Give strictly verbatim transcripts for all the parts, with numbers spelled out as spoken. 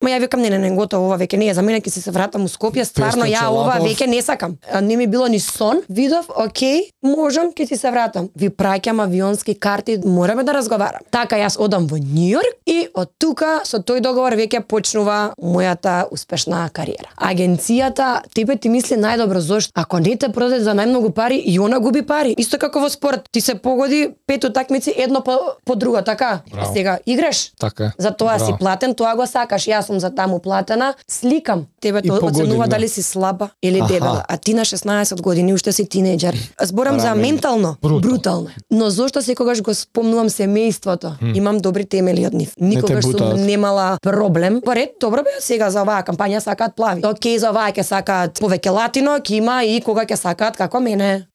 Ма ја викам не, не, не, готово, ова веќе не е за мене, ќе се вратам у Скопје, стварно ја ова веќе не сакам. Не ми било ни сон, видов, окей, можам, ќе си се вратам. Ви праќам авионски карти, мораме да разговарам. Така јас одам во Њујорк и од тука со тој договор веќе почнува мојата успешна кариера. Агенцијата тебе ти мисли најдобро, зошто ако не те продаде за најмногу пари, и она губи пари. Исто како во спорт, ти се погоди пет утакмици едно по, по друга, така? Браво. Сега играш. Така. За тоа Браво. си платен, тоа го сакаш. Јас сум за таму платена, сликам. Тебе тоа оценува дали си слаба или дебела, а ти на шеснаесет години уште си тинејџер. Зборам за ментално, Брутал. брутално. Но зошто секогаш го спомнувам семејството? Имам добри темели од нив. Никогаш сум немала проблем. Поред, добро бе, сега за оваа кампања сакаат плави. Океј, за оваа ќе сакаат повеќе латино, ќе има и кога ќе сакаат како мене.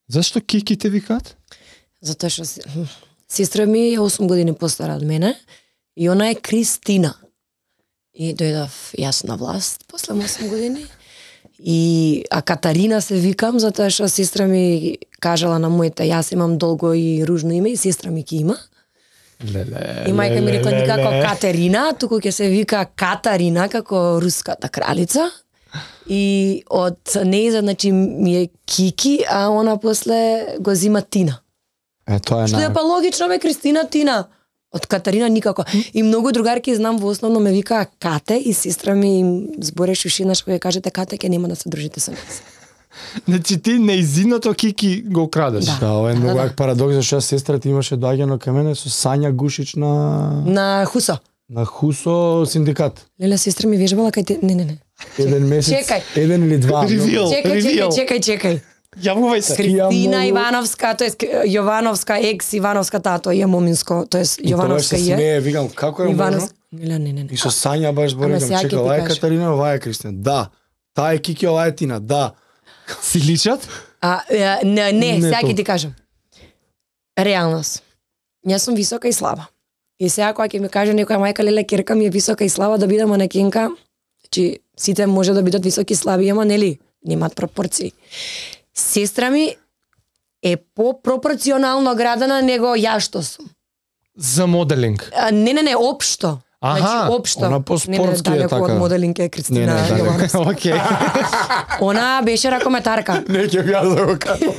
Зашто Кики те викаат? Затоа што се- сестра ми е осум години постара од мене и она е Кристина. И дојдов јас на власт после осум години. И а Катарина се викам затоа што сестра ми кажала на моите, јас имам долго и ружно име и сестра ми ќе има. Леле. И мајка ми рекла леле, никако леле. Катерина, туку ќе се вика Катарина како руската кралица. И од нејза, значи ми е Кики, а она после го зима Тина. Е, тоа е Што е на... па логично бе, Кристина Тина. Од Катарина никако. И многу другарки знам во основно ме викаа Кате и сестра ми им збореше уши еднаш кога ја кажете Кате ќе нема да се дружите со нас. Значи ти неизиното Кики го крадеш. Да. Да, ова е многу да. як парадокс, зашто јас сестрата имаше доаѓано кај мене со Сања Гушич на На Хусо. на Хусо синдикат. Леле, сестра ми вежбала кај те... Не, не, не. Еден месец, Чекај. еден или два. Ревил. Чекај, чекај, Ревил. чекај, чекај. Јавувај се. Кристина многу- Ивановска, тоа е Јовановска, екс Ивановска тато е моминско, тоа е Јовановска Јовановска се е. смее, викам, како е можно? Ивановска. Не, не, не. И со Сања баш Ама зборам, сега ќе чека, ти ова е кажа. Катарина, ова е Кристина. Да. Таа е Кики, ова е Тина. Да. Си личат? А, е, не, не, Не сега ќе толку. ти кажам. Реалност. Јас сум висока и слаба. И сега кога ќе ми каже некоја мајка леле керка ми е висока и слаба да бидам манекенка, значи сите може да бидат високи и слаби, ама нели немаат пропорции. Сестра ми е попропорционално градена него ја што сум. За моделинг. А, не, не, не, општо. Аха, Значи, општо. она по-спортски не, не, е далеко така. од моделинг е Не, Кристина не, далеко. Јовановска. Океј. Она беше ракометарка. Не ќе јас да го кажам.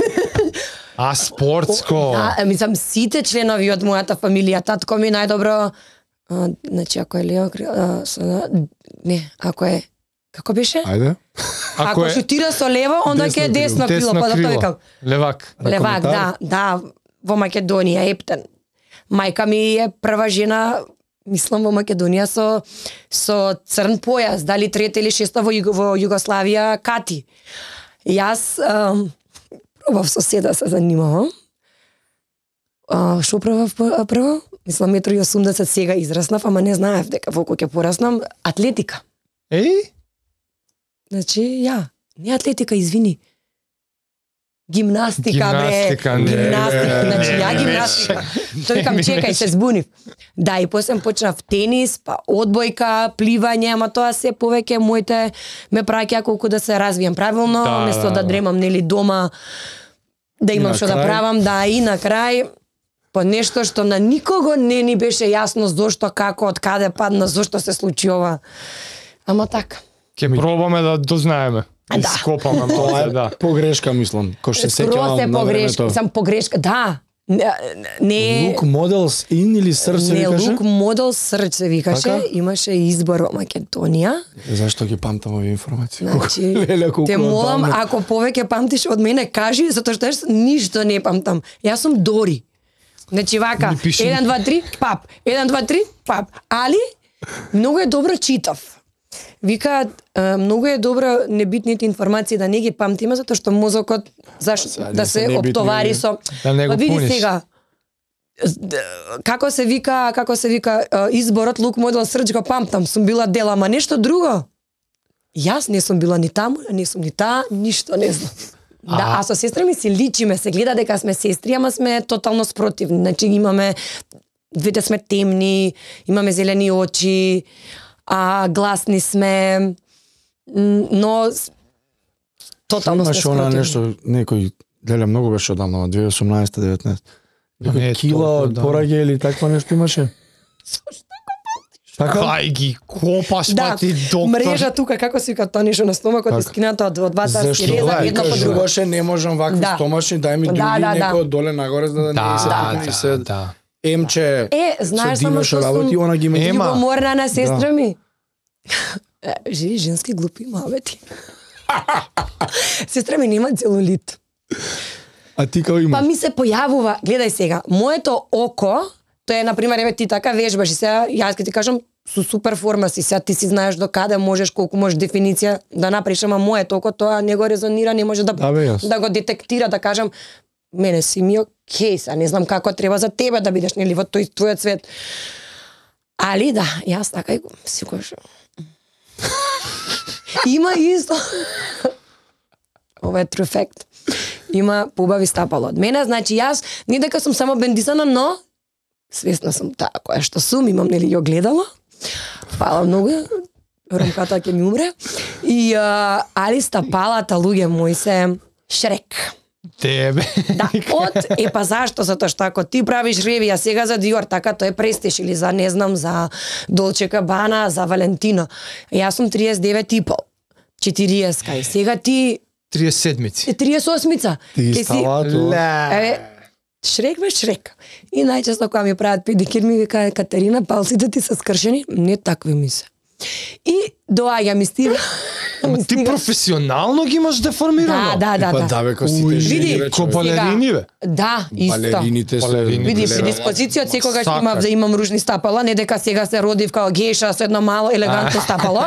А спортско. Да, мислам, сите членови од мојата фамилија, татко ми најдобро, а, значи, ако е Лео, а, со, не, ако е, како беше? Ајде. Ако, Ако ако е шутира со лево, онда ќе е десно крило, десно па затоа крило. викам. Левак. Левак, да, да, во Македонија, Ептен. Мајка ми е прва жена, мислам, во Македонија со со црн појас, дали трета или шеста во, Југо, во Југославија, Кати. Јас ам, пробав со се да се занимавам. А, шо пробав п- прво? Мислам, метро и осумдесет сега израснав, ама не знаев дека волку ќе пораснам. Атлетика. Еј? Значи, ја, не атлетика, извини. Гимнастика, Гимнастика, бре. не, Гимнастика, не, значи не, ја не гимнастика. меше. Тој викам, Не чекај, меше. се збунив. Да, и после почнав тенис, па одбојка, пливање, ама тоа се повеќе моите ме праќа колку да се развијам правилно, Да, место да, да, да. дремам нели дома, да имам на што да крај? правам, да, и на крај по нешто што на никого не ни беше јасно зошто, како, од каде падна, зошто се случи ова. Ама така. Ќе пробаме да дознаеме. Да. Ископаме Тоа малце, е да. погрешка, мислам. Кој се Скроз сеќавам е на погрешка, времето. сам погрешка, да. Не, не Лук Models in или срце не викаше? Лук Модел Срч се викаше, Така? имаше избор во Македонија. Е, Зашто ги памтам овие информации? Значи, Леле, колку те молам, одамна. ако повеќе памтиш од мене, кажи, затоа што јас ништо не памтам. Јас сум Дори. Значи вака, Ми пиши. еден, два, три, пап. еден, два, три, пап. Али, многу е добро читав. Викаат, е, многу е добро небитните информации да не ги памтиме, затоа што мозокот заш, Сега, да не се се небитни, оптовари со... Да не го Па види пуниш. сега, Д- како се вика, како се вика е, изборот Лук Модел Срч го памтам, сум била дел, ама нешто друго. Јас не сум била ни таму, не сум ни таа, ништо не знам. Да, а со сестра ми си личиме, се гледа дека сме сестри, ама сме тотално спротивни. Значи имаме, двете сме темни, имаме зелени очи, а гласни сме, м, но с- тотално сме Имаше она спротивни. нешто, некој, леле, многу беше одамна, две тисаца и осумнаесета деветнаесета Не, кила од пораѓе или такво нешто имаше? Така? Кај ги копаш, Да, па ти доктор. мрежа тука, како се вика тоа нешто на стомакот, и скината од од двата Зашто? си реза едно по друго. Зашто не можам вакви Да. стомашни, дај ми Да, други да, да. некој доле нагоре за да не се Да, и да, се да. емче. Е, знаеш со само димеш што работи, сум она ги има. Ема. љубоморна на сестра ми. Е, Живи женски глупи мабети. Сестра ми нема целулит. А ти како имаш? Па ми се појавува, гледај сега, моето око, тоа е на пример еве ти така вежбаш и сега јас ќе ти кажам со супер форма си, сега ти си знаеш до каде можеш, колку можеш дефиниција да направиш, ама моето око тоа не го резонира, не може да Да, бе, јас. да го детектира, да кажам мене си ми окей, са не знам како треба за тебе да бидеш нели во тој твојот свет. Али да, јас така и го си кажам. Има исто. Ова е true fact. Има побави стапало од мене, значи јас не дека сум само бендисана, но свесна сум таа која што сум, имам нели ја гледала. Фала многу. Ромката ќе ми умре. И а, али стапалата луѓе мои се Шрек. Тебе. Да, од е па зашто затоа што ако ти правиш ревија сега за Диор, така тоа е престиж или за не знам за Долче Габана, за Валентино. Јас сум триесет и девет и пол. четириесет и сега ти триесет седмици. триесет и осмица. Ти ги Ке си- става тоа. Е, Шрек бе Шрек. И најчесто кога ми прават педикир ми вика Катерина, палците ти се скршени, не такви ми се. И доаѓа ми стига. Ама ми ти стига- професионално ги имаш деформирано. Да, да, да, Па да. да бе, ко сите Уј, жени види, вече. ко балерини, бе. Да, исто. Балерините се. Балерини. Види, Лева. предиспозиција од секогаш Сакаш. имав да имам ружни стапала, не дека сега се родив као гејша со едно мало елегантно стапало.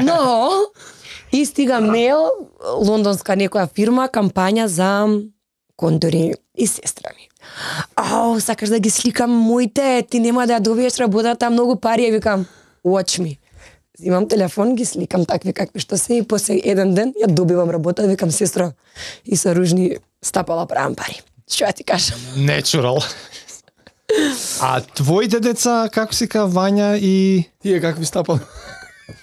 Но и стига мейл, лондонска некоја фирма, кампања за контури и сестра ми. Ау, сакаш да ги сликам моите, ти нема да ја добиеш работата, многу пари, ја викам, watch me. Имам телефон, ги сликам такви какви што се и после еден ден ја добивам работа, викам сестра и со ружни стапала правам пари. Што ја ти кажам? Natural. А твоите деца, како се ка Вања и... Тие какви стапал?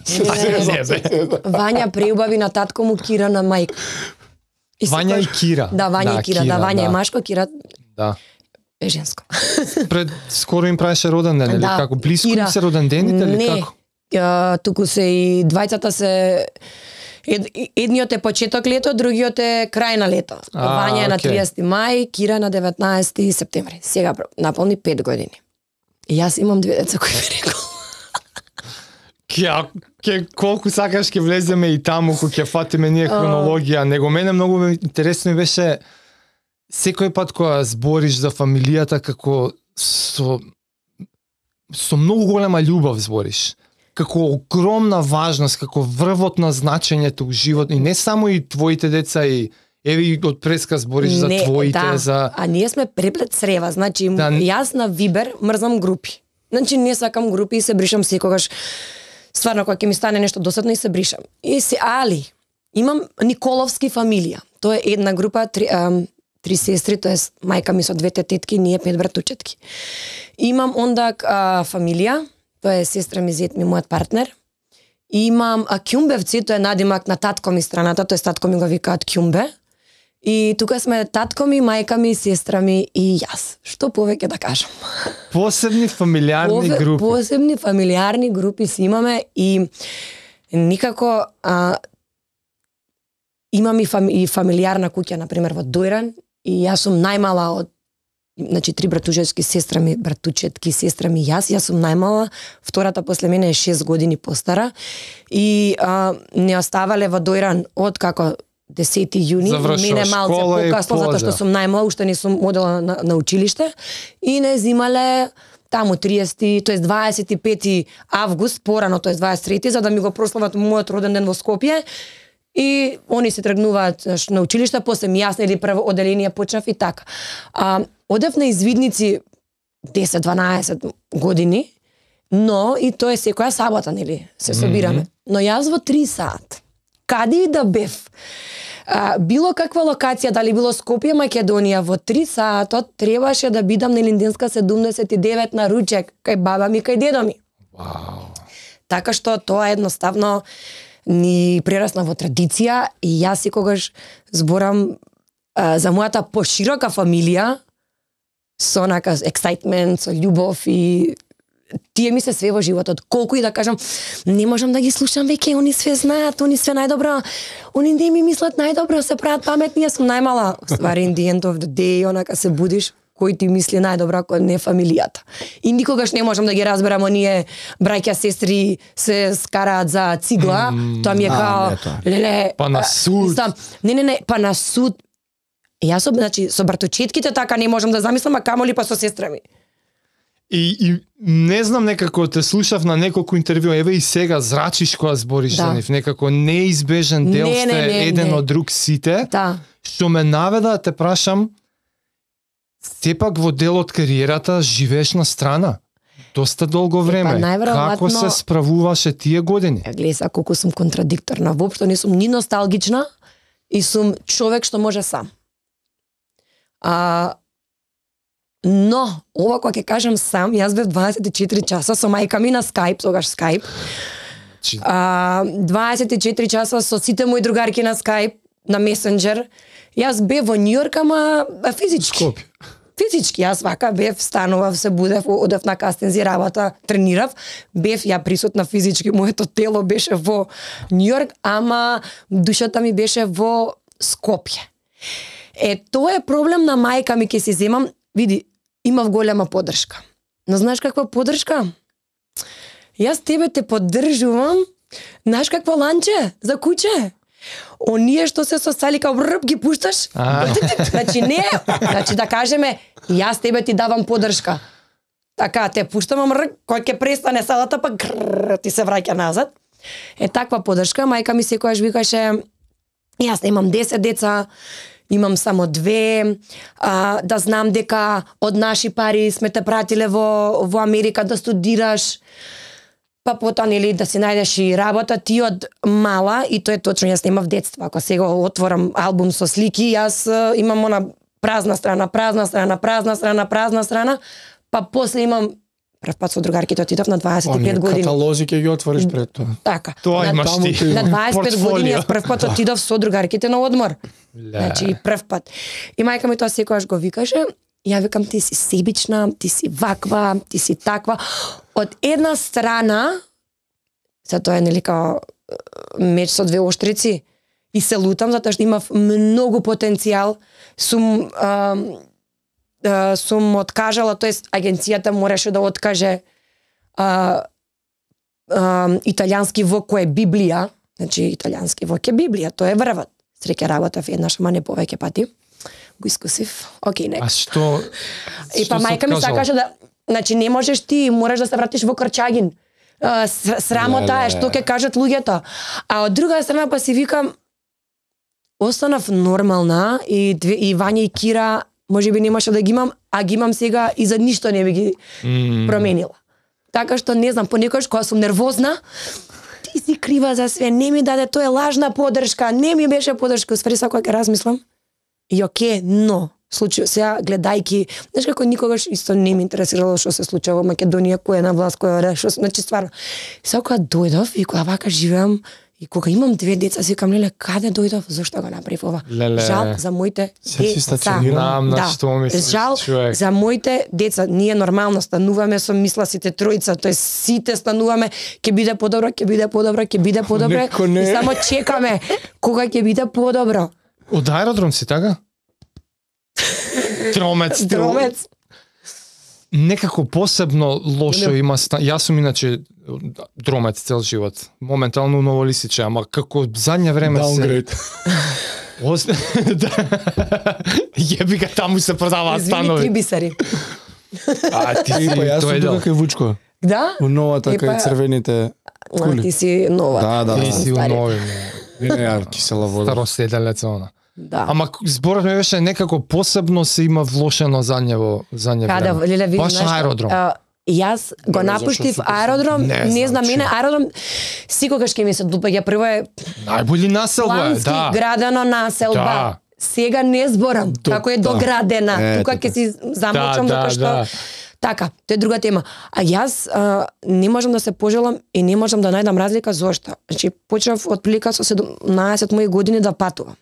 Не, бе. Вања преубави на татко му, Кира на мајка. И Вања и секој- Кира. Да, Вања и Кира, да, Вања е машко, Кира Да. е женско. Пред скоро им правеше роден ден, или Да, како близко им Кира. се роден дените или Не, како? ја, туку се и двајцата се Ед, едниот е почеток лето, другиот е крај на лето. А, Вања е на окей. триесети мај, Кира на деветнаесети септември. Сега наполни пет години. И јас имам две деца кои ми рекол. Ке, ке, колку сакаш ќе влеземе и таму, кој ќе фатиме ние хронологија, него мене многу ме интересно ми беше секој пат кога збориш за фамилијата како со со многу голема љубов збориш. Како огромна важност, како врвот на значењето у живот и не само и твоите деца и еве и од преска збориш за Не, твоите, да. за А ние сме преплет срева, значи Да. јас на Вибер мрзам групи. Значи не сакам групи и се бришам секогаш. Стварно кога ќе ми стане нешто досадно и се бришам. И се али имам Николовски фамилија. Тоа е една група три, ам, три сестри, тоа е мајка ми со двете тетки, ние пет братучетки. Имам онда а, фамилија, тоа е сестра ми, зет ми, мојот партнер. Имам а, Кјумбевци, тоа е надимак на татко ми страната, тоа е татко ми го викаат Кјумбе. И тука сме татко ми, мајка ми, сестра ми и јас. Што повеќе да кажам? посебни фамилиарни Пове- групи. Посебни фамилиарни групи си имаме и никако а, имам и, фами, и фамилиарна куќа, например, во Дојран, и јас сум најмала од значи три братучетки, сестра ми, братучетки, сестра ми, јас, јас сум најмала, втората после мене е шест години постара и а, не оставале во Дојран од како десети јуни, Завршува мене малце школа и покасно, затоа што поза. сум најмала, уште не сум одела на, на училиште, и не зимале таму триесети, тоест дваесет и пети август, порано, тоест дваесет и трети, за да ми го прослават мојот роден ден во Скопје. И они се тргнуваат знаеш, на училиште, после ми јас или прво оделение почнав и така. А, одев на извидници десет-дванаесет години, но и тоа е секоја сабота, нели, се собираме. Mm -hmm. Но јас во три саат, каде и да бев, а, било каква локација, дали било Скопје, Македонија, во три саатот требаше да бидам на Линденска седумдесет и девет на ручек, кај баба ми, кај дедо ми. Вау. Така што тоа едноставно ни прерасна во традиција и јас секогаш зборам а, за мојата поширока фамилија, со онака excitement, со љубов и тие ми се све во животот. Колку и да кажам, не можам да ги слушам веќе, они све знаат, они све најдобро, они не ми мислат најдобро, се прават паметни, јас сум најмала. Ствари, in the end of the day, онака се будиш, кој ти мисли најдобро ако не фамилијата. И никогаш не можам да ги разберам, оние браќа, сестри се скараат за цигла, mm, тоа ми е као, леле, па на суд. Мислам, не, не, не, па на суд. Јас, значи, со браточетките така не можам да замислам, а камоли па со сестра ми. И, и не знам, некако те слушав на неколку интервју, еве и сега зрачиш кога збориш да. за нив, некако неизбежен дел не, сте не, не, еден не. од друг сите, да. што ме наведа да те прашам, сепак во дел од кариерата живееш на страна, доста долго време, најверојатно... како се справуваше тие години? Гледај са колку сум контрадикторна, воопшто не сум ни носталгична и сум човек што може сам. А, но, ова кога ќе кажам сам, јас бев дваесет и четири часа со мајка ми на Skype, тогаш Skype. А, дваесет и четири часа со сите мои другарки на Skype, на Messenger. Јас бев во Њујорк, ама физички. Скопје. Физички, јас вака бев, станував, се будев, одев на кастинзи, работа, тренирав, бев ја присутна физички, моето тело беше во Њујорк, ама душата ми беше во Скопје. Е, тоа е проблем на мајка ми, ке си земам, види, имав голема поддршка. Но знаеш каква поддршка? Јас тебе те поддржувам, знаеш какво ланче за куќе? Оние што се сосали као бррп ги пушташ. Значи не, значи да кажеме, јас тебе ти давам поддршка. Така, те пуштам, ама кој ќе престане салата, па гррр, ти се враќа назад. Е, таква поддршка, мајка ми секојаш викаше, јас имам десет деца, имам само две, а, да знам дека од наши пари сме те пратиле во, во Америка да студираш, па потоа нели да си најдеш и работа, ти од мала, и тоа е точно, јас немав детство, ако сега отворам албум со слики, јас а, имам она празна страна, празна страна, празна страна, празна страна, па после имам прв пат со другарките отидов на дваесет и пет години. Каталози ќе ги отвориш пред тоа. Така. Тоа имаш ти. На дваесет и пет години јас прв пат отидов со другарките на одмор. Значи прв пат. И мајка ми тоа секогаш го викаше, ја викам ти си себична, ти си ваква, ти си таква. Од една страна, се тоа е нели као меч со двеоштрици, и се лутам затоа што имав многу потенцијал, сум а, а, сум откажала, тоест агенцијата мораше да откаже а, а, италијански вок кој е Библија, значи италијански вок е Библија, тоа е врвот. Среќа работав еднаш, ама не повеќе пати. Го искусив. Океј, нека. А што? И па мајка ми сакаше да, значи не можеш ти, мораш да се вратиш во Крчагин. А, срамота е што ќе кажат луѓето. А од друга страна па си викам, останав нормална и две, и Вања и Кира можеби немаше да ги имам, а ги имам сега и за ништо не би ги mm. променила. Така што не знам, понекогаш кога сум нервозна, ти си крива за све, не ми даде, тоа е лажна поддршка, не ми беше поддршка, уствари сакој ќе размислам. И оке, но случај сега гледајки, знаеш како никогаш исто не ме интересирало што се случува во Македонија, кој е на власт, кој е што, значи стварно. Сега кога дојдов и кога вака живеам и кога имам две деца, си викам, леле, каде дојдов, зошто го направив ова? Леле. Жал за моите деца. Знам на да. што мислиш, Жал човек. за моите деца. Ние нормално стануваме со мисла сите тројца, тоест сите стануваме, ќе биде подобро, ќе биде подобро, ќе биде подобро. И само чекаме кога ќе биде подобро. Од аеродром си, така? Тромец. Тромец. Некако посебно лошо Не. има ста... Јас сум иначе дромец цел живот. Моментално ново лисиче, ама како задње време Downgrade. се... Ос... Јеби га, таму се продаваат Извини, станови. три бисари. А, ти си, И па јас тоа е сум дел. тука кај Вучко. Да? У новата И па- кај црвените А, кули. ти си нова. Да, да, Ти да. си у Стари. нови. Не, не, ја кисела вода. Староседелец, она. Да. Ама зборот ми беше некако посебно се има влошено задње во задње Каде, време. леле, види, Баш знаеш, аеродром. а, јас го Не, напуштив зашто супер аеродром, Не не, знам, знам, мене че. аеродром секогаш ќе ми се допаѓа. Прво е Најболи населба е, плански да. градена населба. Да. Сега не зборам До- како е да. доградена. Е, Тука така. ќе си замолчам Да, да, докато што да. така, тоа е друга тема. А јас а, не можам да се пожелам и не можам да најдам разлика зошто. Значи почнав од прилика со седумнаесет мои години да патувам.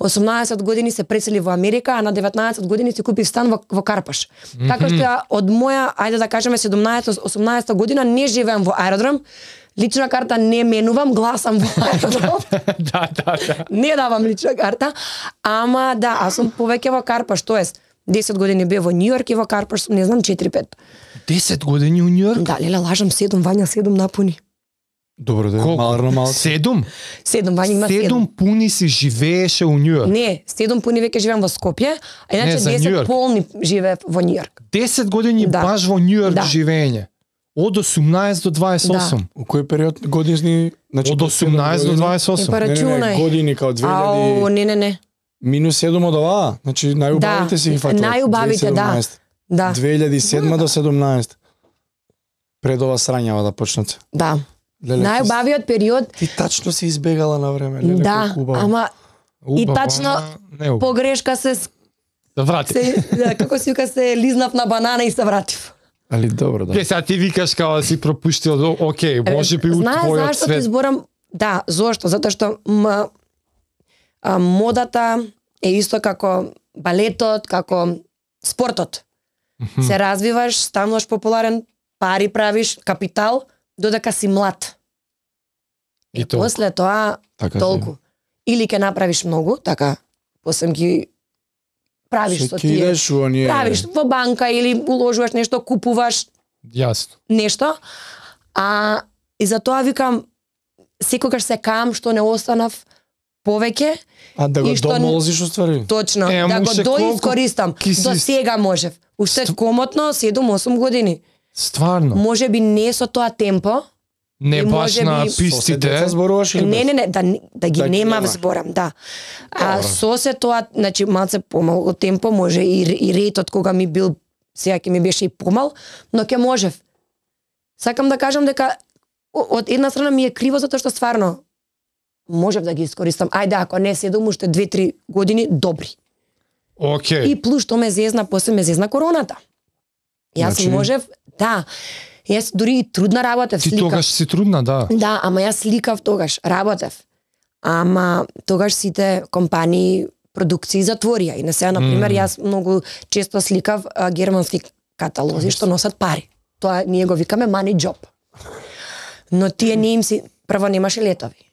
осумнаесет години се пресели во Америка, а на деветнаесет години си купив стан во, во Карпаш. Mm-hmm. Така што ја од моја, ајде да кажеме седумнаесет-осумнаесета година не живеам во аеродром, лична карта не менувам, гласам во аеродром. да, да, да. Не давам лична карта, ама да, аз сум повеќе во Карпаш, тоест десет години бев во Њујорк и во Карпаш сум, не знам, четири-пет. десет години у Њујорк? Да, леле, лажам, седум, Вања седум напуни. Добро да, маларно малко. Седум? Седум, Вања има седум. Седум пуни си живееше у Њујорк? Не, седум пуни веќе живеам во Скопје, а иначе десет полни живеев во Њујорк. десет години да. баш во Њујорк да. живење. Од осумнаесет до дваесет и осум. Да. У кој период години? Значи, од осумнаесет до дваесет и осум. Не, не, не, години као две илјади. Ау, не, не, не. Минус седум од оваа, значи најубавите да, си ги фатилат. Најубавите, да. да. две илјади и седма до седумнаесет. Пред ова срањава да почнат. Да. Леле, најубавиот период. Ти тачно си избегала на време, леле, да, ама Убаво, и тачно не, погрешка се да врати. Се, да, како си вика, се лизнав на банана и се вратив. Али добро, да. Ке сега ти викаш као да си пропуштил, окей, може би у твојот зашто свет. ти зборам? Да, зошто? Затоа што м, а, модата е исто како балетот, како спортот. Mm-hmm. Се развиваш, стануваш популарен, пари правиш, капитал, додека си млад. И, и после тоа така толку. Си. Или ќе направиш многу, така, после ги правиш со тие. Оние... Правиш во банка или уложуваш нешто, купуваш. Јасно. Нешто. А и за тоа викам, секогаш се кам што не останав повеќе. А да го домолзиш уствари? Точно, е, да го доискористам. Си... До сега можев. Уште Ст... комотно седум-осум години. Стварно? Може би не со тоа темпо. Не баш на би... пистите. Не, не, не, да, да ги да, нема зборам, да. А Добре. Со се тоа, значи малце помалку темпо може и, и ретот кога ми бил, сега ќе ми беше и помал, но ќе можев. Сакам да кажам дека од една страна ми е криво затоа што стварно можев да ги искористам. Ајде, ако не седум, уште две-три години добри. Океј. И плюс што ме зезна, после ме зезна короната. Јас значи... можев, да. Јас дури и трудна работев, Ти сликав. тогаш си трудна, да. Да, ама јас сликав тогаш, работев. Ама тогаш сите компании, продукции затворија. И на сега, например, mm. јас многу често сликав а, германски каталози што носат пари. Тоа ние го викаме money job. Но тие не им си, прво немаше летови.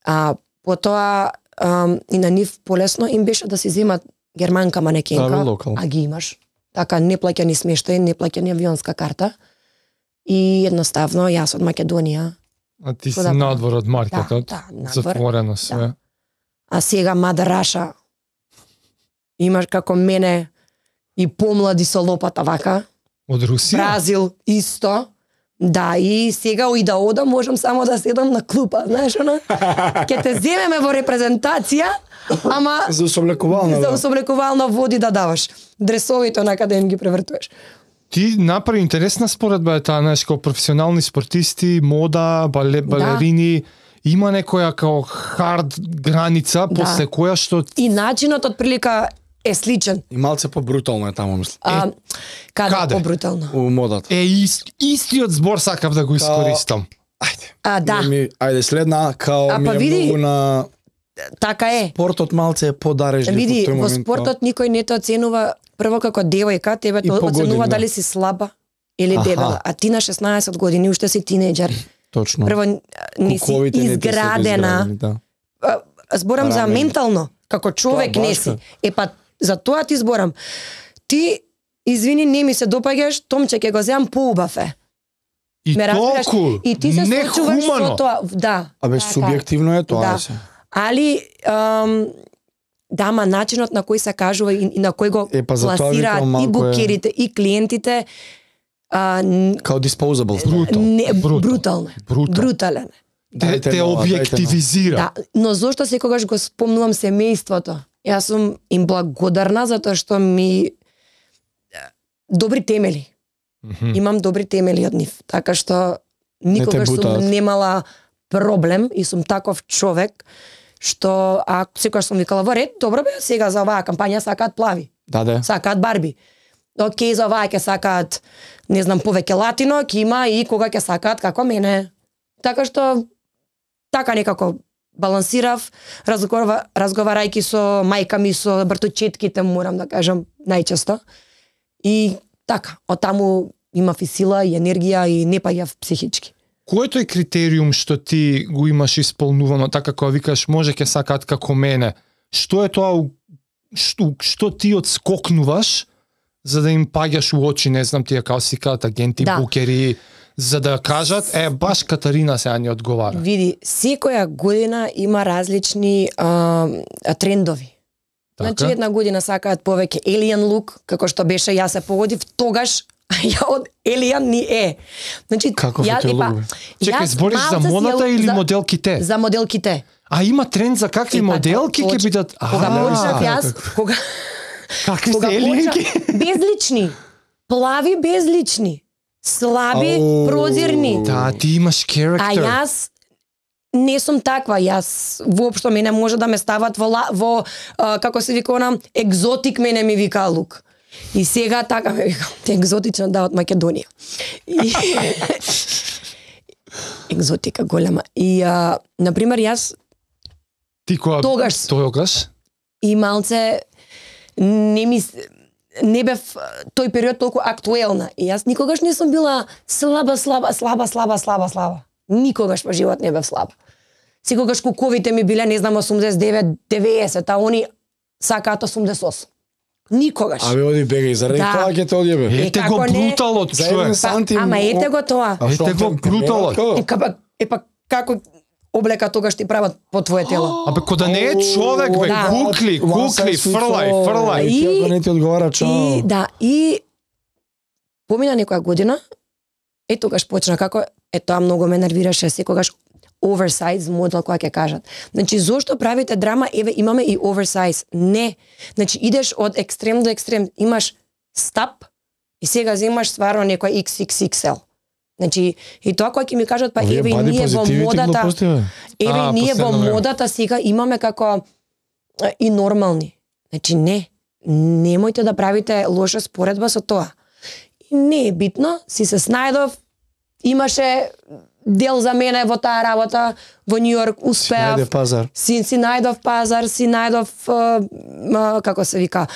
А потоа а, и на нив полесно им беше да си земат германка манекенка, а ги имаш. Така неплаќани смештај, неплаќани авионска карта. И едноставно јас од Македонија. А ти си надвор од маркетот, да, да, затворено све. Да. А сега Мада Раша имаш како мене и помлади со лопата вака. Од Русија? Бразил исто. Да, и сега и да одам, можам само да седам на клупа, знаеш, она? Ке те земеме во репрезентација, ама... За усоблекувално, За усоблекувално води да даваш. Дресовите на каде им ги превртуваш. Ти направи интересна споредба е таа, знаеш, како професионални спортисти, мода, бале, балерини, да. Има некоја као хард граница, да. После која што... И начинот од прилика е сличен. И малце по-брутално е таму, мислам. А, е, каде, каде? По-брутално? У модата. Е, ист, истиот збор сакав да го искористам. Ајде. А, да. Ми, ајде, следна, као а, ми е види, многу на... Така е. Спортот малце е подарежлив. Види, во спортот никој не те оценува прво како девојка, тебе те оценува дали си слаба или Аха. Дебела. А ти на шеснаесет години уште си тинејџер. Точно. Прво не си изградена. Да. Зборам Парамен. За ментално, како човек тоа, не си. Е па за тоа ти зборам. Ти извини, не ми се допаѓаш, Томче ќе го земам поубав е. И толку и ти се соочуваш со тоа, да. Абе така. Субјективно е тоа да. се. Али ам, да, ма начинот на кој се кажува и, и на кој го е, па пласираат и букерите е... и клиентите а, као disposable. Не, брутално. Брутал. Брутален. Те, те објективизира. Да, но зошто секогаш го спомнувам семејството? Јас сум им благодарна затоа што ми добри темели. Mm-hmm. Имам добри темели од нив. Така што никогаш не сум немала проблем и сум таков човек што а секогаш сум викала во ред, добро бе, сега за оваа кампања сакаат плави. Да, да. Сакаат барби. Океј, за оваа ќе сакаат, не знам, повеќе латино, ќе има и кога ќе сакаат како мене. Така што така некако балансирав, разговара, разговарајќи со мајка ми, со братовчетките, морам да кажам, најчесто. И така, од таму имав и сила, и енергија, и не паѓав психички. Кој е тој критериум што ти го имаш исполнувано, така кога викаш може ке сакаат како мене? Што е тоа што, што ти одскокнуваш за да им паѓаш у очи, не знам тие како си кажат агенти, Да. букери, за да кажат е баш Катарина сега ни одговара. Види, секоја година има различни а, трендови. Така? Значи една година сакаат повеќе alien look, како што беше јас се погодив, тогаш ја од alien ни е. Значи Каков е ја- тој епа, лук, бе? Чекај, јас збориш за малце си модата ја- или за- моделките? За моделките. А има тренд за какви Епа, моделки ќе точ- бидат? Кога А, почнав јас, кога какви кога сте елиенки? почнав- безлични, плави безлични, слаби, Ау. прозирни. Да, ти имаш А character. јас не сум таква, јас воопшто мене може да ме стават во, ла- во а, како се вика она, екзотик мене ми вика лук. И сега така ме вика, екзотична да од Македонија. И... екзотика голема. И а, на пример јас Ти кога тогаш- тогаш и малце не ми с- не бев тој период толку актуелна. И јас никогаш не сум била слаба, слаба, слаба, слаба, слаба, слаба. Никогаш во живот не бев слаба. Секогаш куковите ми биле, не знам, осумдесет и девет, деветдесет, а они сакаат осумдесет и осум. Никогаш. Абе, оди бегај, заради Да. тоа ќе те одјебе. Е, ете како го не? бруталот, За човек. еден сантим. Ама ете го тоа. А што, Ете го те- те бруталот. мерат, Е, капа, е па како облека тогаш ти прават по твое тело. Абе, кода не е човек, бе, Да. гукли, гукли, фрлај, фрлај. И- И не ти одговара, И чао. да, и помина некоја година, е тогаш почна како, е тоа многу ме нервираше, секогаш оверсайз модел која ќе кажат. Значи, зошто правите драма, еве имаме и оверсайз. Не. Значи, идеш од екстрем до екстрем, имаш стап и сега земаш стварно некој икс икс икс ел. Значи, и тоа кој ќе ми кажат, па Овие еве и body ние во positivity модата, глупости, бе. еве А, и ние во последно време. модата сега имаме како а, и нормални. Значи не, немојте да правите лоша споредба со тоа. И не е битно, си се снајдов, имаше дел за мене во таа работа, во Нью Йорк Си успеав. најде пазар. Си, си најдов пазар, си најдов, а, а, како се вика,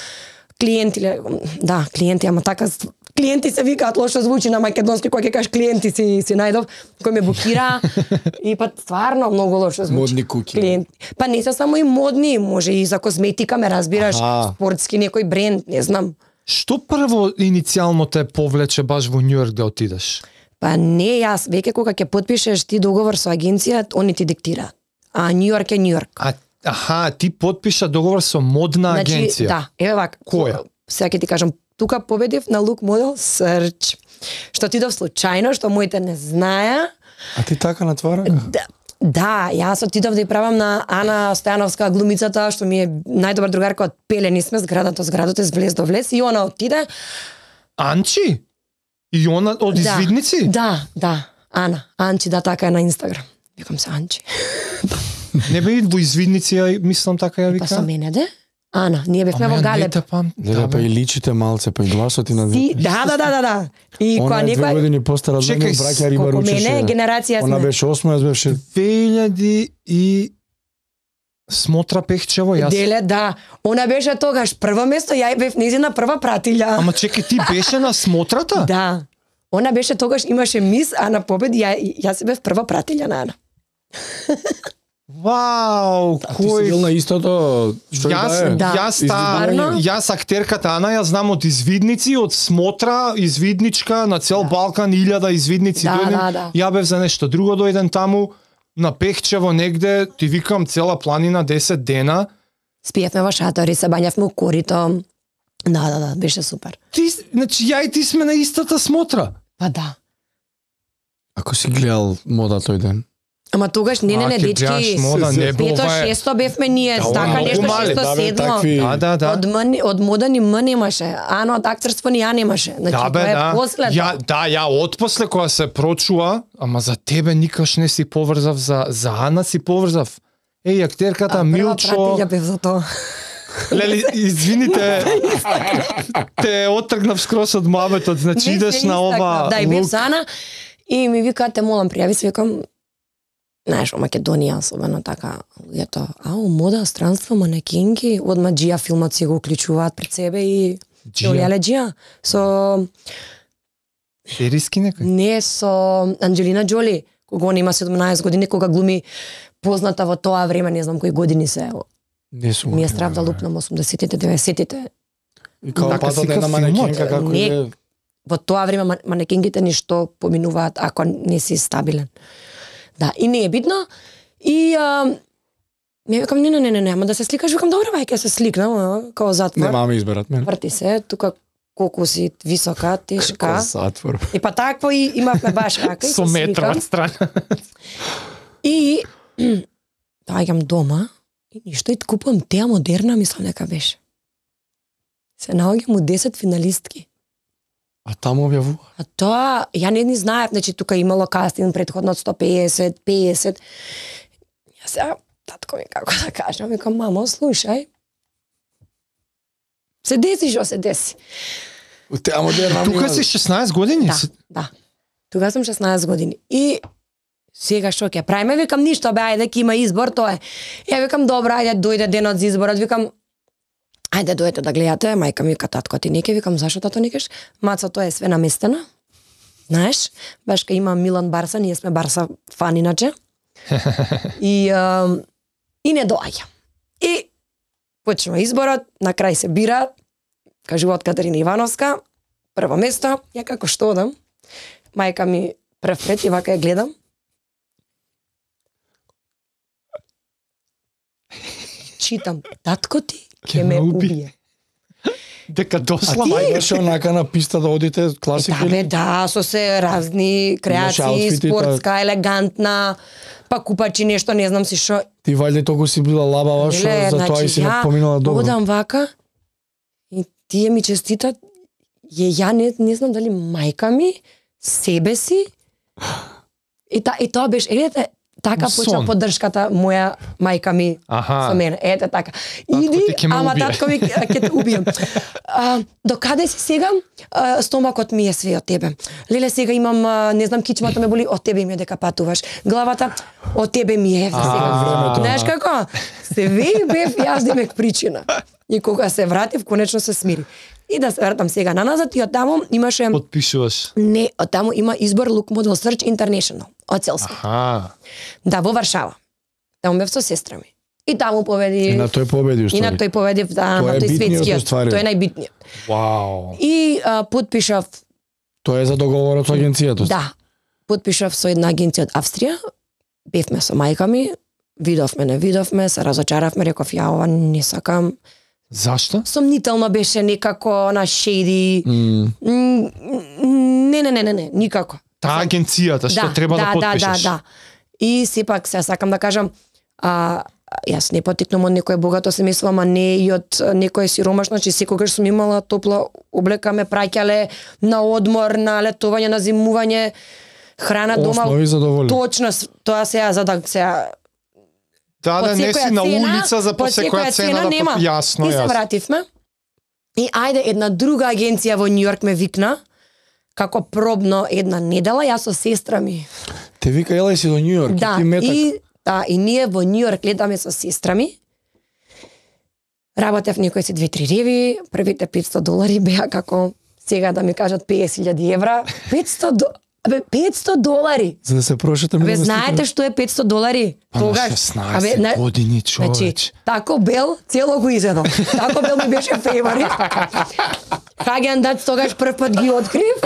клиенти, ле- да, клиенти, ама така, ст- клиенти се викаат, лошо звучи на македонски, кога ќе кажеш клиенти си, си најдов, кој ме букира, и па стварно многу лошо звучи. Модни куки. Клиенти. Па не се само и модни, може и за козметика, ме разбираш, Аха. спортски некој бренд, не знам. Што прво иницијално те повлече баш во Њујорк да отидеш? Па не јас, веќе кога ќе потпишеш ти договор со агенција, они ти диктираат. А Нью Йорк е Нью Йорк. А, аха, ти потпиша договор со модна агенција. Да, еве вака. Која? Сега ќе ти кажам, тука победив на лук модел Search. Што отидов случајно, што моите не знаеа. А ти така натвара? Да, да, јас отидов да ја правам на Ана Стојановска, глумицата, што ми е најдобар другарка од Пелени сме, зградата, зградата, влез до влез, и она отиде. Анчи? И она од извидници? Да, да, Ана, Анчи, да, така е на Инстаграм. Викам се Анчи. Не бе во извидници, ја мислам така ја Па со вика. мене, де? Ана, ние бевме Ама во ја не Галеб. те пам. Не, да, па и личите малце, па и гласот и на Ти, да, да, да, да, да. И Она кога е две некој години постара од Чекај, мене, браќа риба колку ручеше. мене генерација Она сме. беше осма, јас беше две илјади и Смотра Пехчево, јас. Деле, да. Она беше тогаш прво место, ја бев незина прва пратилја. Ама чекај, ти беше на смотрата? Да. Она беше тогаш имаше мис, а на победи ја јас бев прва пратилја на Ана. Вау, А ти си бил кој... на истото, што Јас, и да е? Да. јас, та, Стварно? јас актерката Ана, ја знам од извидници, од Смотра, извидничка, на цел Да. Балкан, илјада извидници Да, дојден. да, да. Ја бев за нешто друго дојден таму, на Пехчево негде, ти викам цела планина десет дена. Спиевме во шатори, се бањавме у корито. Да, да, да, беше супер. Ти, значи, ја и ти сме на истата Смотра. Па да. Ако си гледал мода тој ден. Ама тогаш не, не, А, не, ќе гледаш дечки. мода, не бе, Пето, ова е- шесто бевме ние, Да, така многу нешто мали, шесто, да, бе, седмо. такви- Да, да, да. Од, мани, од мода ни м немаше, ано од актерство ни ја немаше. Значи, Да, бе, тоа е да. после. Ја, да, ја отпосле кога се прочуа, ама за тебе никаш не си поврзав, за, за Ана си поврзав. Еј, актерката Милчо... Прва бев за тоа. Лели, извините, те отргнав скрос од мабетот, значи Не се идеш на ова истакнав. Да, и бев лук. за Ана и ми вика, те молам, пријави се, викам, Знаеш, во Македонија особено така, луѓето, ау, мода, странство, манекинки, одма Джија филмот си го уклучуваат пред себе и Олеле Джија со Сериски некој? Не, со Анџелина Џоли, кога она има седумнаесет години, кога глуми позната во тоа време, не знам кои години се. Не сум. Ми е страв да лупнам осумдесетите, деветдесетите. И како Така патот сика една манекинка како Не. е. Во тоа време манекингите ништо поминуваат ако не си стабилен. Да, и не е битно. И а, ми викам, не, не, не, не, не, ама да се сликаш, викам, добре, бај, ќе се сликнам, а, као затвор. Нема ме изберат мене. Врти се, тука колку си висока, тешка. Како затвор. И па такво и имавме баш рака и Со се метра сликам. од страна. И доаѓам дома и ништо и купувам теа модерна, мислам дека беше. Се наоѓам у десет финалистки. А таму објавува. А тоа, ја не ни знаев, значи тука имало кастинг предходно од сто песет, песет. Ја сега, татко ми како да кажам, викам, мамо, слушај. Се деси што се деси. У теа модерна. Тука си шеснаесет години? Да, да. Тука сум шеснаесет години. И сега што ќе правиме, викам, ништо, бе, ајде, ќе има избор, тоа е. Ја викам, добро, ајде, дојде денот за изборот, викам, ајде, дојдете да гледате, мајка ми вика, татко, ти не ке, викам, зашо тато не кеш? Маца, тоа е све наместено. Знаеш, баш ка има Милан Барса, ние сме Барса фан иначе. И, а, и не доаѓа. И почнува изборот, на крај се бира, кажува од Катерина Ивановска, прво место, ја како што одам, мајка ми прв пред и вака ја гледам. Читам, татко ти ќе ме убие. Дека А досла. ти имаше онака на писта да одите класика? Да, бе, да, со се разни креации, аутфити, спортска, елегантна, па купачи нешто, не знам си шо. Ти вајде толку си била лабава што Леле, за тоа и си ја поминала добро. Одам вака и тие ми честитат, ја, ја не, не знам дали мајка ми, себе си, и, та, и тоа беше, едете, така Сон. почна поддршката моја мајка ми Аха. со мене. Ете така. Татко Иди, ти ќе ме ама убие. татко ми ќе ќе те убием. А, до каде си сега? А, стомакот ми е све од тебе. Леле, сега имам, а, не знам, кичмата ме боли, од тебе ми е дека патуваш. Главата, од тебе ми е сега. времето. Знаеш како? Се веј бев јас демек причина. И кога се вратив, конечно се смири. И да се вратам сега на назад и од таму имаше Подпишуваш. не, од таму има избор Look Model Search International од Целски. Аха. Да, во Варшава. Таму бев со сестра ми. И таму победи. И на тој победи И на уствари. тој победив, да, Тоа на е тој битниот светскиот. уствари. Тој е најбитниот. Вау. И а, потпишав, Тоа е за договорот со агенцијата. да, потпишав со една агенција од Австрија. Бевме со мајка ми, видовме, не видовме, се разочаравме, реков, ја ова не сакам. Зашто? Сомнително беше некако на шеди. М, М, Не, не, не, не, не, никако. Таа агенцијата што треба да подпишеш. Да, да, да. И сепак се сакам да кажам, а, јас не потикнам од некој богато семејство, ама не и од некој сиромашно, че секогаш сум имала топла облека, ме праќале на одмор, на летување, на зимување, храна дома. Основи задоволени. Точно, с- тоа сега за да сега Да, да под не секоја си на цена, улица за по под секоја секоја цена да нема. под... Јасно, И се јасно. вративме. И ајде една друга агенција во Њујорк ме викна како пробно една недела, јас со сестра ми. Те вика елај си до Њујорк, Да, ти метак. и да, и ние во Њујорк гледаме со сестра ми. Работев некои си две-три реви, првите петсто долари беа како сега да ми кажат песет илјади евра. петсто до... Абе, петсто долари. За да се прошетаме. Абе, да знаете што е петсто долари? Па на шеснаесет на- години, Значи, човеч. Тако Бел цело го изедол. Тако Бел ми беше фейворит. Хаген Дац тогаш прв пат ги открив.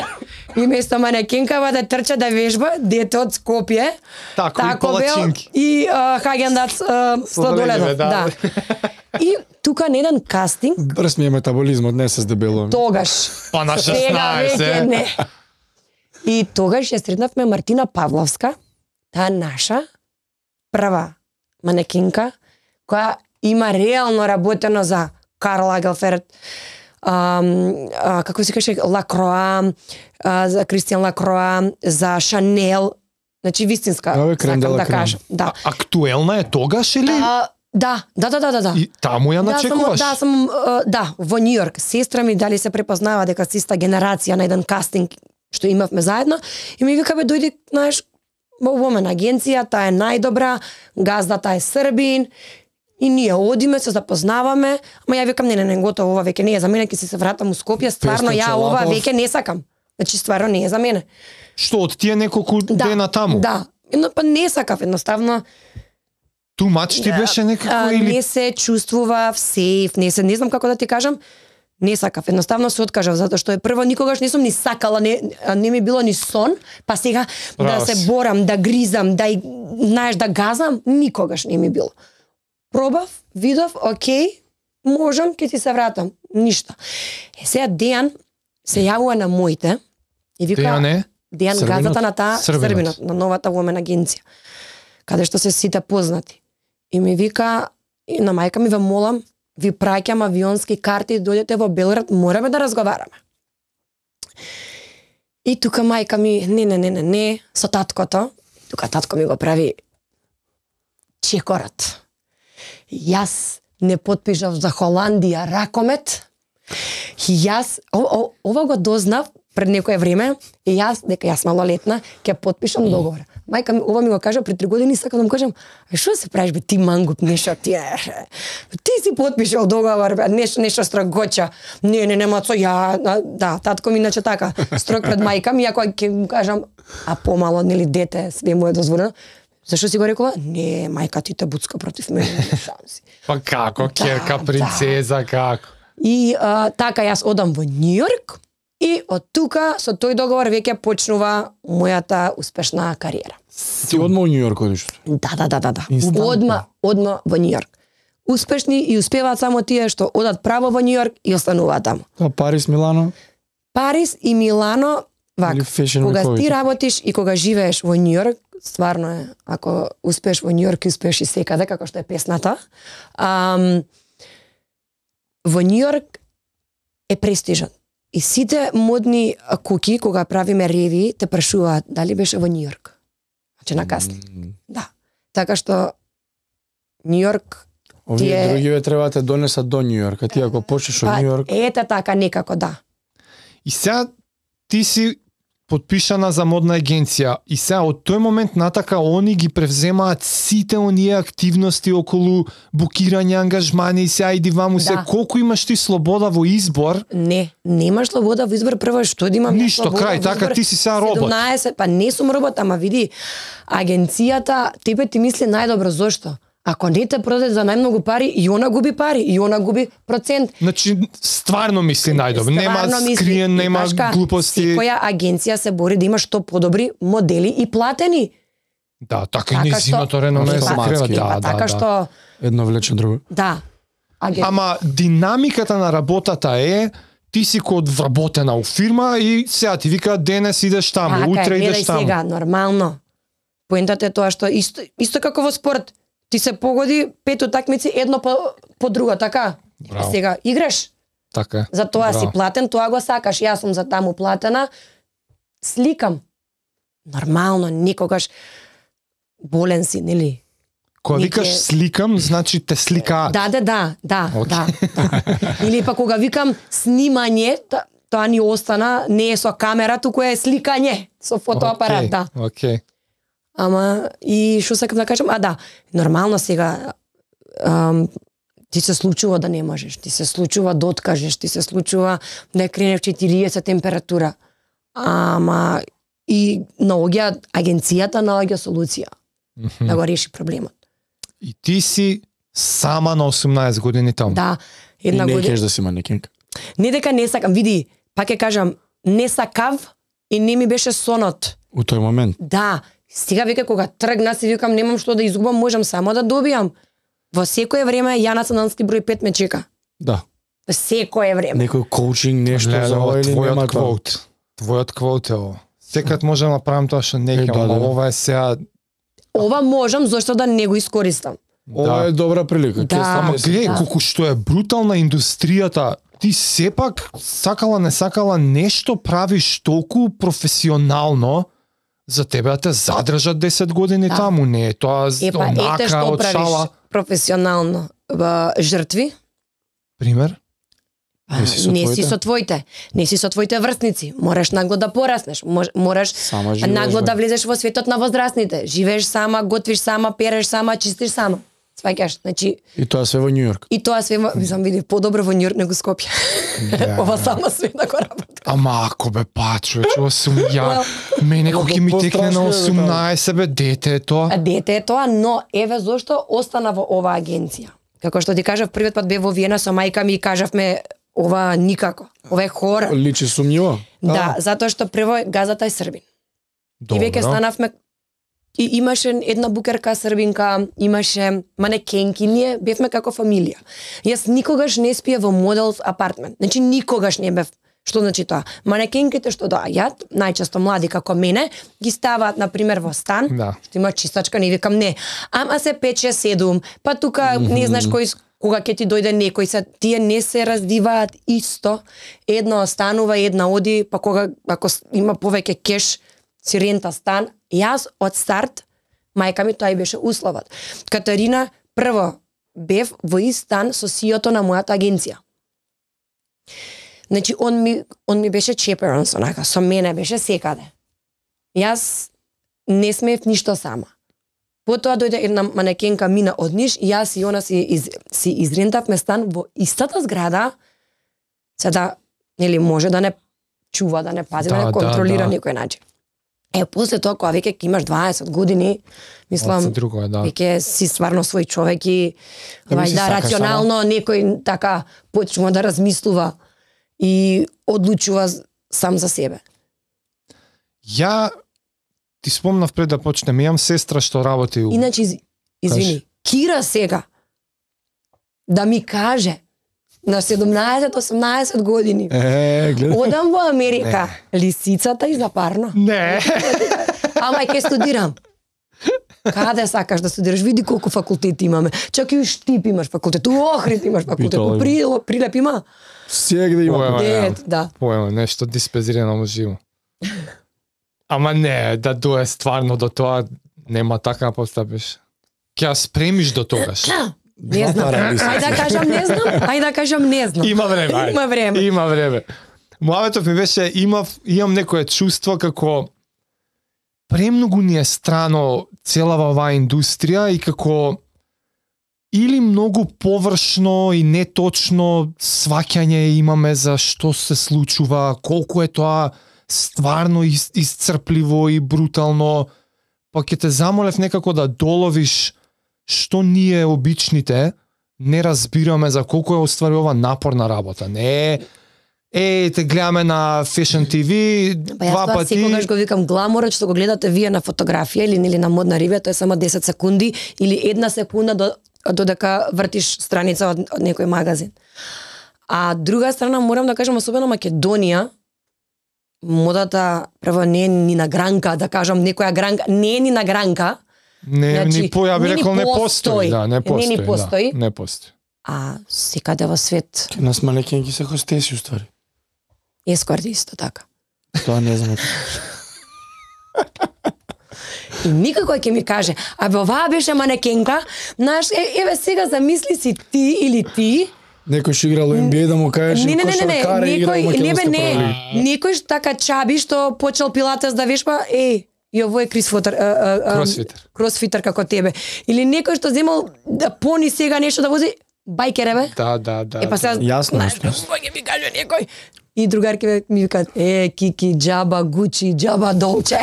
И место манекенкава да трча да вежба, дете од Скопје. Тако и палачинки. и а, Хаген Дац сладоледов. да. Да. И тука на еден кастинг, Брз ми е метаболизмот, не се здебелувам. тогаш. Па на Сега веќе шеснаесет. не. И тогаш ја сретнавме Мартина Павловска, таа наша прва манекинка, која има реално работено за Карл Лагелферд, ам, а, како се каже, Лакроа, а, за Кристијан Лакроа, за Шанел, значи вистинска, Абе, крем де сакам ла да крем. кажам. Да. Актуелна е тогаш или? А, да, да, да, да, да, да. И таму ја Да, сум, начекуваш? да, сум, а, да, во Њујорк. Сестра ми дали се препознава дека си иста генерација на еден кастинг што имавме заедно и ми вика, бе, дојди, знаеш, во Women агенција, таа е најдобра, газдата е Србин, и ние одиме, се запознаваме, ама ја викам, не, не, не, готово, ова веќе не е за мене, ќе си се вратам у Скопје, стварно ја ова веќе не сакам. Значи, стварно не е за мене. Што, од тие неколку да, дена таму? Да, но па не сакав, едноставно. Тумач ти беше некако а, или? Не се чувствував сейф, не се, не знам како да ти кажам, не сакав, едноставно се откажав, затоа што е прво никогаш не сум ни сакала, не, не ми било ни сон, па сега Право да се борам, да гризам, да, знаеш, да газам, никогаш не ми било. Пробав, видов, окей, можам, ќе ти се вратам, ништо. Е, сега Дејан се јавува на моите и вика... Дејан е? Дејан, газата на таа Србинот, на новата Women агенција, каде што се сите познати. И ми вика, и на мајка ми ве молам, ви праќам авионски карти, дојдете во Белград, мораме да разговараме. И тука мајка ми, не, не, не, не, не, со таткото, тука татко ми го прави чекорот. Јас не потпишав за Холандија ракомет, и јас, о, о, ова го дознав пред некое време, и јас, дека јас малолетна, ќе потпишам договор. Мајка ми, ова ми го кажа пред три години, сакам да му кажам, а што се правиш бе, ти мангуп, нешто ти е, ти си потпишал договор, бе, нешто, нешто строгоча, не, не, нема со ја, да, татко ми иначе така, строг пред мајка ми, ако ќе му кажам, а помало, нели, дете, све му е дозволено, зашто си го рекува? Не, мајка ти те буцка против мене, не шанси. Па како, керка, да, принцеза, да. Како? И а, така јас одам во Њујорк, и од тука, со тој договор, веќе почнува мојата успешна кариера. Ти одма во Њујорк одиш? Да, да, да, да, да. Одма, одма во Њујорк. Успешни и успеваат само тие што одат право во Њујорк и остануваат таму. А Париз, Милано? Париз и Милано, вака, кога ти работиш и кога живееш во Њујорк, стварно е, ако успееш во Њујорк, успееш и секаде, како што е песната. Ам, во Њујорк е престижен. И сите модни куки, кога правиме реви, те прашуваат дали беше во Њујорк. Значи на кастинг. Mm. Да. Така што Њујорк Овие е... другиве треба да те донесат до Њујорк, а ти ако почнеш од Њујорк... Ете така, некако, да. И сега ти си потпишана за модна агенција и сега од тој момент натака они ги превземаат сите оние активности околу букирање, ангажмани и сега иди ваму се, да. Колку имаш ти слобода во избор? Не, немаш слобода во избор, прво што да имам ништо, крај, така ти си сега робот. седумнаесет, па не сум робот, ама види, агенцијата тебе ти мисли најдобро, зошто? Ако не те продаде за најмногу пари, и она губи пари, и она губи процент. Значи, стварно мисли најдобро. Нема скриен, нема глупости. Секоја агенција се бори да има што подобри модели и платени. Да, така и низиното реноме се крева. Да, да, така што... Едно влече друго. Да. Аген... Ама динамиката на работата е ти си код вработена у фирма и сега ти вика денес идеш таму, така, утре идеш таму. Сега, нормално. Поентата е тоа што исто, исто како во спорт. Ти се погоди пет утакмици едно по, по друго, така? Браво. Сега играш. Така. За тоа Браво. си платен, тоа го сакаш. Јас сум за таму платена. Сликам. Нормално, никогаш болен си, нели? Кога викаш Нике... сликам, значи те сликаат. Да, да, да, да, okay. да, да. Или па кога викам снимање, тоа ни остана, не е со камера, туку е сликање со фотоапарат, okay. Да. Окей. Okay. Ама, и што сакам да кажам, а да, нормално сега, ам, ти се случува да не можеш, ти се случува да откажеш, ти се случува да крене в четириесет температура. Ама, и наоѓа, агенцијата наоѓа солуција, mm-hmm. да го реши проблемот. И ти си сама на осумнаесет години таму. Да, една година. И не година... кеш да си манекенка. Не дека не сакам, види, пак ќе кажам, не сакав и не ми беше сонот. У тој момент? Да, сега веќе кога тргна си викам немам што да изгубам, можам само да добијам. Во секое време ја националски број пет ме чека. Да. Во секое време. Некој коучинг, нешто Леле, за ова или нема тоа? Твојот квот е ово. Секад можам да правам тоа што не ќе, да, ама да. ова е сега... Ова можам, зашто да не го искористам. Ова е добра прилика. Да. Ама гледај, да. колку што е брутална индустријата, ти сепак, сакала не сакала, нешто правиш толку професионално, за тебе да те задржат десет години да. Таму, не е тоа Епа, онака ете што од правиш шала. професионално. Ба, жртви. Пример? Не си со не си твоите? со твоите, не си со твоите врсници, мораш нагло да пораснеш, мож- мораш Сама живееш, нагло бе. да влезеш во светот на возрастните, живееш сама, готвиш сама, переш сама, чистиш сама. Сваќаш, значи И тоа све во Њу Јорк. и тоа све, во- мислам, види подобро во Њујорк него Скопје. Да. Ова сама све да го работи. Ама ако бе па, човече, осум ја, мене Ама кој ќе ми текне на пострашно е, бе, осумнаесет, бе, дете е тоа. А дете е тоа, но еве зошто остана во оваа агенција. Како што ти кажав, првиот пат бев во Виена со мајка ми и кажавме ова никако. Ова е хора. Личи сумњиво. Да, затоа што прво газата е србин. И веќе станавме и имаше една букерка србинка, имаше манекенки, ние бевме како фамилија. Јас никогаш не спие во модел апартмент. Значи никогаш не бев. Што значи тоа? Манекенките што доаѓаат, најчесто млади како мене, ги ставаат на пример во стан, Да. што има чистачка, не викам не. Ама се пет шест седум, па тука не знаеш кој кога ќе ти дојде некој, се тие не се раздиваат исто. Една останува, една оди, па кога ако с- има повеќе кеш, си рента стан. Јас од старт, мајка ми тоа и беше условот. Катарина, прво, бев во ист стан со сиото на мојата агенција. Значи, он ми, он ми беше чеперон, сонака, со мене беше секаде. Јас не смеев ништо сама. Потоа дојде една манекенка мина од Ниш и јас и она си, из, си изрентавме стан во истата зграда, се да, нели, може да не чува, да не пази, да, Да, да не да, контролира да. некој начин. Е, после тоа, кога веќе ќе имаш дваесет години, мислам, Оце друго е, да. веќе си стварно свој човек и Да ми вај, си да, сакаш рационално некој така почнува да размислува и одлучува з- сам за себе. Ја ти спомнав пред да почнеме, имам сестра што работи у... Иначе, из, извини, Кира сега да ми каже на седумнаесет осумнаесет години, Е, гледа. одам во Америка, лисицата и запарно. Не. Ама ќе студирам. Каде сакаш да студираш? Види колку факултети имаме. Чак и у Штип имаш факултет, у Охрид имаш факултет, Битола у има. Прилеп, Прилеп има. Сегде има. Ова, ја. Дет, да. Поема, нешто диспезирано живо. Ама не, да дое стварно до тоа, нема така да постапиш. Ќе ја спремиш до тогаш. Не знам. пара лисици. Ајде да кажам не знам, ајде да кажам не знам. Има време, ајде. Има време. Има време. Мојавето ми беше, имав, имам некое чувство како премногу ни е страно целава оваа индустрија и како или многу површно и неточно сваќање имаме за што се случува, колку е тоа стварно ис- исцрпливо и брутално, па ќе те замолев некако да доловиш што ние обичните не разбираме за колку е оствари ова напорна работа. Не е е те гледаме на Fashion ти ви Па јас два тоа пати. секогаш го викам гламорот што го гледате вие на фотографија или нели на модна рибја, тоа е само десет секунди или една секунда до додека вртиш страница од, од некој магазин. А друга страна морам да кажам особено Македонија, модата прво не е ни на гранка, да кажам некоја гранка, не е ни на гранка, Не, Значи, ни по, ја би не ни рекол, не постои. постои. Да, не Не постои. ни постои. Да, не постои. а секаде во свет Нас манекенки се хостеси уствари. ескорти исто така. Тоа не знам. И никако ќе ми каже, абе оваа беше манекенка, знаеш, е, еве сега замисли си ти или ти, Некој што играл Н Б А да му кажеш не, не, не, не, не, кошаркаре и играл некој, не бе, македонска не, прва лига. некој така чаби што почел пилатес да вешба, е, и ово е крисфотер, а, а, а, Кросфитер. кросфитер како тебе. Или некој што земал да пони сега нешто да вози, бајкер бе. Да, да, да. Е, па сега, Јасно, знаеш, јасно. кој ќе ми каже некој? И другарки ми викаат, е, Кики, джаба, Гучи, джаба, Долче.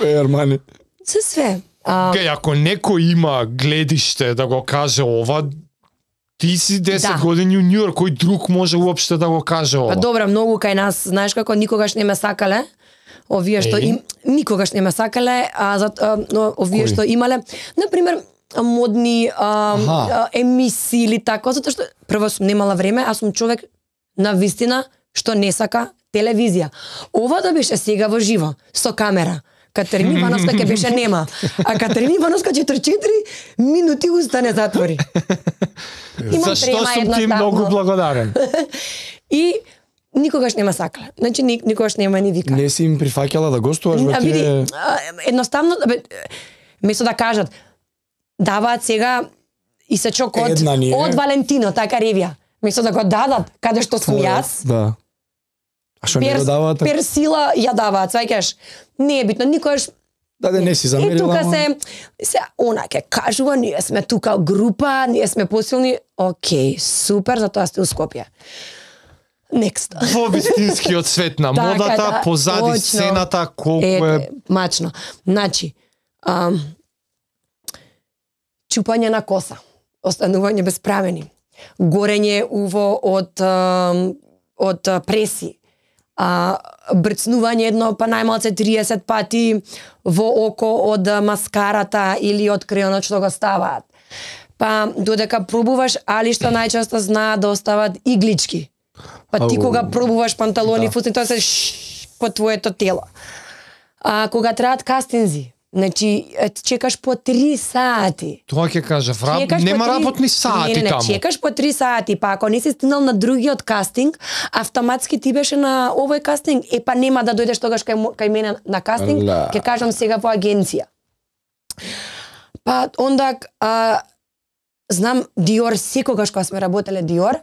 Е, Армани. Се све. А, Кај, ако некој има гледиште да го каже ова, ти си десет Да. години у Њујорк, кој друг може уопште да го каже ова? Па добра, многу кај нас, знаеш како никогаш не ме сакале. Овие што Еј. им никогаш не ме сакале, а за а, но овие Кои? што имале, на пример, модни а, Аха. а, емисии или така, затоа што прво сум немала време, а сум човек на вистина што не сака телевизија. Ова да беше сега во живо, со камера. Катерина Ивановска ќе беше нема. А Катерина Ивановска четири четири минути уста не затвори. Имам Зашто трема сум ти едноставно. многу благодарен. И никогаш нема сакале. Значи ник, никогаш нема ни вика. Не си им прифаќала да гостуваш во А, види, тие... а, едноставно, бе, место да кажат, даваат сега Исачок од, Една ни е. од Валентино, така ревија. Мислам да го дадат, каде што сум јас. Да. А што не го даваат? Персила ја даваат, сваќаш. Не е битно, никогаш. Да, да, не си замерила. И тука се, се, она ке кажува, ние сме тука група, ние сме посилни. Океј, супер, затоа сте у Скопје. Next. Во вистинскиот свет на модата, да, позади точно. сцената, колку Ете, е... мачно. Значи, ам, чупање на коса, останување безправени, горење уво од, ам, од преси, а, брцнување едно па најмалце триесет пати во око од маскарата или од креонот што го ставаат. Па додека пробуваш, али што најчесто знаат да остават иглички. Па ти Ау. кога пробуваш панталони, Да. фусни, тоа се шш, по твоето тело. А кога траат кастинзи, значи е, чекаш по три сати. Тоа ќе кажав, раб... Чекаш нема по три- работни сати не, не, не, таму. чекаш по три сати, па ако не си стигнал на другиот кастинг, автоматски ти беше на овој кастинг, е па нема да дојдеш тогаш кај, мо- кај мене на кастинг, Ла. ќе кажам сега во агенција. Па онда а, знам Диор, секогаш кога сме работеле Диор,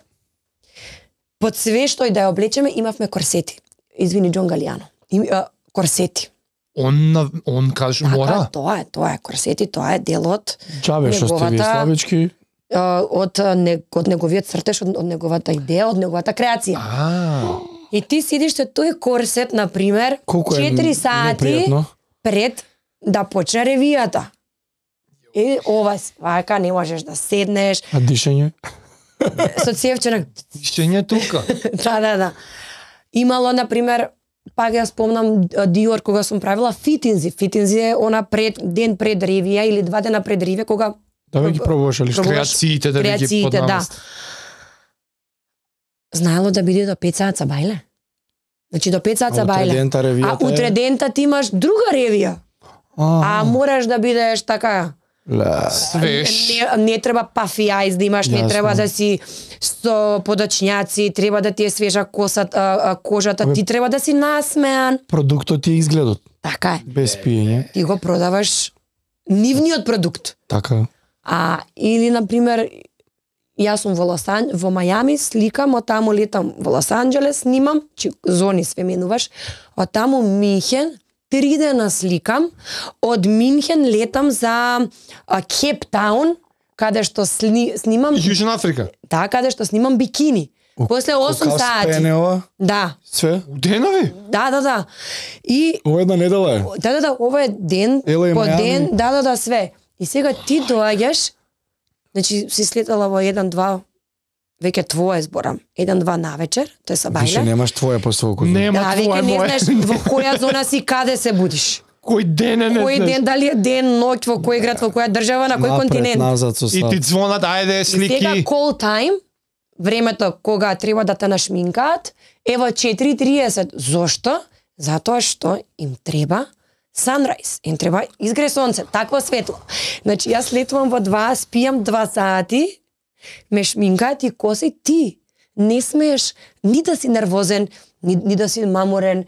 под све што и да ја облечеме, имавме корсети. Извини, Џон Галијано. И, а, корсети. Он, на- он каже, Така, мора. тоа е, тоа е корсети, тоа е дел од Джабе, што сте вие неговата- славички? а, од а, не, од неговиот цртеж, од, од неговата идеја, од неговата креација. А, И ти сидиш со тој корсет, на пример, Колку е четири сати непријатно. пред да почне ревијата. И ова свака, не можеш да седнеш, А дишење? со цевченак. Ишење тука. Да, да, да. Имало, на пример, пак ја спомнам Диор кога сум правила фитинзи. Фитинзи е она пред, ден пред ревија или два дена пред ревија, кога Да веќе пробуваш ли што? Пробуваш Креациите да ви ги креациите, да. поднамест. Знаело да биде до пет саат бајле. Значи до пет саат А утре бајле. дента А ревијата е- утре дента ти имаш друга ревија. А мораш да бидеш така. Ла. Свеж. Не, не треба пафи ајз да имаш, не Јасно. треба да си со подочњаци, треба да ти е свежа косата, а, кожата, Абе, ти треба да си насмеан. Продуктот и изгледот, Така е. без пиење. Ти го продаваш нивниот продукт. Така. А или на пример јас сум во Лос Ан... во Мајами, сликам, од таму летам во Лос Анџелес, снимам, чи зони све менуваш, од таму Минхен, три дена сликам, од Минхен летам за Кейптаун, каде што сни, снимам, Јужна Африка. да, каде што снимам бикини. После осум сати. Спене ова? Да, Све? Денови? да, да, да. И Ова една недела е. да, да, да, ова е ден Ела и по Мајами. ден, да, да, да, све. И сега ти доаѓаш, значи си слетала во еден два, веќе твое зборам, еден два навечер, тој се Више бајле. немаш твое по свокото. Нема Да, твое веќе не моје. знаеш во која зона си, каде се будиш. Кој ден е не Кој знаеш. ден, дали е ден, ноќ, во кој град, во која држава, на кој Напред, континент. назад со И став. ти звонат, ајде, И сега слики. call time, времето кога треба да те нашминкаат, е во четири и триесет. Зошто? Затоа што им треба sunrise, им треба изгре сонце, такво светло. Значи јас летувам во два, спијам два сати, ме шминкаат и коси, ти не смееш ни да си нервозен, ни, ни да си маморен.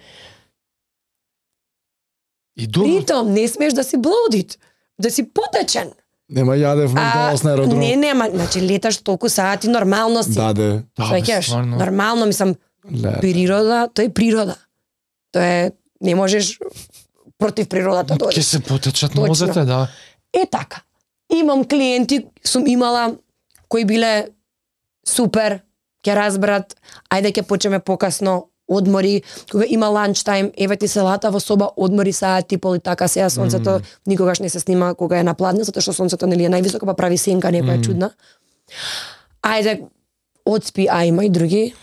И добро. Притом не смееш да си блудит, да си потечен. Нема јаде в Макдоналдс на аеродром. не, нема, значи леташ толку сати, нормално си. Даде. Да, бе, Сваќаш? стварно. Нормално, мислам, Ле. природа, тој е природа. Тоа е, не можеш против природата да Ќе одиш. се потечат Точно. нозете, да. Е така. Имам клиенти, сум имала кои биле супер, ќе разберат, ајде ќе почнеме покасно, одмори, кога има ланч тајм, еве ти селата во соба, одмори саат и пол и така, сега сонцето mm. никогаш не се снима кога е на пладне, затоа што сонцето нели е највисоко, па прави сенка некоја mm. чудна. Ајде, одспи, а има и други.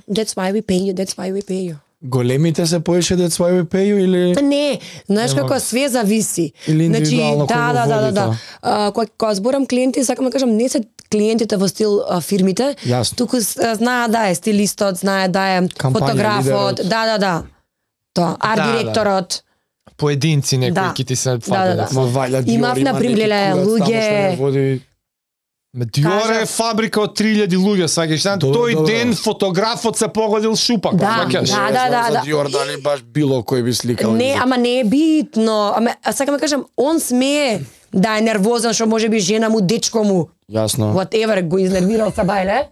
That's why we pay you, that's why we pay you. Големите се поише That's why we pay you или Не, знаеш Нема. како све зависи. Или индивидуално да, кој го да, да, да, води да. тоа? А, кога кога зборам клиенти, сакам да кажам, не се клиентите во стил а, фирмите, Јасно. туку с- а, знае да е стилистот, знае да е Кампања, фотографот, лидерот. да, да, да. Тоа, арт Да, да. директорот. Поединци некои Да. ќе ти се Да, фатат. да, да. Ма вајда Диор Имав, има например, неки леле, курац таму што луѓе- не води. Ме Диор е Кажав- фабрика од три илјади луѓе, сваќаш, знаеш, Добро, тој добро. ден фотографот се погодил шупак, Да, сваќаш. да, Не да, знам да, за да. Диор дали баш било кој би сликал. Не, ама не е битно. Ама а сакам да кажам, он смее да е нервозен што може би жена му, дечко му, Јасно. whatever го изнервирал са бајле.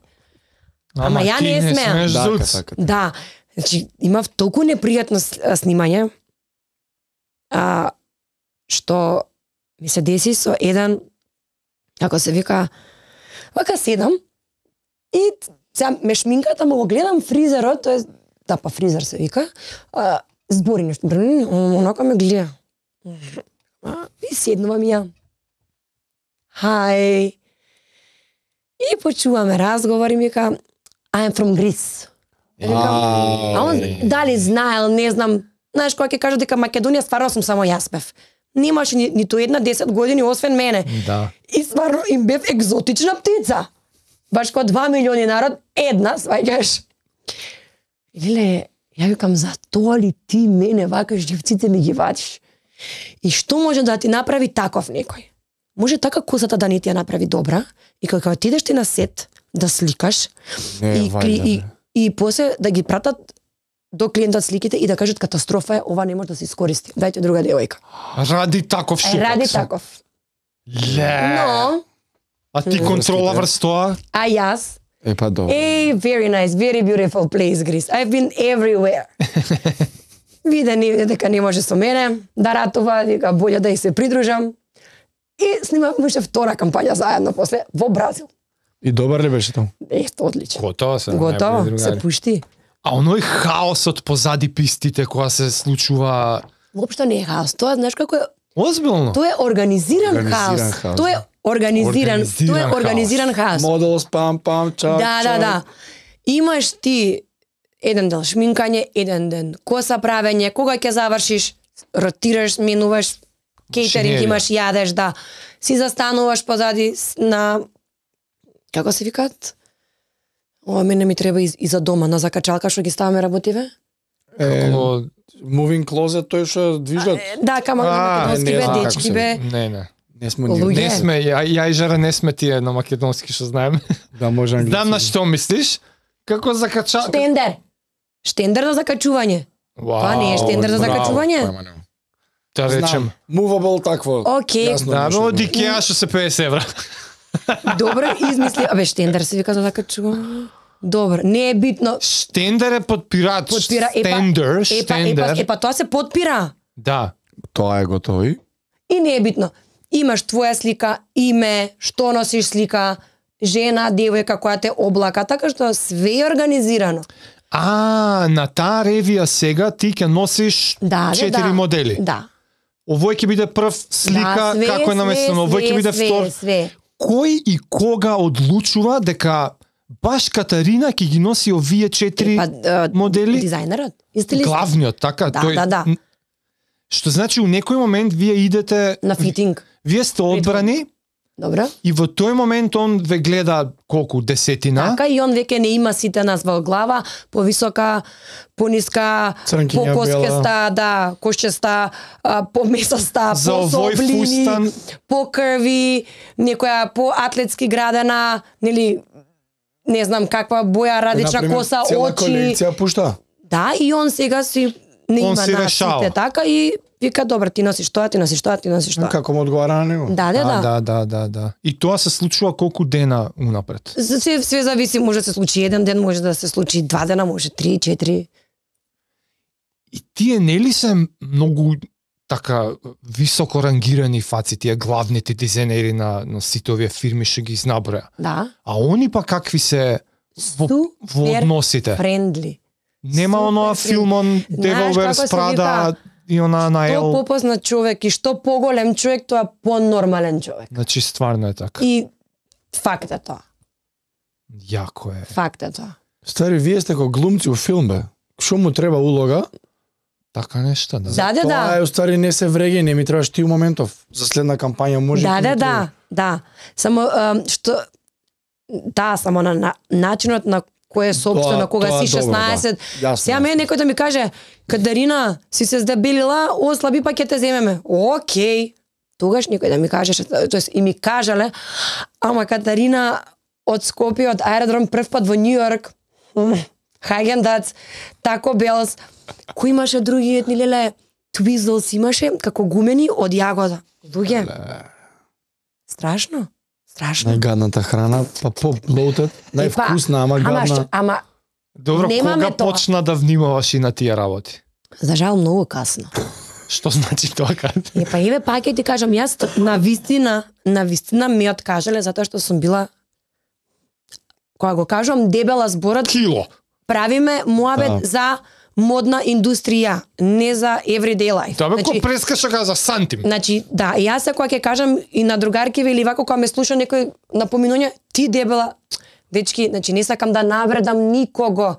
Ама ја ти не смеам. смееш Така, зуц. така. Да, значи имав толку непријатно с- а, снимање, а, што ми се деси со еден, како се вика, вака седам и сега ме шминката, му го гледам фризерот, тоа е, да, па фризер се вика, а, збори нешто, онака ме гледа. А, и седнувам ја. Хај. И почуваме разговор и ми вика, I'm from Greece. А, А он дали знаел, не знам, знаеш кога ќе кажа дека Македонија стварно сум само јас бев. Немаше ни, ниту една десет години освен мене. Да. И стварно им бев екзотична птица. Баш кога два милиони народ, една, сваѓаш. Леле, ја викам, за тоа ли ти мене вака живците ми ги вадиш? И што може да ти направи таков некој? Може така косата да не ти ја направи добра и кога кога отидеш ти на сет да сликаш Не, и, кли, вајда, и, бе. и после да ги пратат до клиентот сликите и да кажат катастрофа е, ова не може да се искористи. Дајте друга девојка. Ради таков Е, шупак. ради таков. Ле. Но, А ти контрола врз тоа? а јас, Е, па добро. Hey, very nice, very beautiful place, Greece. I've been everywhere. Виде ни дека не може со мене да ратува, дека болje да и се придружам. И снимавме втора кампања заедно после во Бразил. И добар ли беше таму? Ето, одлично. Готово се. Готово, најболи се другари. пушти. А оној хаосот позади пистите кога се случува Воопшто не е хаос. Тоа, знаеш како е, озбилно. тоа е организиран, Организиран хаос. хаос, Тоа е организиран, Организиран тоа е хаос. организиран хаос. Модел, спам, пам, чак, Да, да, чак. да. Имаш ти еден дел шминкање, еден ден коса правење, кога ќе завршиш, ротираш, менуваш, кейтеринг Шинелија. имаш, јадеш, да. Си застануваш позади с- на, како се викаат? Ова мене ми треба и, и за дома, на закачалка што ги ставаме работиве. Е, Како- moving closet, тој што движат. Да, кама на А, македонски не бе, знам како дечки се- бе. Не, не. Не сме Луѓе. ни. Не сме, ја, ја и Жара не сме тие на македонски што знаеме. Да, може англиски. Знам на што мислиш. Како закача... Штендер. Штендер за закачување. Вау, Тоа не е штендер за браво. закачување. Да речем. Знам. Movable такво. Океј. Јасно Да, нешто. бе, од Икеа што се педесет евра. Добро измисли. Абе, штендер се вика за закачување. Добро, не е битно. Штендер е подпирач. Подпира, епа, Стендер, епа, епа, штендер. епа, тоа се подпира. Да. Тоа е готово. И? И не е битно. Имаш твоја слика, име, што носиш слика, жена, девојка која те облака, така што све е организирано. А, на таа ревија сега ти ќе носиш Да, да, четири да. модели. Да. Овој ќе биде прв слика, да, све, како е наместено, овој ќе све, биде све, втор. Све. Кој и кога одлучува дека баш Катарина ќе ги носи овие четири Па, а, модели? Дизајнерот, стилист. Главниот, така? Да, тој, да, да. Што значи у некој момент вие идете, На фитинг. вие сте одбрани Добро. и во тој момент он ве гледа колку десетина. Така и он веќе не има сите нас во глава, повисока, пониска, Црнкиња, покоскеста, да, кошчеста, а, помесаста, За овој пособлини, фустан- покрви, некоја поатлетски градена, нели, не знам каква боја, радична Например, коса, цела очи. колекција пушта. Да, и он сега си не Он има си нас решава. сите така и вика добро, ти носиш тоа, ти носиш тоа, ти носиш тоа. Како му одговара на него? Да, да, А, да. да, да, да, да. И тоа се случува колку дена унапред. За Се, све зависи, може да се случи еден ден, може да се случи два дена, може три, четири. И тие нели се многу така високо рангирани фаци, тие главните дизајнери на, на сите овие фирми што ги изнаброја. Да. А они па какви се во, во Супер односите? френдли. Нема супер оноа френдли. филмон Знаеш Devil како Wears се Prada вика? и она на Што Ел. попознат човек и што поголем човек, тоа понормален човек. Значи стварно е така. И факт е тоа. Јако е. Факт е тоа. Стари, вие сте како глумци у филм, бе. Што му треба улога? Така нешто, да. Да, да, Тоа да. е уствари не се вреги, не ми требаш ти у моментов. За следна кампања може. Да, ти да, ми да, треба. да. Само ам, што да, само на, на начинот на кој е собствено Тоа- кога тоа си е добро, шеснаесет. да. Јасно, Сега мене некој да ми каже, Кадарина, си се здебелила, ослаби па ќе те земеме. Океј. Тогаш некој да ми каже, тоест и ми кажале, ама Катарина од Скопје, од аеродром прв пат во Њу Јорк, Хаген-Дац, Тако Белс, кој имаше други етни леле, Твизлс имаше како гумени од јагода. Луѓе. Страшно. Страшно. Најгадната храна, па по-bloated, највкусна, ама Ама, гадна. што- ама Добро, Немаме кога тоа. почна да внимаваш и на тие работи? за жал многу касно. Што значи тоа кај? Е, па еве пак ќе ти кажам, јас на вистина, на вистина ми откажале затоа што сум била, кога го кажам дебела зборот, Кило. правиме муабет Да. за модна индустрија, не за everyday life. Тоа бе Значи, ко прескаша каза сантим. Значи, да, јас се кога ќе кажам и на другарки или вако кога ме слуша некој напоминување, ти дебела, дечки, значи не сакам да навредам никого.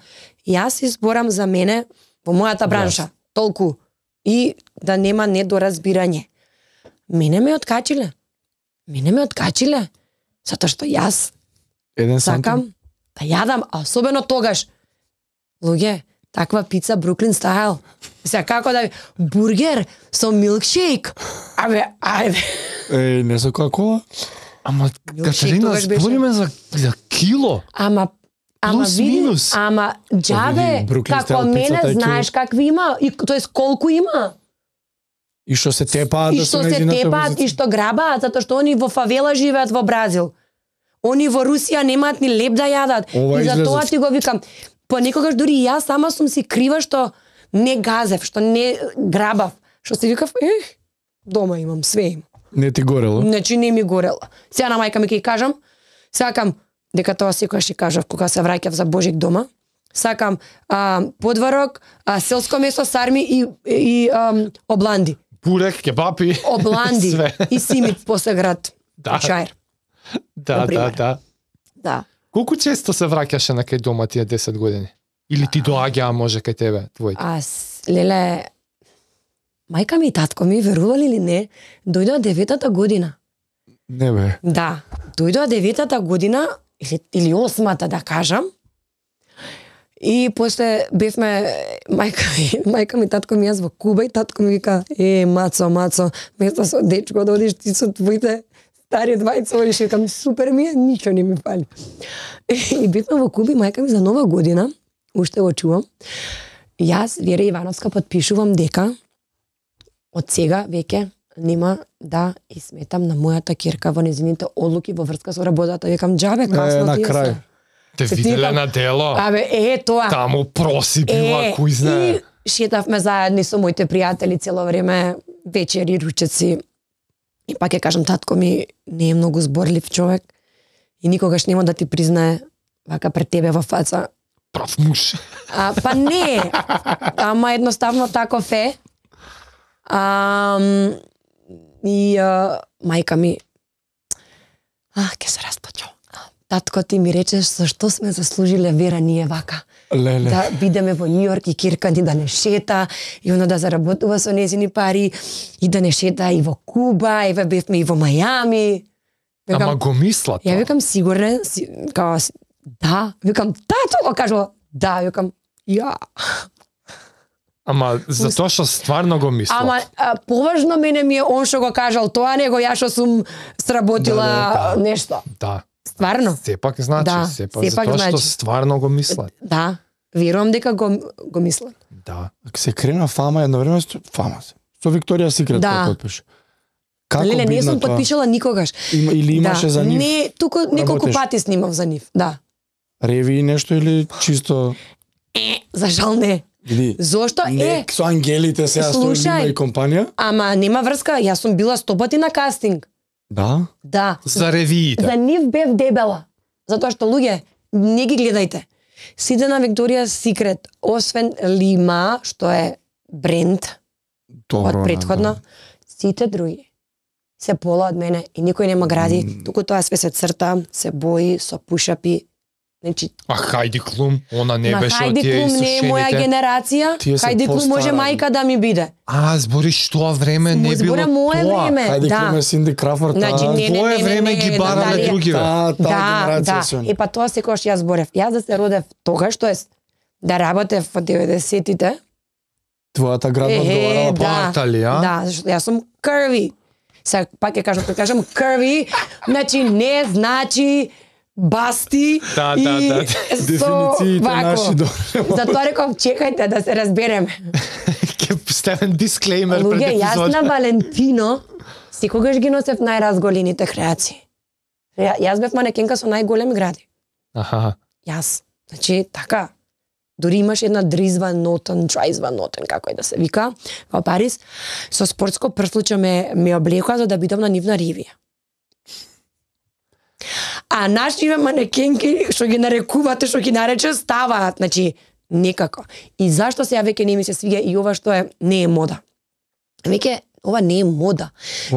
Јас изборам за мене во мојата бранша, толку и да нема недоразбирање. Мене ме откачиле. Мене ме откачиле затоа што јас Еден сантим. сакам да јадам, а особено тогаш. Луѓе, таква пица Бруклин стайл. Сега како да бургер со милкшейк. Абе, ајде. Еј, не со кола? Ама Милкшейк Катерина, тогаш беше. збориме за за кило. Ама Ама Плюс, види, минус. ама џабе, види, Бруклин како стайл мене пицата е знаеш кило. какви има, и тоест колку има. И што се тепаат И да што се се нејзината тепаат позиција. и што грабаат, затоа што они во фавела живеат во Бразил. Они во Русија немаат ни леп да јадат. Ова И за излезот. тоа ти го викам. Понекогаш дури и јас сама сум си крива што не газев, што не грабав. Што си викав, ех, дома имам, све имам. Не ти горело? Значи не ми горело. Сега на мајка ми ќе кажам, сакам, дека тоа секогаш ќе кажав кога се враќав за Божик дома, сакам а, подварок, а, селско месо, сарми и, и а, обланди. Бурек, кебапи. Обланди Све. и симит после град. Да. Чајр. Да, да, Например. да. Да. Колку често се враќаше на кај дома тие десет години? Или ти доаѓаа може кај тебе, твоите? А с- леле, мајка ми и татко ми, верували или не, дојдоа деветата година. Не бе. Да, дојдоа деветата година, или, или осмата да кажам, и после бевме, мајка ми, мајка ми, татко ми, јас во Куба и татко ми вика, е, мацо, мацо, место со дечко да одиш ти со твоите стари двајца, одиш, викам, супер ми е, ништо не ми фали. И бевме во Куба и мајка ми за нова година, уште го чувам, јас, Вера Ивановска, подпишувам дека од сега веќе нема да изметам на мојата ќерка во незините одлуки во врска со работата. Викам, џабе, касно Е, на тие крај. се. Те Се виделе тикам. на дело. Абе, е, тоа. Таму проси била, Е, кој знае. и шетавме заедни со моите пријатели цело време, вечери, ручеци. И пак ќе кажам, татко ми не е многу зборлив човек и никогаш нема да ти признае вака пред тебе во фаца. Прав муж. А, па не, ама едноставно таков е. А, и а, мајка ми, а, ке се расплачам. Татко ти ми речеш зашто сме заслужиле Вера ние вака. Леле. Да бидеме во Нью Йорк и кирка ни да не шета, и оно да заработува со незини пари, и да не шета и во Куба, и бевме и во Мајами. Ама го мисла Ја тоа. викам сигурен, си, као, с- да, викам, тато го кажува, да, викам, ја. Ама за тоа што стварно го мисла. Ама а, поважно мене ми е он што го кажал тоа, него ја што сум сработила Да, да, да. нешто. Да. Стварно? Сепак значи, Да, сепак, сепак за тоа што значи. стварно го мислат. Да, верувам дека го, го мислат. Да. Ако се крена фама едно време, сто- фама се. Со Викторија Секрет Да. да. подпише. Како Леле, не бидна сум тоа? подпишала никогаш. Има, или имаше да. за нив Не, туку неколку работеш? пати снимав за нив. Да. реви и нешто или чисто За жал не. види. Зошто Не, е? со ангелите сега стои Слушај. Лима и компанија? Ама нема врска, јас сум била сто пати на кастинг. Да. Да. За ревиите. За нив бев дебела. Затоа што луѓе, не ги гледајте. Сите на Викторија Секрет, освен Лима, што е бренд Добро. од предходно, сите други се пола од мене и никој нема гради, Mm. туку тоа све се црта, се бои со пушапи. Значи, А Хајди Клум, она не на беше од Хајди тие Клум не е моја исушените. генерација, Тие се Хајди Клум може постара. мајка да ми биде. А, збориш тоа време не Му било збора мое тоа. време. Хајде Да. Клуме Синди Крафорд. Значи, а, не, не, Твое не, не, време не, ги барале Наталија. другиве. Таа, таа Да, генерација да. се. И па тоа секогаш јас зборев. Јас да се родев тогаш, тоест да работев во деветдесетите. Твојата градна одговарала да, Партали, а? да, зашто јас сум curvy. Сега пак ќе кажам, кога кажам curvy, значи не значи басти Да, и да, да. со Дефинициите вако. наши добре. Затоа реков, чекајте да се разбереме. Ќе ставам дисклеймер Луѓе, пред јас епизода. на Валентино секогаш ги носев најразголените креации. Ја, јас бев манекенка со најголеми гради. Аха. Јас. Значи, така. Дори имаш една Дризва Нотен, Драйзва Нотен, како е да се вика, во Париз, со спортско прслуче ме, ме облекоа за да бидам на нивна ривија. А нашите манекенки, што ги нарекувате, што ги нарече, ставаат, значи, некако. И зашто сега веќе не ми се свиѓа и ова што е, не е мода. Веќе, ова не е мода.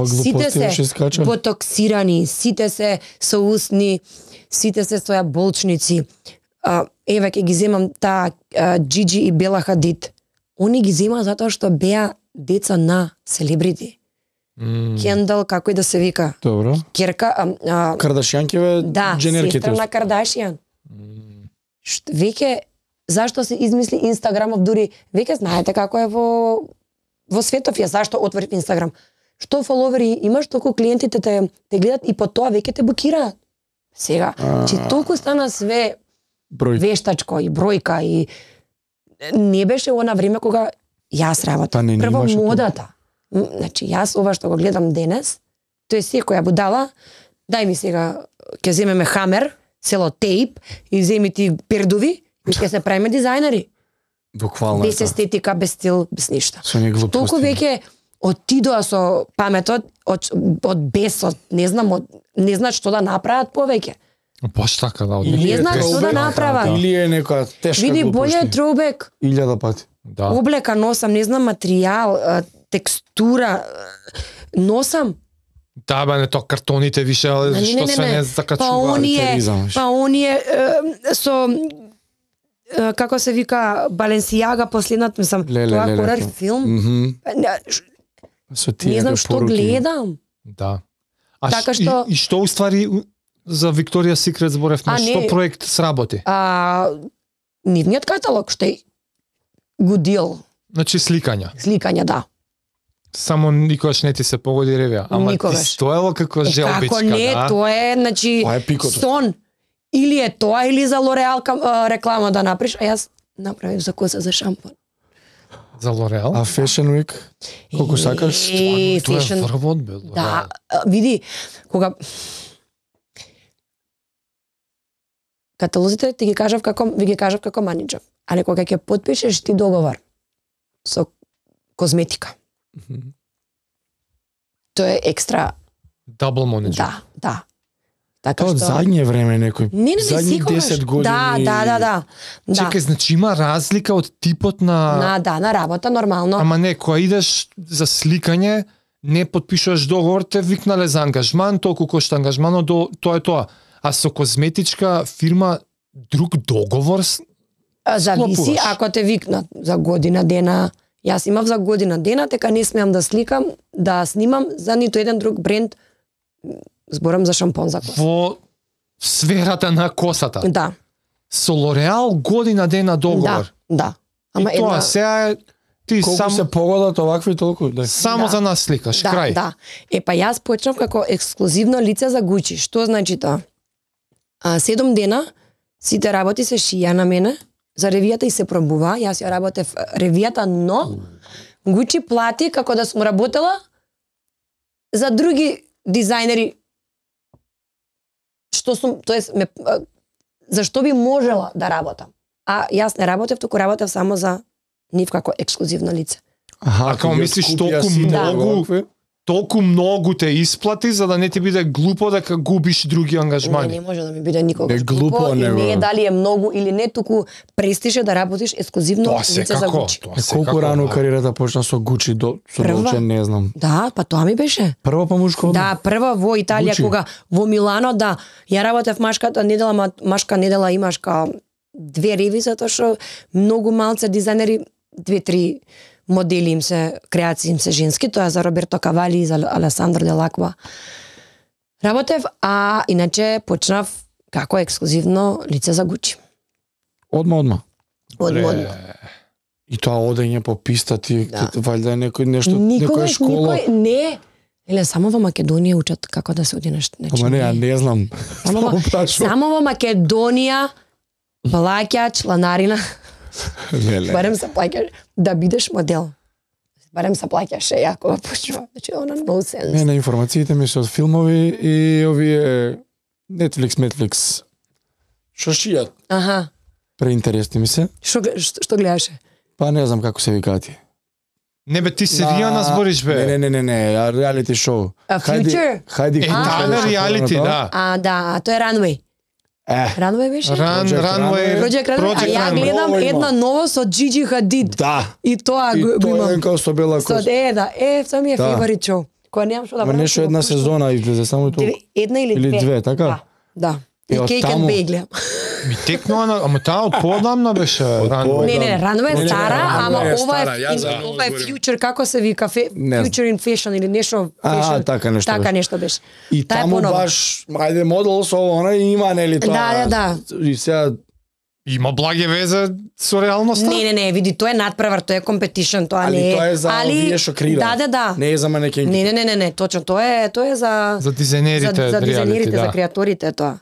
Сите се ботоксирани, сите се соусни, сите се со болчници. Uh, еве ќе ги земам таа uh, Джиджи и Бела Хадид. Они ги зема затоа што беа деца на селебрити. Mm. Кендал, како и да се вика. Добро. Керка, uh, uh, Кардашјанкеве, да, дженерките. Да, сестра на Кардашјан. Mm. Што веќе зашто се измисли Инстаграмов, дури веќе знаете како е во во светов ја зашто отворив Инстаграм. Што фоловери имаш, толку клиентите те те гледат и по тоа веќе те блокираат. Сега, че толку стана све Број. вештачко и бројка и не беше она време кога јас работам. Па Прво модата. Това. Значи јас ова што го гледам денес, тој е секоја будала, дај ми сега ќе земеме хамер, селотейп и земи ти пердови и ќе се правиме дизајнери. Буквално. Без естетика, без стил, без ништо. Со не глупости. Толку веќе отидоа со паметот, од, од бесот, не знам, од, не знаат што да направат повеќе. Баш така, да. Не знаат што да направат. Или е некоја тешка Види, глупости. боле е троубек. Илјада пати. Да. Облека носам, не знам материјал, текстура, носам. Да, бе, не то картоните више, але Не, не, што не, се не. не Па закачува. оние, па оние е, со е, како се вика Баленсијага последнат, мислам, Леле, тоа леле, хорор тоа. филм. Мгм. Не, ш- Со Не тие знам што гледам. Да. А Така ш- што- и, и што уствари за Викторија Секрет зборевме, А, што не. проект сработи? А нивниот каталог што е гудил, Значи сликања. сликања, да. Само никогаш не ти се погоди ревија. Ама Никогаш. ти стоело како Е, желбичка, како не, да? тоа е, значи, Тоа е пикото. сон. Или е тоа, или за Лореал кам- а, реклама да направиш, а јас направив за коса за шампон. За Лореал? А Fashion Week? Колку сакаш? Е, Тоа е fashion- врвот, бе. Да, а, види, кога каталозите ти ги кажав како ви ги кажав како менеџер, али кога ќе потпишеш ти договор со козметика, тоа е екстра, Дабл менеджер. да, да. Така Тоа од што задње време некој. Не, не, не, задни секогаш. десет години. Да, да, да, да. Да. Чекај, значи има разлика од типот на... На, да, на работа нормално. Ама не, кога идеш за сликање, не потпишуваш договор, те викнале за ангажман, толку кошта ангажманот, до тоа е тоа. А со козметичка фирма друг договор с- А, Зависи склопуваш. ако те викнат за година дена. Јас имав за година дена, дека не смеам да сликам, да снимам за ниту еден друг бренд. Зборам за шампон за коса. во сферата на косата. Да, Со Лореал година дена договор. да, да. Ама И тоа една... сега е ти Колку сам, се погодат овакви толку? Да. само Да. за нас сликаш, Да, крај. да. Е, па јас почнав како ексклузивно лице за Гучи. Што значи тоа? А, седум дена, сите работи се шија на мене, за ревијата и се пробува. Јас ја работев ревијата, но Гучи плати како да сум работела за други дизајнери што сум, тоест ме а, зашто би можела да работам. А јас не работев, туку работев само за нив како ексклузивно лице. Аха, А како ги мислиш, откупија толку сите многу? овакви? Толку многу те исплати за да не ти биде глупо дека губиш други Не, ангажмани. не може да ми биде никогаш Не, глупо, глупо, и него. не е дали е многу или не, туку престише да работиш ексклузивно Тоа лице за секако, Гучи. тоа Е, секако. колку рано да. кариерата почна со Гучи до со Прва? Долче, не знам. Да, па тоа ми беше. Прво па мушко? Да, прва во Италија, Гучи. кога во Милано, да, ја работев машката недела, ма- машка недела имаш као две реви, затоа што многу малце дизајнери, две-три модели им се, креации им се женски, тоа е за Роберто Кавали и за Алесандро Делаква. Работев, а иначе почнав како ексклузивно лице за Гучи. Одма, одма. Од Бре, одма. И тоа одење по писта ти, Да. валјда е некој нешто, некоја Никогаш школа. никој не. Еле само во Македонија учат како да се оденеш. Значи, Ама не, ја не знам. Само во, Само прашувам. само во Македонија плаќа чланарина, Леле. барем се плаќаш да бидеш модел. Барем се плаќаше ја кога почнува. Значи, она no sense. Не, не, информациите ми се од филмови и овие Netflix, Netflix. Што шијат? Аха. Преинтересни ми се. Што гле- што што гледаше? Па не знам како се викаат ти. Не бе, ти серијана збориш бе. Не, не, не, не, а реалити шоу. А, Future? Хајди. Е, таа е реалити, да. А, да, а тоа е Runway. Е, Runway беше? Ран, Project Runway, Project Runway, а ја Runway. гледам Ново има. една ново со Gigi Hadid. да. И тоа И го го тоа е имам. како со бела Со коса. е, да, е, тоа ми е Да. фаворит шоу. Која немам што да Ма правам. нешто ќе го една пуштам. сезона излезе само тоа. Две- Една или две? Или две, така? Да, да. И И од Cake and таму- Bake гледам. Ми текнува на, ама таа од подамна беше Runway. Не, не, не, Runway Не, не, е не, стара, Runway ама е ова стара, е ја ин- за ова е ново зборим. Future, како се вика, фе- Не знам. Future in Fashion или нешто А, fashion. така нешто Така беше. нешто беше. И Таа е таму понова. баш, ајде модел со она и има нели тоа. Да, да, да. И сега Има благе везе со реалноста? Не, не, не, види, тоа е надпревар, тоа е competition, тоа али не е. тоа е за овие што креира. Да, да, да. Не е за манекенки. Не, не, не, не, не, точно, тоа е, тоа е за За дизајнерите, за, за дизајнерите, да. за креаторите тоа.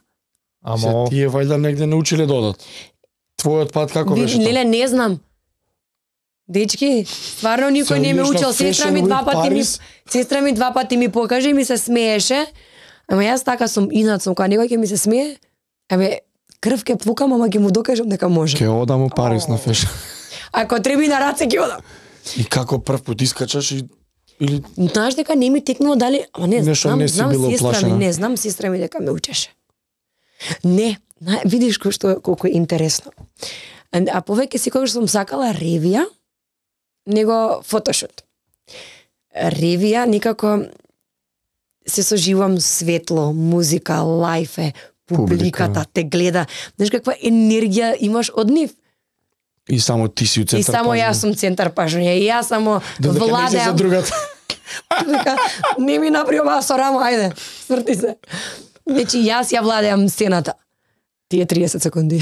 Ама Се, тие вајда негде научиле додат. Твојот пат како Ви- беше? тоа? Леле, не знам. Дечки, стварно никој Се не ме одиш на учел. Сестра ми Fashion два Week пати ми Paris? сестра ми два пати ми покаже и ми се смееше. Ама јас така сум инат сум, кога некој ќе ми се смее, абе крв ќе пукам, ама ќе му докажам дека може. Ке одам у Париз на фешн. Ако треби на раце ќе одам. И како прв пат искачаш и или Знаеш дека не ми текнува дали, ама не, Нешто знам, не си знам била сестра ми, уплашена? не, знам сестра ми дека ме учеше. Не, на, видиш кој што колку е интересно. А, а повеќе секогаш сум сакала ревија, него фотошут. Ревија никако се соживам светло, музика, лајф е, публиката Публика. те гледа. Знаеш каква енергија имаш од нив? и само ти си у центар. И само пажња. јас сум центар пажња и јас само Додека не се за владеам. другата. Вика, не ми направи ова со рамо, ајде, сврти се. Значи, јас ја владеам сцената. Тие триесет секунди.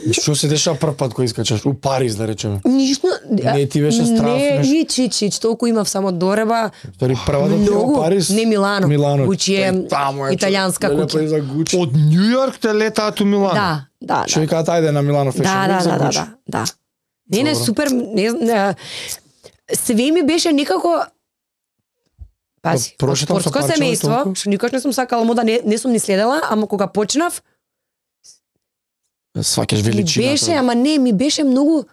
И што се дешава прв пат кој искачаш? У Париз, да речеме. Ништо... Не, ти беше страв, Не, нешто. ич, ич, ич, толку имав само дореба. Стори прва да отидеш Многу. у Париз. Не, Милано. Милано. Гучи е Тој таму е, италијанска леле, куќа. па и за Гучи. од Њу Јорк те летаат у Милано. Да, да, Што да. викаат ајде на Милано Fashion Да, Week да, за да, да, Гучи. да, да. Не, не, Добро. супер, не, не, све ми беше некако Пази, Па, од прошетам со спортско парче, семејство, толку. што никош не сум сакала мода, не, не сум ни следела, ама кога почнав, Сваќаш ми величината. беше, ама не, ми беше многу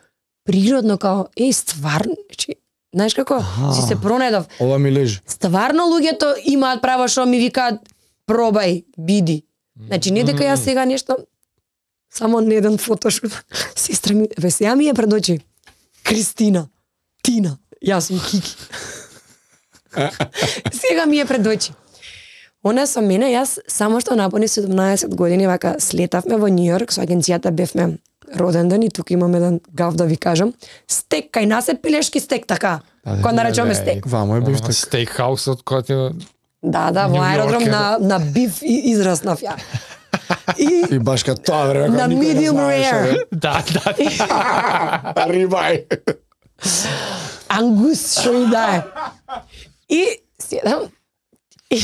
природно, као, еј, стварно, значи, знаеш како, Аха. си се пронедов. Ова ми лежи. Стварно луѓето имаат право што ми викаат, пробај, биди. Значи, не дека јас сега нешто, само не еден фотошут. Сестра ми, бе, сега ми е пред очи. Кристина, Тина, јас сум Кики. Сега ми е пред очи. Она со мене, јас само што напуни седумнаесет години, вака слетавме во Њу Јорк, со агенцијата бевме роден ден и тука имам еден гав да ви кажам. Стек, кај нас е пилешки стек, така. Да, да, Кога наречуваме Леле, стек. Вамо е Ама бифтек. стейкхаусот кој ти Да, да, во Нью Йорк аеродром е, на, на биф и израснав ја. И И баш кај тоа време, на кога никој не medium знаеше, rare. Да, да. Рибај. Ангус, што и да е. И седам и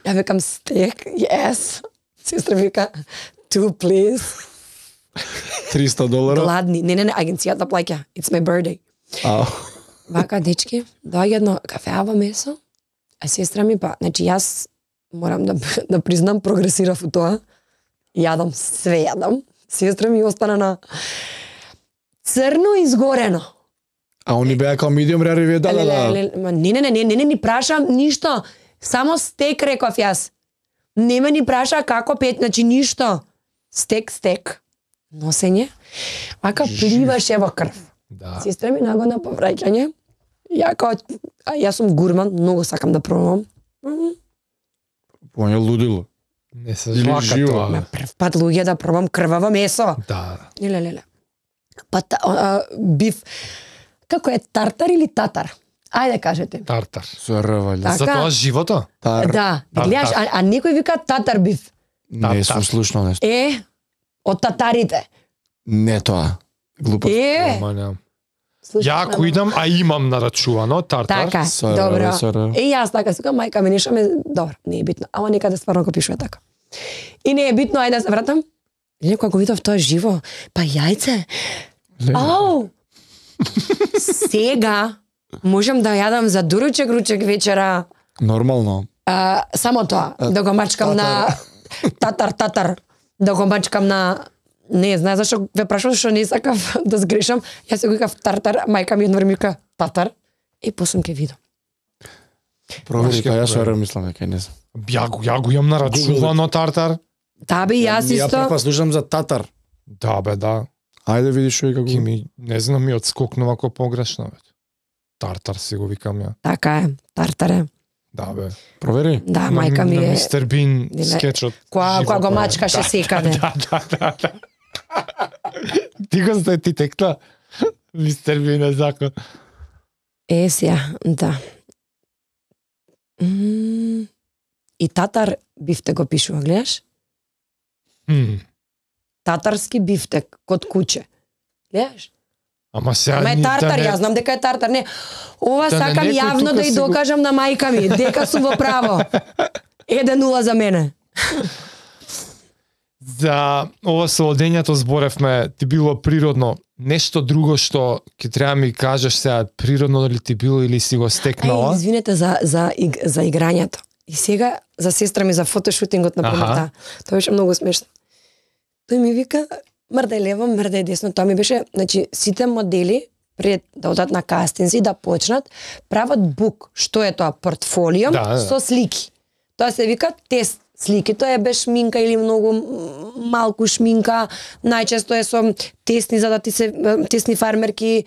ја викам стек, yes. Сестра вика, two please. триста долара. Гладни. Не, не, не, агенцијата плаќа. It's my birthday. Ау. Вака, дечки, доаѓа едно кафеава месо, а сестра ми па, значи јас морам да, да признам, прогресирав у тоа. Јадам, све јадам. Сестра ми остана на црно изгорено. А они беа као medium rare и вие да, да, Леле, да. леле, ма не, не, не, не, не, не ни прашам ништо. Само стек реков јас. Не ме ни праша како пет, значи ништо. Стек, стек. Носење. Вака пливаше во крв. Да. Сестра ми нагодна по враќање. Ја као, а јас сум гурман, многу сакам да пробам. Поне лудило. Не се Или жвака живо. тоа. Ма прв пат луѓе да пробам крваво месо. Да. Леле, леле. Па та, а, биф. Како е, тартар или татар? Ајде кажете. Тартар. Со рвале. Така. За тоа живото? Тар. Да, Тар- гледаш, а, а некој вика татар биф. Не сум слушнал нешто. Е, од татарите. Не тоа. Глупо. Е, Ама немам. слушай, Ја ако идам, а имам нарачувано тартар. Така, Со добро. рвале, со рвале. Е, јас така сукам, мајка ми нешто ме, добро, не е битно, ама некаде стварно го пишува така. И не е битно, ајде да се вратам. И некој го видов тоа живо, па јајце. Ау! Сега можам да јадам за дуручек ручек вечера, Нормално. а, само тоа, да го мачкам на татар, татар, да го мачкам на... Не, знаеш зашо ве прашувам што не сакав да сгрешам, јас се го викав тартар, мајка ми едно време вика татар, и после ќе видам. Провери, па јас што мислам дека не знам. Ја го, ја го имам нарачувано тартар. Да бе, јас Ја исто. прва слушам за татар. Да бе, да. Ајде видиш што и како. Ки ми, не знам, ми одскокнува ко погрешно бе. Тартар си го викам ја. Така е, тартар е. Да бе. Провери. Да, На- мајка ми на е. Мистер Бин Диле- скечот. Која живо која го тоа е. мачкаше Да, секаде. Да, да, да, да. Ти го знаеш, ти текла? Мистер Бин е закон. Е, сија, да. М, И татар бифтек го пишува, гледаш? М, Татарски бифтек код куче. Гледаш? Ама сега... Ама е ни- тартар, да не- јас знам дека е тартар. Не, ова Да не сакам некој јавно тука да и си го- докажам на мајка ми, дека сум во право. еден нула за мене. За ова со одењето зборевме, ти било природно. Нешто друго што ќе треба ми кажеш сега, природно дали ти било или си го Ај, стекнала? извинете за, за, иг- за играњето. И сега за сестра ми за фотошутингот на пример, Аха. да. Тоа беше многу смешно. Тој ми вика, мрдај лево, мрдај десно. Тоа ми беше, значи, сите модели пред да одат на кастинзи, да почнат, прават бук. Што е тоа? Портфолио Да, да. со слики. Тоа се вика тест слики. Тоа е без шминка или многу м, малку шминка. Најчесто е со тесни за да ти се тесни фармерки,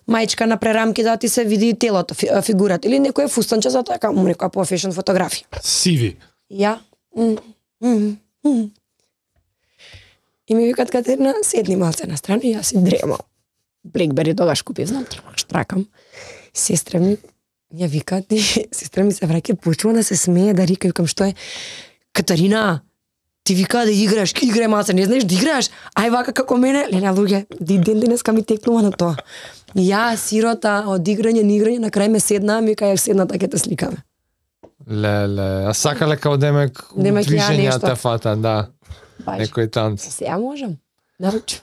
мајчка на прерамки за да ти се види телото, фи- фигурата или некој фустанче за така, му некоја по фешн фотографија. Сиви. Ја. м, м, м. И ми викат Катерина, седни малце на страна и јас си дремал. Блекбери тогаш купив, знам, штракам. Сестра ми ја вика, ти, сестра ми се враќа, почува да се смее, да рика, викам, што е? Катарина, ти вика да играш, играј малце, не знаеш да играш? Ај вака како мене, леле луѓе, ди ден денеска ми текнува на тоа. Ја, сирота, од играње на играње, на крај ме седна, ми кај седна така те сликаме. Леле, а сакале као демек Демек ја движења нешто. те фата, да. Баш. Некој танц. Сега можам. Наручу.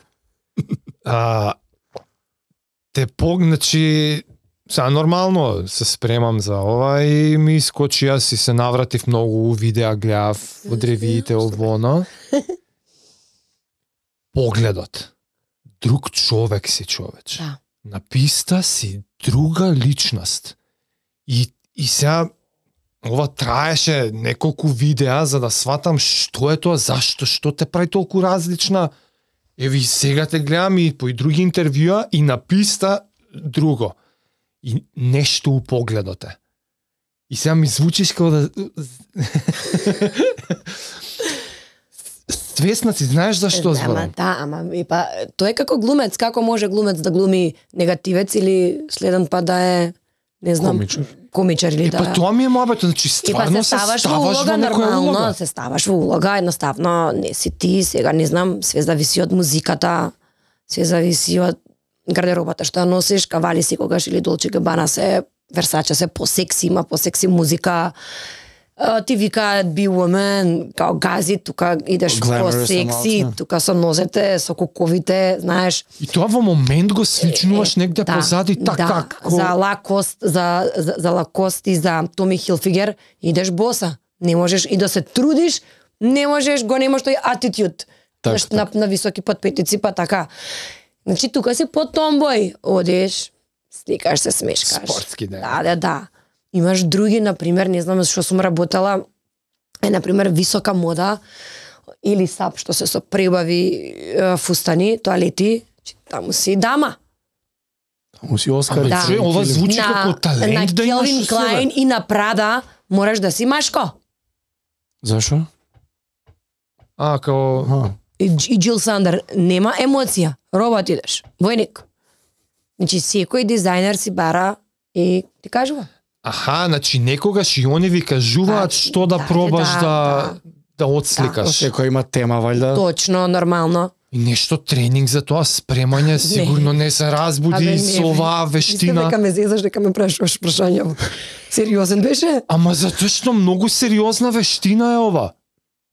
А, те погначи, сега нормално се спремам за ова и ми искочи, јас и се навратив многу видеа, гледав од ревиите овоно. Погледот. Друг човек си, човеч. Да. На писта си друга личност. И, и сега ова траеше неколку видеа за да сватам што е тоа, зашто, што те прави толку различна. Еви сега те гледам и по и други интервјуа и на писта друго. И нешто у погледот е. И сега ми звучиш како да... Свесна си, знаеш зашто Ама зборам? да, ама и па тој е како глумец, како може глумец да глуми негативец или следен па да е не знам, Комичар. комичар или Е, да. па тоа ми е мобето, значи И па стварно се се ставаш во ставаш улога во некоја нормално, улога. се ставаш во улога, едноставно не си ти, сега не знам, све зависи од музиката, све зависи од гардеробата што ја носиш, кавали си когаш или Долче Габана се, Версаче се посекси, има посекси музика. А, ти викаат be woman, као гази, тука идеш Glamorous по секси, малце. тука со нозете, со куковите, знаеш. И тоа во момент го свичнуваш негде Да, позади, така да, како... за лакост, за, за, за лакост и за Томи Хилфигер идеш боса. Не можеш и да се трудиш, не можеш, го немаш тој атитюд. Так, Знаеш, на, на високи подпетици, па така. Значи, тука си по томбој, одеш, сликаш се, смешкаш. Спортски ден. Да, да, да. Имаш други, например, не знам што сум работела, е, например, висока мода или сап, што се со пребави е, фустани, тоалети, че таму си дама. Му си Оскар. Да. Чуј, ова звучи како талент на да имаш Келвин у себе. Клайн и на Прада мораш да си машко. Зашо? А, као... Аха. И, и Джил Сандер нема емоција, робот идеш, војник. Значи секој дизајнер си бара и ти кажува. Аха, значи некогаш и они ви кажуваат Да, што да да, пробаш да, да да отсликаш. Секој има тема, валјда. Точно, нормално. И нешто тренинг за тоа, спремање, сигурно не се Абе, разбуди не, со оваа Мислам вештина. дека ме зезаш дека ме прашуваш прашања. Сериозен беше? Ама затоа што многу сериозна вештина е ова.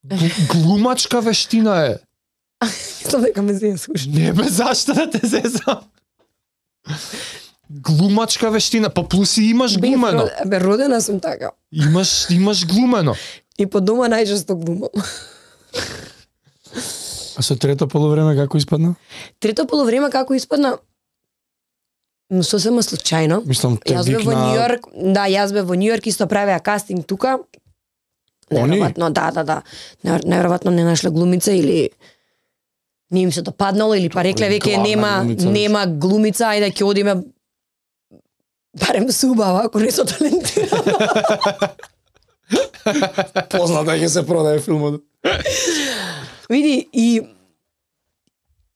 Гл- Глумачка вештина е. Мислам дека ме зезаш. Не бе, зашто да те зезам? Глумачка вештина, па плюс и имаш глумено. Бе, бе, родена сум така. Имаш, имаш глумено. И по дома најчесто глумам. А со трето полувреме како испадна? Трето полувреме како испадна? Сосема случајно. Мислам, те Јас бев во викна... Њујорк, да, јас бев во Њујорк, исто правеа кастинг тука. Неверојатно, да, да, да. Неверојатно не нашле глумица или не им се допаднало или па рекле веќе нема глумица, нема глумица, ајде ќе одиме барем субава, ако не со талентирана. Позната ќе се продае филмот. Види, и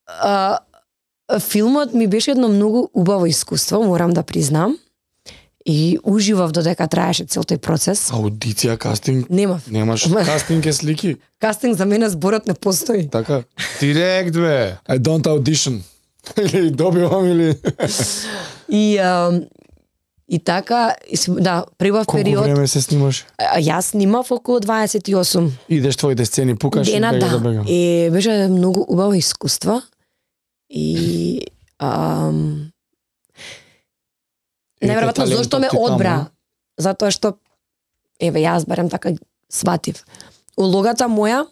а, филмот ми беше едно многу убаво искуство, морам да признам. И уживав додека траеше цел тој процес. Аудиција, кастинг? Немав. Немаш кастинг е слики? Кастинг за мене зборот не постои. Така? Директ, бе. I don't audition. Или добивам, или... И, а, и така, да, прибав период... Колку време се снимаш? А, јас снимав околу дваесет и осум. Идеш твоите сцени, пукаш Дена, и бега да. да бега. И беше многу убаво искуство. И... Ам... Неверојатно зошто ме одбра. Затоа што, еве, јас барем така сватив. Улогата моја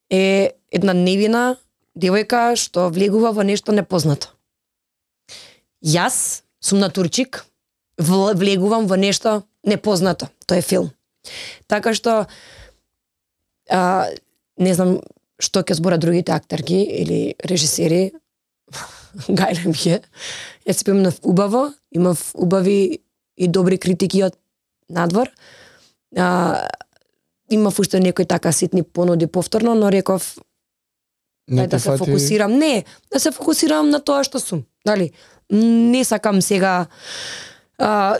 е една невина девојка што влегува во нешто непознато. Јас сум натурчик, влегувам во нешто непознато. Тоа е филм. Така што, а, не знам што ќе зборат другите актерки или режисери, гајле ми е. Јас си помнав убаво, имав убави и добри критики од надвор. А, имав уште некои така ситни понуди повторно, но реков Не да те се фати... фокусирам. Не, да се фокусирам на тоа што сум. Дали? Не сакам сега а,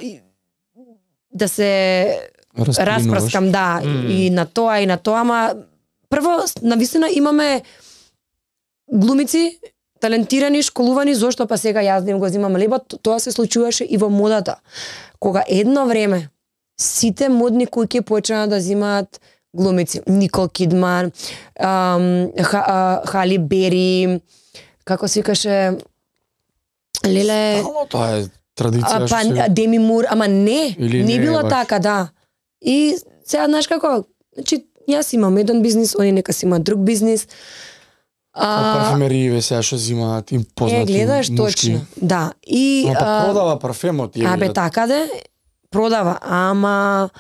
да се распраскам, да, mm. и на тоа и на тоа, ама прво, навистина имаме глумици, талентирани, школувани, зошто па сега јас да им го земам лебот, тоа се случуваше и во модата. Кога едно време сите модни куќи почнаа да земаат глумици, Никол Кидман, ам, Ха, Хали Бери, како се викаше, леле... Стално тоа е традиција. А, па, се... Деми Мур, ама не, Или не, не било баш. така, да. И сега, знаеш како, значи, јас имам еден бизнис, они нека си имаат друг бизнис. А парфемерииве сега што зимаат им познати Е, гледаш, мушки. точно, да. И, Ама па а, продава парфемот. Е, Абе, така де, продава, ама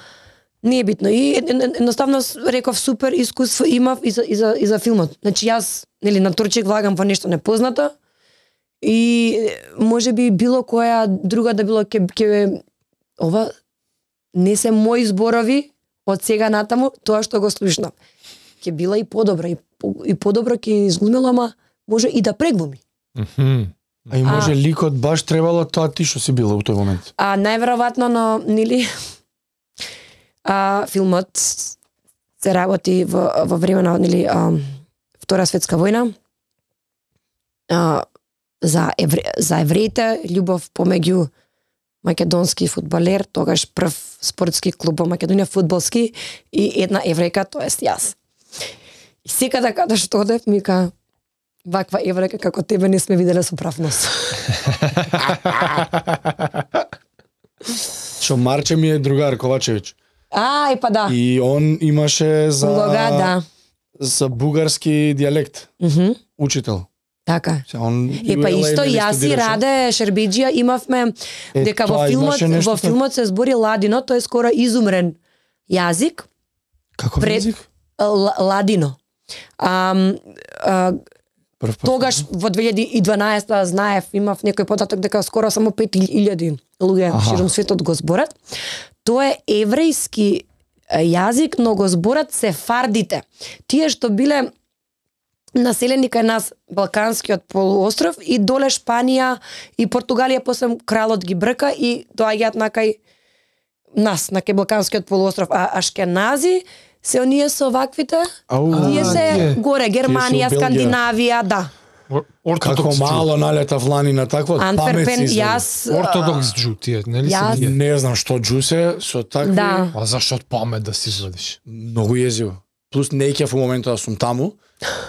не е битно. И едноставно реков супер искуство имав и за, и за, и за филмот. Значи јас, нели, натурчик влагам во нешто непознато и може би било која друга да било ке, ке ова не се мои зборови од сега натаму, тоа што го слушнав. Ке била и подобра, и, и подобро ке изглумела, ама може и да преглуми. Mm-hmm. А и може а, ликот баш требало тоа ти што си била во тој момент. А најверојатно, но нели а, филмот се работи во, во време на нели а, Втора светска војна. А, за евре, за евреите, љубов помеѓу македонски фудбалер, тогаш прв спортски клуб во Македонија, фудбалски, и една еврејка, тоест јас. И секада када што одев, ми ка ваква еврејка како тебе не сме виделе со прав нос. Што Марче ми е другар Ковачевиќ. А, и па да. И он имаше за Улога, да. за бугарски дијалект. Mm -hmm. Учител. Така. Се, он Е, па исто јас и Раде Шербеџија имавме е, дека во филмот во филмот се збори ладино, тоа е скоро изумрен јазик. Како пред... јазик? Ладино. А, а, тогаш во две илјади и дванаесета знаев, имав некој податок дека скоро само пет илјади луѓе широм светот го зборат. Тоа е еврејски јазик, но го зборат сефардите. Тие што биле населени кај нас Балканскиот полуостров и доле Шпанија и Португалија, после кралот ги брка и доаѓаат на кај нас, на кај Балканскиот полуостров. А ашкенази се оние со ваквите, тие се горе, Германија, Скандинавија, да. Како мало налета влани на такво Антверпен, јас... Ортодокс джу, тие, нели се тие? Не знам што джу се, со такви... Да. А зашто памет да си извадиш? Многу језиво. Плюс не ќе во моментот да сум таму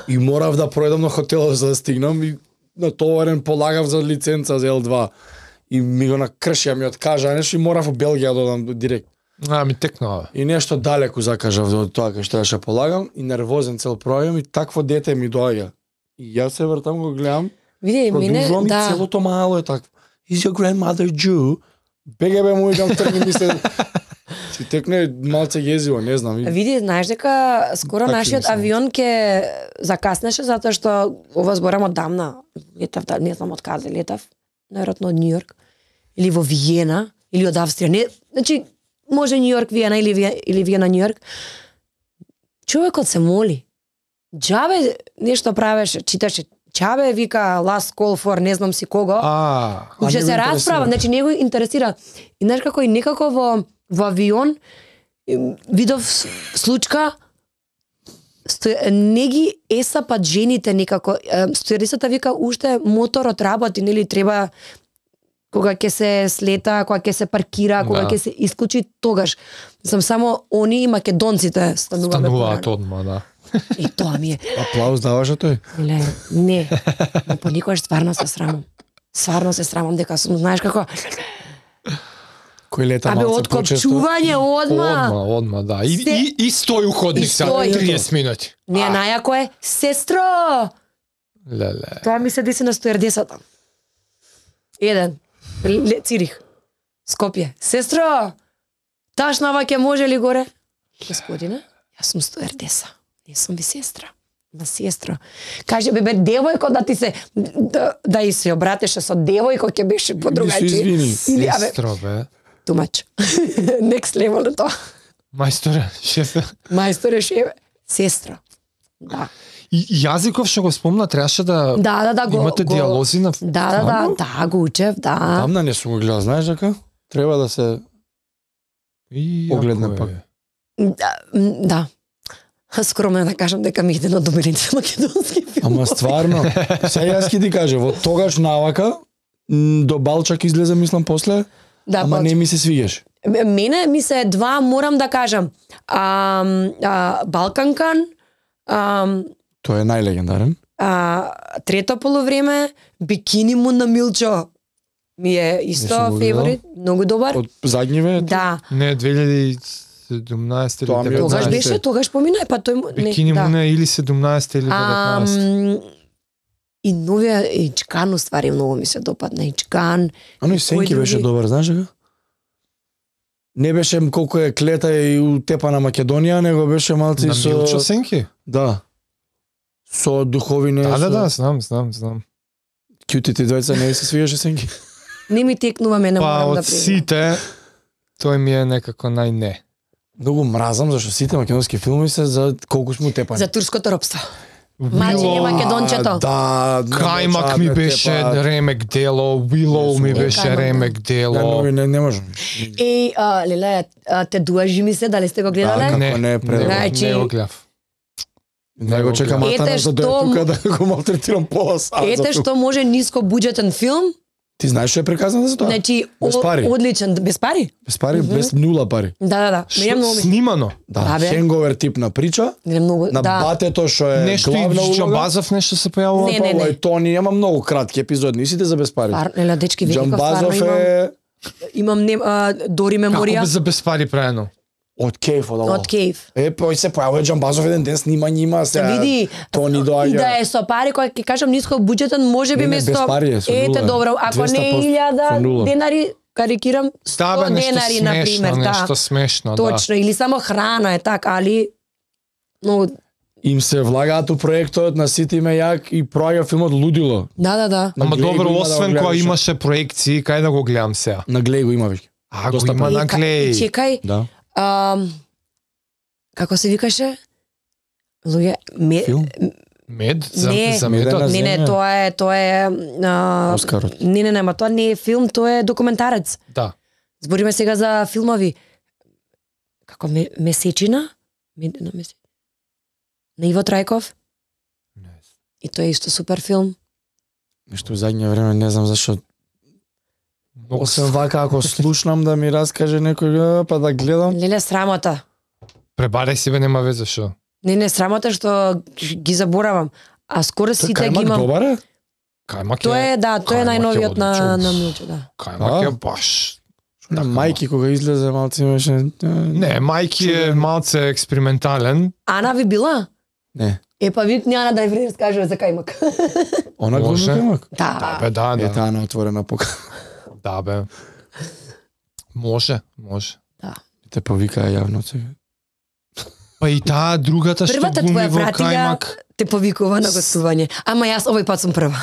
и морав да пројдам на хотелот за да стигнам и натоварен полагав за лиценца за Ел два и ми го накршија, ми откажа нешто и морав во Белгија да одам директ. А, ми текнува. И нешто далеку закажав од тоа кај што ќе полагам и нервозен цел пројам и такво дете ми доаѓа. И јас се вртам го гледам. Види, мене Продолжувам и да. целото мало е такво. Is your grandmother Jew? Беге бе му идам тргни ми се. Си текне малце језиво, не знам. Види, знаеш дека скоро Такви нашиот мислам. авион ќе закаснеше затоа што ова зборам од дамна. Летав, да, не знам од каде летав, најверојатно од Њујорк или во Виена или од Австрија. Не, значи може Њујорк, Виена или Виена, или Виена Њујорк. Човекот се моли. Џабе нешто правеше, читаше Чабе вика last call for не знам си кого. А, Уште се расправа, значи не го интересира. И знаеш како и некако во во авион видов случка сто, не ги есапат жените некако. Стюардесата вика уште моторот работи, нели треба кога ќе се слета, кога ќе се паркира, кога Да. ќе се исклучи, тогаш. Сам само они и македонците стануваме. стануваат одма, да. И тоа ми е. Аплауз даваше тој? Ле, не. Но поникогаш стварно се срамам. Стварно се срамам дека сум, знаеш како, Кој лета абе малце почесто? откопчување одма. Одма, одма, да. И, Се- и, и стои у ходник И сега стои. триесет минути. Не, најако е, сестро! Леле. Тоа ми се деси на стюардесата. Еден. Ле- Цирих. Скопје. Сестро! Ташнава ќе може ли горе? Господине, јас сум стюардеса. Не сум ви сестра. На сестро. Каже, бе, бе, девојко да ти се, да, да и се обратеше со девојко ќе беше подругајче. извини. Или, абе, Сестро, бе. too much. Next level е тоа. Мајсторе, шефе. Мајсторе шеве. Сестра. Да. И јазиков што го спомна требаше да Да, да, да, го, имате го... диалози на Да, да, да, да, го учев, да. Тамна не сум го гледал, знаеш дека? Треба да се И Погледне јако е. пак. Да, м, да. Скромно е да кажам дека ми иде на доминица македонски филм. Ама стварно, сега јас ќе ти кажа, во тогаш навака м, до Балчак излезе мислам после, Да, ама не ми се свигаш. Мене ми се два, морам да кажам. А, а, Балканкан, а, Тој е најлегендарен. а, трето полувреме, Бикини му на Милчо. Ми е Не исто сум го фаворит, многу добар. Од задниве. Да. Не, две илјади и седумнаесета или Тоа ми е од Тогаш деветнаесета. беше, тогаш помина, па тој му- не, Бикини да. му не или седумнаесета или А, деветнаесета. м, и новија Ичкан уствари многу ми се допадна Ичкан. Ано и Кој Сенки други? беше добар, знаеш дека? Не беше колку е клета и утепа на Македонија, него беше малци На со... Милчо Сенки? Да. Со духовине. Да, да, со... да, знам, знам, знам. Кјутите двајца не се свигаше Сенки. Не ми текнува мене, Па морам да од признам. сите, тој ми е некако најне. Многу мразам зашто сите македонски филми се за колку сме утепани. За турското робство. Мајчиње македончето. Да, Кајмак ми беше ремек дело, Willow ми Е, беше Кајмак, да. ремек Не, дело. не, не, не можам. Еј, а, Леле, а, те дуажи ми се, дали сте го Да, гледале? како Не, не е предобро. Значи- Не го гледав. Не го чекам Ете Атана за да е што- тука да го малтретирам пола сат. за Ете тука. што може ниско буџетен филм, Ти знаеш што е приказано за тоа? значи Без о- пари. одличен, без пари? Без пари, без нула пари. Да, да, да. Мене Што, многу ми. снимано? Да, Да, бе. хенговер тип на прича, Не многу, на да. батето што е Нешто главна и улога. Джамбазов нешто се појавува? Не, не, Па, не. и Тони има многу кратки епизоди, и сите за без пари. Пар, Леле, дечки, Великов, Джамбазов стварно имам, е имам не, а, Дори Како меморија без за без пари правено? од Кейф од од Кейв. Е, пој се појавува Джамбазов еден ден снима нима се. Види, Тони и доаѓа. да е со пари, кој ќе кажам ниско буџетен, може би Не, не, без место. пари е, со Ете нула. добро, ако не двеста поsto илјада со нула. денари, карикирам, Да, бе, сто нешто денари на смешно, пример, да. нешто смешно, да. Точно, или само храна е така, али но Им се влагаат у проектот, на сите име јак и проаѓа филмот лудило. да, да, да. На Ама Глей добро, го има да освен го кога гледаш. имаше проекции, кај да го гледам сега? На Глей го има веќе. А, го Доста има пари. на И ка- Глей. Чекај, Да. ам, како се викаше? Луѓе, ме, Филм? Мед? За, Не. за Медена медот? не, не, земја. тоа е, тоа е а, Оскарот. Не, не, не, ма тоа не е филм, тоа е документарец. Да. Збориме сега за филмови. Како ме, месечина? Медена месечина. На Иво Трајков. И тоа е исто супер филм. Нешто во задње време не знам зашо. Многу Освен вака ако слушнам да ми раскаже некој, па да гледам. Леле, срамота. Пребарај си, бе, нема везе шо. Не, не, срамота што ги заборавам. А скоро Тој сите ги Кајмак имам. добар е? Кајмак е... Тоа е, да, тоа е Кајмак е најновиот на, одличен. на Милчо, да. Кајмак А? е баш... На мајки кога излезе малце имаше. Не, мајки е малце експериментален. Ана ви била? Не. Е па ви Ана да ви разкажува за кајмак. Она глуми кајмак? Да. Бе, да, да. Е таа на отворена пока. Да, бе. Може, може. Да. Те повикаа јавно сега. Па и таа другата што Првата глуми твоја во братига кајмак. те повикува на гостување. Ама јас овој пат сум прва.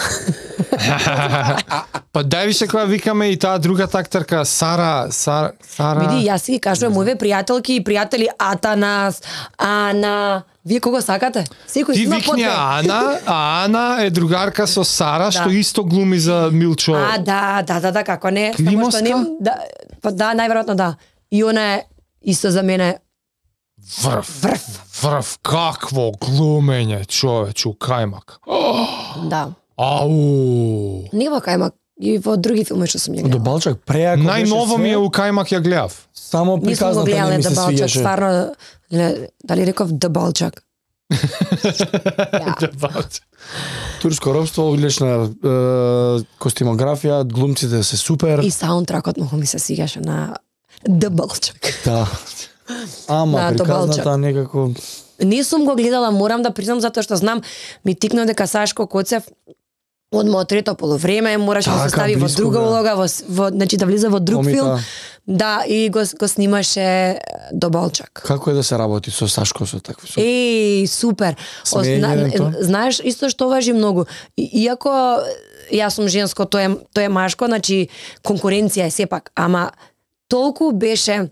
Па дај више кога викаме и таа другата актерка Сара, Сара, Сара. Види, јас си ги кажувам овие пријателки и пријатели Атанас, Ана, вие кого сакате? Секој Ти има викни потве. Ана, а Ана е другарка со Сара, што Да. исто глуми за Милчо. А, да, да, да, да, како не. Само Климовска? што не, да, па да, најверојатно да. И она е исто за мене Врв, врв, врв, какво глумење, човече, у кајмак. да. Ау! Не во кајмак, и во други филми што сум ја До гледала. Балчак преако беше Најново ми е све, у кајмак ја гледав. само Нисум го приказната не гледала ми се да Балчак, свиѓаше. стварно, ле, дали реков да Балчак? Ја. Турско робство, одлична е, костимографија, глумците се супер. И саундтракот многу ми се свигаше на да Балчак. Да. Ама Да, до приказната Балчак. некако Не сум го гледала, морам да признам, затоа што знам, ми тикна дека Сашко Коцев одма од трето полувреме, мораше да се Така, стави во блиско, друга бе. улога, во, с- во значи да влиза во друг комика. филм. Да, и го, го снимаше до Балчак. Како е да се работи со Сашко со такви со Еј, супер. О, Смеење зна, на тоа? знаеш, исто што важи многу. И, иако јас сум женско, тој е, тој е машко, значи конкуренција е сепак, ама толку беше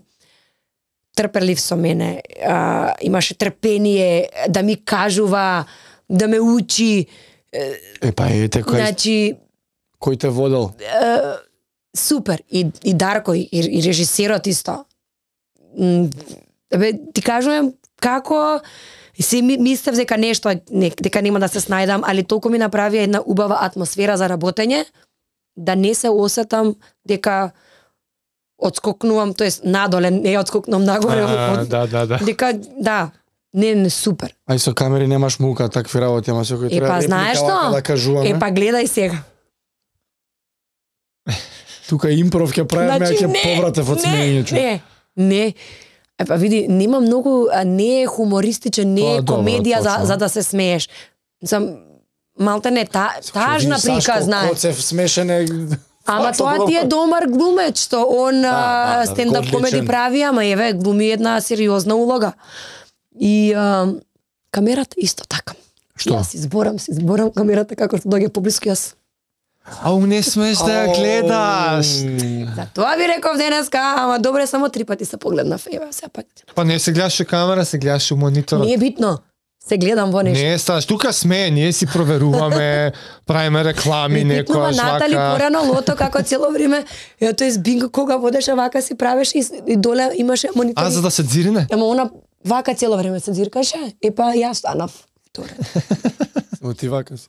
трпелив со мене, а, имаше трпение да ми кажува, да ме учи, Е па ете кој значи кој те водел. супер. И, и Дарко, и, и режисерот исто. М, Бе, ти кажувам како се ми, мислев дека нешто не, дека нема да се снајдам, али толку ми направи една убава атмосфера за работење да не се осетам дека одскокнувам, тоест надоле, не одскокнувам нагоре. А, од, да, да, да. дека да, не, не супер. Ај со камери немаш мука, такви работи, ама секој Е треба па реплика знаеш вака што? да кажуваме. Е па гледај сега. Тука импров ќе правиме, значи, ќе повратев од смеењето. Не, не. Е па види, нема многу, а, не е хумористичен, не е Па, добро, комедија за, точно. за да се смееш. Сам малте не та, тажна Сашко приказна е. Коцев смешен е. Ама Факто тоа ти е добро. домар глумец, што он да, да, стендап одличен. комеди прави, ама еве глуми една сериозна улога. И а, камерата исто така. Што? Јас изборам, се изборам камерата како што доаѓа поблиску јас. Ау, не смеш да ја гледаш. За тоа ви реков денеска, ама добре само три пати се погледнав, еве сепак. Па не се гледаш у камера, се гледаш у мониторот. Не е битно. Се гледам во нешто. Не, сташ, тука сме, ние си проверуваме, правиме реклами, Ми типнува некојаш Натали вака. порано лото како цело време. Ја тој бинго кога водеше вака си правеше и, и доле имаше монитор. А, за да се дзирине? Ама она вака цело време се дзиркаше. Е па јас станав втора. Мотивака си.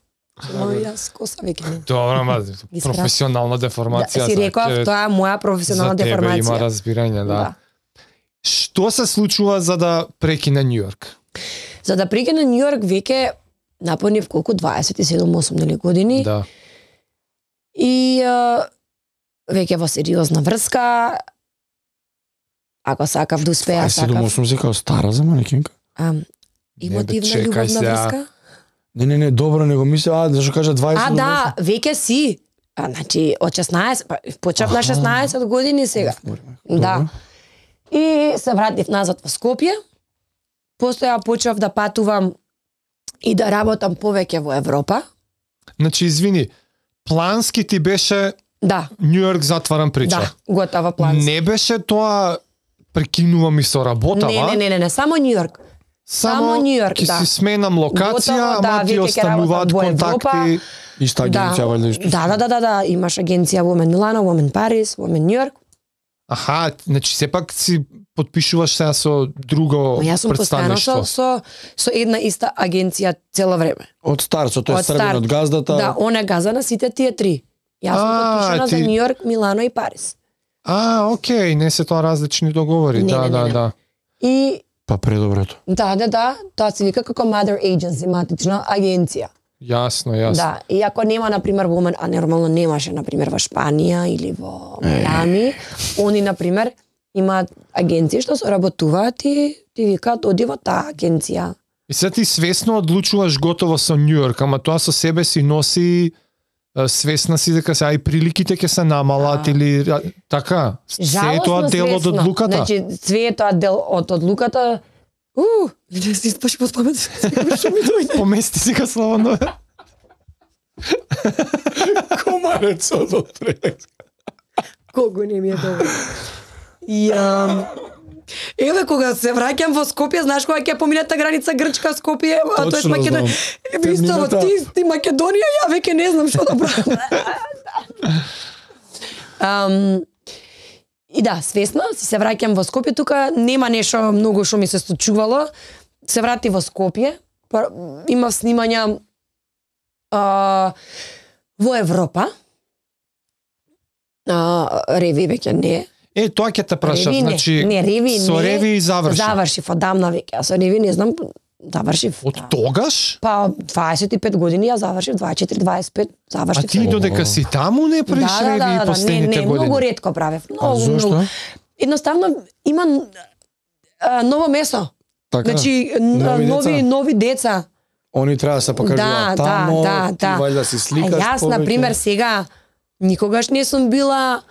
Но јас коса веќе не. Добро, ама Ги спра- професионална Да, деформација. си реков, значи, тоа е моја професионална за тебе деформација. има разбирање, да. Да. Што се случува за да прекине Нью Йорк? За да прике на Нью Йорк веќе напонив колку дваесет и седум осум нели години. Да. И а, веќе во сериозна врска. Ако сакав да успеа, Ај седум сакав. осум си као стара за манекинка. А, бе, емотивна чекај љубовна сега. врска? Не, не, не, добро, него мисля, а, зашто кажа дваесет. А, да, веќе си. А, значи, од шеснаесет, па, почнав на шеснаесет години сега. Да. И се вратив назад во Скопје. После ја почнав да патувам и да работам повеќе во Европа. Значи, извини, плански ти беше Да, Нью Йорк затварам прича. да, готова план. Не беше тоа прекинувам и со работава. Не, не, не, не, не, само Нью Йорк. само Нью Йорк, ќе да. си сменам локација, Готово, да, ама ти веќе ќе остануваат работам во Европа. контакти. Иста агенција, валјда исто. Да, да, да, да, да, имаш агенција Women Milano, Women Paris, Women New York. Аха, значи сепак си подпишуваш сега со друго Ма јас сум постојано представништво. со, со, со една иста агенција цело време. Од старцот, тој Од е стрбен старт. од газдата. Да, он е газа на сите тие три. Јас сум А, подпишана ти- за Нью Йорк, Милано и Париз. А, окей, не се тоа различни договори. Не, да, не, не, да, не. да. И Па предоброто. да, да, да, тоа се вика како Mother Agency, матична агенција. Јасно, јасно. Да, и ако нема на пример во момент, а нормално немаше на пример во Шпанија или во Мајами, они на пример имаат агенции што соработуваат и ти викаат оди во таа агенција. И сега ти свесно одлучуваш готово со Њујорк, ама тоа со себе си носи свесна си дека се ај приликите ќе се намалат или така. Се е тоа дел од одлуката. Значи све е тоа дел од одлуката. У, не си спаш по памет. Што ми дојде? Помести си ка слободно. Комарецот од прелеска. Колку не ми е добро. Ја Еве кога се враќам во Скопје, знаеш кога ќе поминете граница Грчка Скопје, а тоа е Македонија. Еве исто ти ти Македонија, ја веќе не знам што да правам. Ам И да, свесно си се враќам во Скопје, тука нема нешто многу што ми се случувало. Се врати во Скопје, имав снимања а, во Европа. А, Реви веќе не. Е, тоа ќе те прашам, значи не, Реви со не, Реви заврши. Завршив одамна веќе, а со Реви не знам, завршив. Од да. тогаш? Па дваесет и пет години ја завршив, дваесет и четири дваесет и пет завршив. А ти додека си таму не правиш да, Реви да, да, последните не, не, години? Многу ретко правев. Многу, а зошто? многу. Едноставно има а, ново месо. Така? Значи нови, нови деца? нови деца. Они треба да се покажуваат да, тамо, да, ти да. вајда си сликаш А јас, повеќе. на пример, сега никогаш не сум била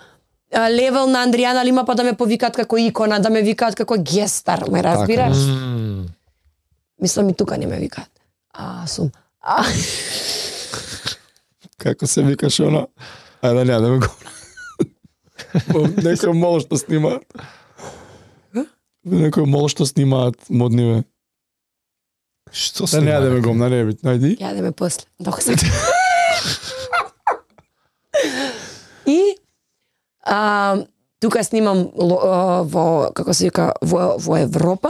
а, левел на Андријана Лима па да ме повикаат како икона, да ме викаат како гестар, ме разбираш? Mm. Мислам и тука не ме викаат. А, сум. А, Како се викаш она? Ајде, не, да ме го... Некој мол што снимаат. Некој мол што снимаат модниве. Што Да се не, да ме го, на ребит, најди. ја да ме после. Док се. И а, тука снимам а, во, како се вика, во, во Европа.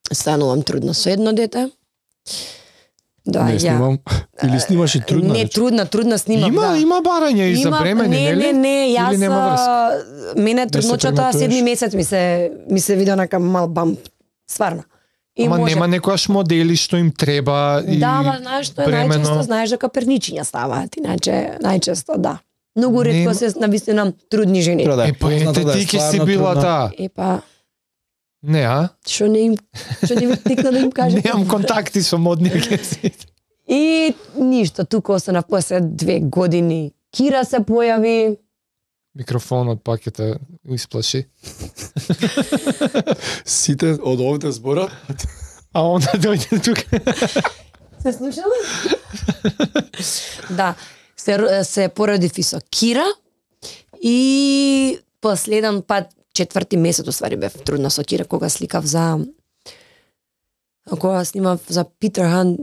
Станувам трудна со едно дете. Да, Не ја. снимам. Или снимаш и трудна Не, рече? трудна, трудна снимам, Има, да. има барање и за Има- бремени, не, нели? Не, не, јас Или нема врска? а, мене Не се трудночата прегнатуваш? седми месец ми се ми се вида нака мал бамп. Стварно. И Ама може. нема некојаш модели што им треба и Да, ма знаеш што е бремено. најчесто, знаеш дека перничиња ставаат, иначе најчесто да. Многу ретко Нема- се навистина трудни жени. Треба да е Е, па позната, ете да е ти ке си стварно била трудна. таа. Е па, Не, а? што не им што не ви тикна да им кажам. Немам контакти со модни агенции. И ништо, тука останав после две години. Кира се појави. Микрофонот пак ќе те исплаши. Сите од овде зборат. А onda дојде тука. Се слушала? Да, се, се породив и со Кира и последен пат, четврти месец, уствари бев трудна со Кира, кога сликав за кога снимав за Питер Хан,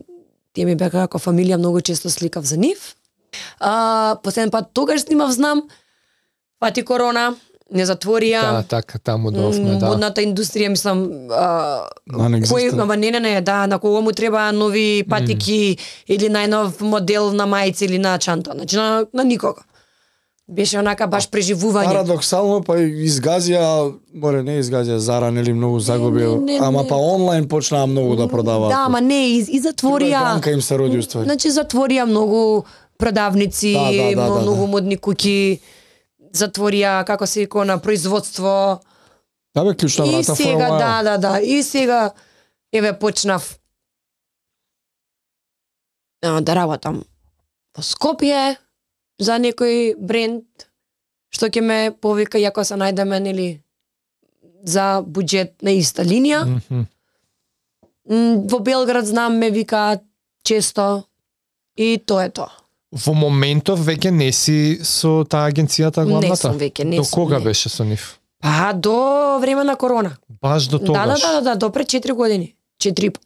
тие ми беа како фамилија, многу често сликав за нив. А, последен пат тогаш снимав, знам, пати корона, не затворија. Да, така, таму довме, да. Модната индустрија, мислам, а, Non-existent. кој, ама не, не, не, да, на кого му треба нови патики mm. или најнов модел на мајци или на чанта, значи на, на никого. Беше онака баш преживување. Парадоксално, па изгазија, море не изгазија, Зара, нели многу загубил, не, не, ама не. па онлайн почнаа многу да продаваат. Да, ама не, и, и затворија. Банка им се роди уствари. Значи затворија многу продавници, Да, да, да, да, многу да. модни куќи, затворија, како се вика, на производство. Да бе, клучна И врата сега, for a да, while. да, да, и сега, еве, почнав а, да работам во Скопје за некој бренд, што ќе ме повика, иако се најдеме, нели, за буџет на иста линија. Мгм. М, Во Белград знам ме викаат често и тоа е тоа. Во моментов веќе не си со таа агенцијата главната? Не сум веќе, не До сум. кога не. беше со нив? Па до време на корона. Баш до Да, да, тогаш? да, да, да, до пред четири години. четири и пол.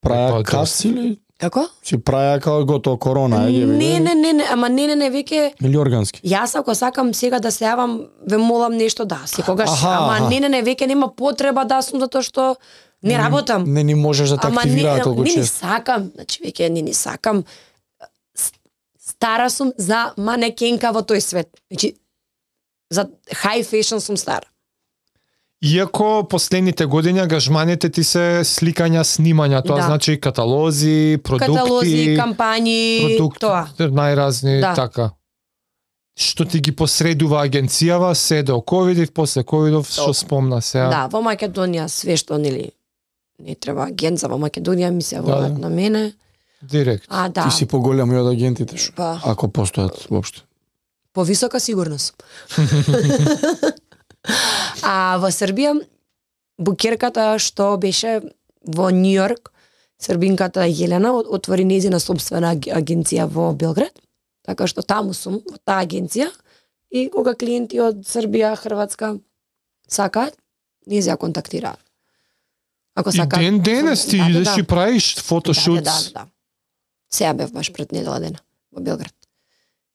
Праја Па, каси или Како? си праја како готово корона, ајде бе. Не, не, не, не, ама не, не, не, веќе Или органски. јас ако сакам сега да се јавам, ве молам нешто да, секогаш, Аха, ама аха. не, не, не, веќе нема потреба да сум затоа што не работам. Не ни можеш да те Ама не, активираат толку не ни често. сакам, значи веќе не ни сакам. С- Стара сум за манекенка во тој свет. Значи за high fashion сум стара. Иако последните години ангажманите ти се сликања, снимања, тоа Да. значи каталози, продукти, Каталози, кампањи, продукти, тоа. најразни Да. така. Што ти ги посредува агенцијава, се до ковидов, после ковидов, што спомна сега. Да, во Македонија све што нели не треба агенца во Македонија ми се Да, волат да. на мене. Директ. А да, Ти си поголем и од агентите, шо? па Ако постојат воопшто. повисока сигурност. А во Србија букерката што беше во Њујорк, србинката Јелена от- отвори нејзина сопствена аг- агенција во Белград. Така што таму сум во таа агенција и кога клиенти од Србија, Хрватска сакаат, ние ја контактираат. Ако И сакаат. ден денес ти Да, да, идеш да. и правиш Да, фотошут. да, да, да. Сега бев баш пред недела дена во Белград.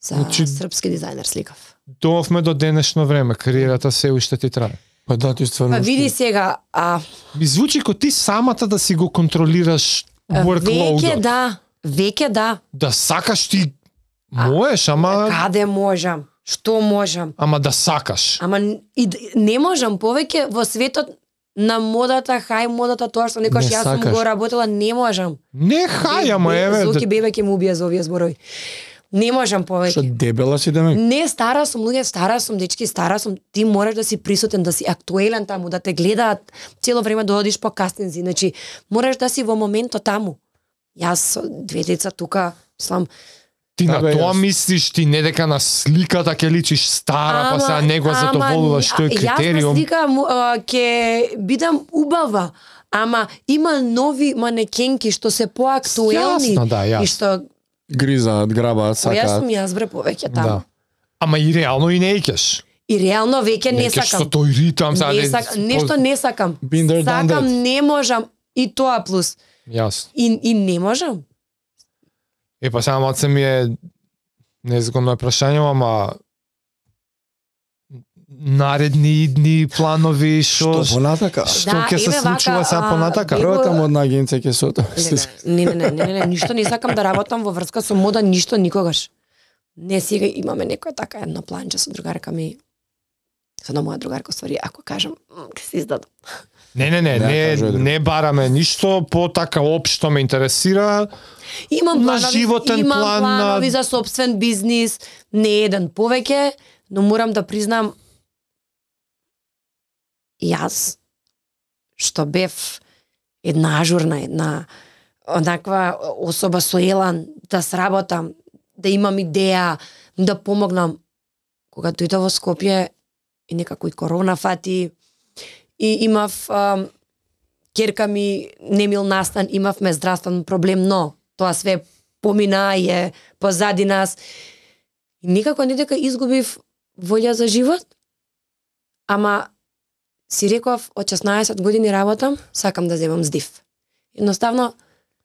За Значи- српски дизајнер сликав. Доовме до денешно време, кариерата се уште ти трае. Па да, ти стварно. Па види сега, а Ми звучи ко ти самата да си го контролираш веќе workload. да, веќе да. Да сакаш ти можеш, ама Каде можам? Што можам? ама да сакаш. Ама н- и, д- не можам повеќе во светот на модата, хај модата, тоа што некош Не јас сум сакаш. го работела, не можам. Не хај, ама Бе- еве. Зоки да- бебе ќе му убие за овие зборови. Не можам Што повеќе. дебела си демек? Не, стара сум, луѓе, стара сум, дечки, стара сум. Ти мораш да си присутен, да си актуелен таму, да те гледаат цело време да одиш по кастинзи. Значи, мораш да си во моментот таму. Јас со две деца тука, слам, Ти Да, на бе, тоа јас- мислиш, ти не дека на сликата ќе личиш стара, па сега него задоволуваш, што е Јас на критериум. слика му, а, ќе бидам убава, ама има нови манекенки што се поактуелни Јасно, да, јасно. и што Гризаат, грабаат, Па јас сакаат. сум јас бре повеќе таму. Да. Ама и реално и не икеш. И реално веќе не Не икеш со сакам. тој ритам, сега Не не- сак, нешто не сакам. Been there, done Сакам, that. не можам. И тоа плюс. Јасно. И, и не можам. Е, па сега малце ми е незгодно е прашање, ама наредни дни, планови, што Што понатака? што Да, ќе се еве случува вака, сега а, понатака? бе- Првата модна агенција ќе се отам. Не, не, не, не, не, не, ништо не сакам да работам во врска со мода, ништо никогаш. Не, сега имаме некоја така едно планче со другарка ми. Со на моја другарка, ствари, ако кажам, м, ќе се издадам. Не, не, не, Не, не, кажу, Едро. не бараме ништо, по така општо ме интересира. Имам На планови, животен имам план, на- планови за собствен бизнис, не еден повеќе, но морам да признам јас што бев една ажурна, една однаква особа со елан да сработам, да имам идеја, да помогнам. Кога дојдов во Скопје и некако и корона фати и имав ам, керка ми немил настан, имавме здравствен проблем, но тоа све помина и е позади нас. И никако не дека изгубив волја за живот, ама си реков од шеснаесет години работам, сакам да земам здив. Едноставно,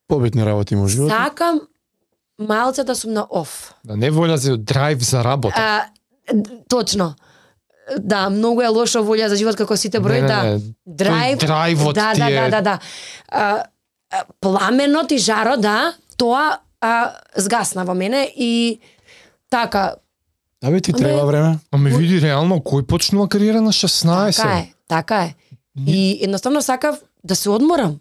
Побитни работи има во животот. сакам малце да сум на оф. Да не волја за драйв за работа. А, д- точно. Да, многу е лошо волја за живот како сите брои, Не, не, да. не. Драйв, Тој драйвот да, ти да, е- да, да, да. А, а, пламенот и жарот, да, тоа а, згасна во мене и така, Да бе, ти Аме- треба време. Ама види реално кој почнува кариера на шеснаесет. така е, така е. И едноставно сакав да се одморам.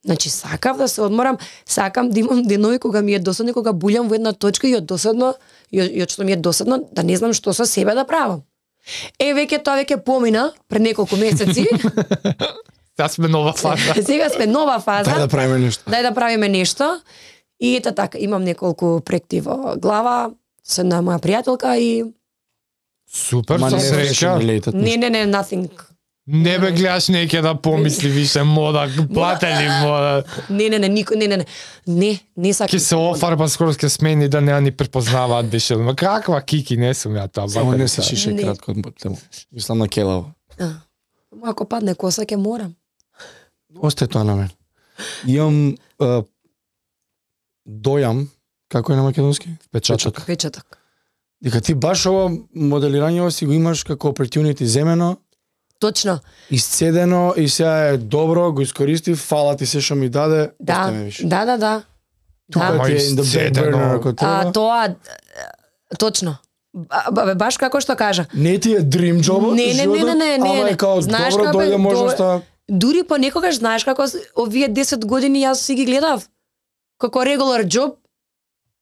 Значи сакав да се одморам, сакам да имам денови кога ми е досадно, кога булјам во една точка и од досадно, и од, и од што ми е досадно, да не знам што со себе да правам. Е, веќе тоа веќе помина пред неколку месеци. Сега сме нова фаза. Сега сме нова фаза. Дај да правиме нешто. Дај да правиме нешто. И ета така, имам неколку проекти во глава со една моја пријателка и Супер, Ма со не среќа. беше ми лейтат. не, не, не, nothing. Не бе гледаш неќе да помисли више мода, платели мода. Не, не, не, никој, не, не, не. Не, не сакам. Ке се офарба скоро ќе смени да не ни препознаваат беше. Ма каква кики не сум ја тоа. Само бака не ми се са. шише Не. кратко од тему. Мислам на келаво. А, Ако падне коса, ќе морам. Осте тоа на мен. Имам а, дојам, како е на македонски? Печаток. Печаток. Дека ти баш ова моделирање си го имаш како opportunity земено, Точно. исцедено и сега е добро, го искористив, фала ти се што ми даде, Да, остави ме више. да, да, да. Тука Да. ти е in the back Исцедено. burner ако А, треба. тоа, е, точно. Бабе, баш како што кажа. Не ти е dream job, Не, не, не, не, не, не, ама не. е као Знаеш добро како е, дојде можноста. Дури понекогаш знаеш како с- овие десет години јас си ги гледав. Како regular job,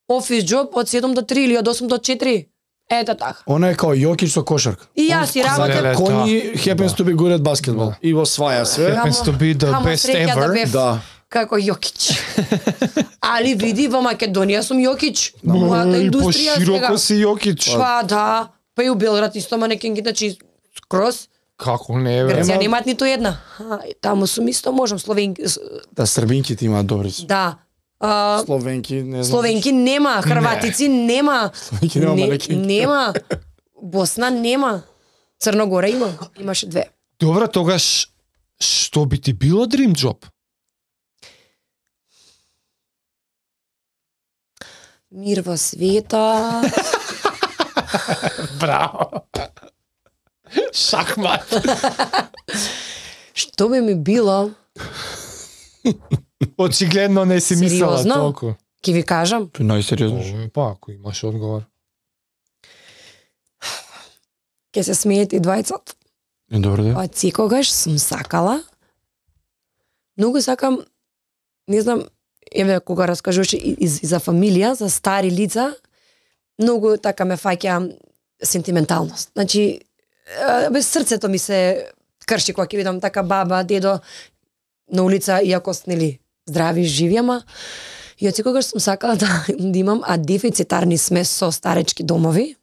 office job од седум до три или од осум до четири. Ето така. Она е као Јокич со кошарка. И јас си Леле, работам. Коњи happens to be good at basketball. И во сваја све. Happens to be the Камо best среќа да ever. бев Да. како Јокич. Али види, во Македонија сум Јокич. Мојата И индустрија сега. пошироко си Јокич. Па да, па и у Белград исто манекенки, значи скроз. Како не бе? Грција Ема- немаат ниту една. А, и таму сум исто можам словенки. с- Да, србинките имаат добри се. Да. А, Словенки, не знам. словенки нема, хрватици нема. Словенки нема Не- манекенки. Нема. Босна нема. Црногора има. Имаше две. Добро, тогаш што би ти било dream job? Мир во света. Браво. Шахмат. Што би ми било, Очигледно не си мислела Сериозно? толку. ќе ви кажам. Тој најсериозно. Овој па, ако имаш одговор. Ќе се смеете и двајцата. Е, добро да. Од секогаш сум сакала. Многу сакам, не знам, еве кога раскажуваше и, и, и за фамилија, за стари лица, многу така ме фаќа сентименталност. Значи, е, без срцето ми се крши кога ќе видам така баба, дедо на улица, иако нели здрави, живи, ама и од секогаш сум сакала да, да имам, а дефицитарни сме со старечки домови.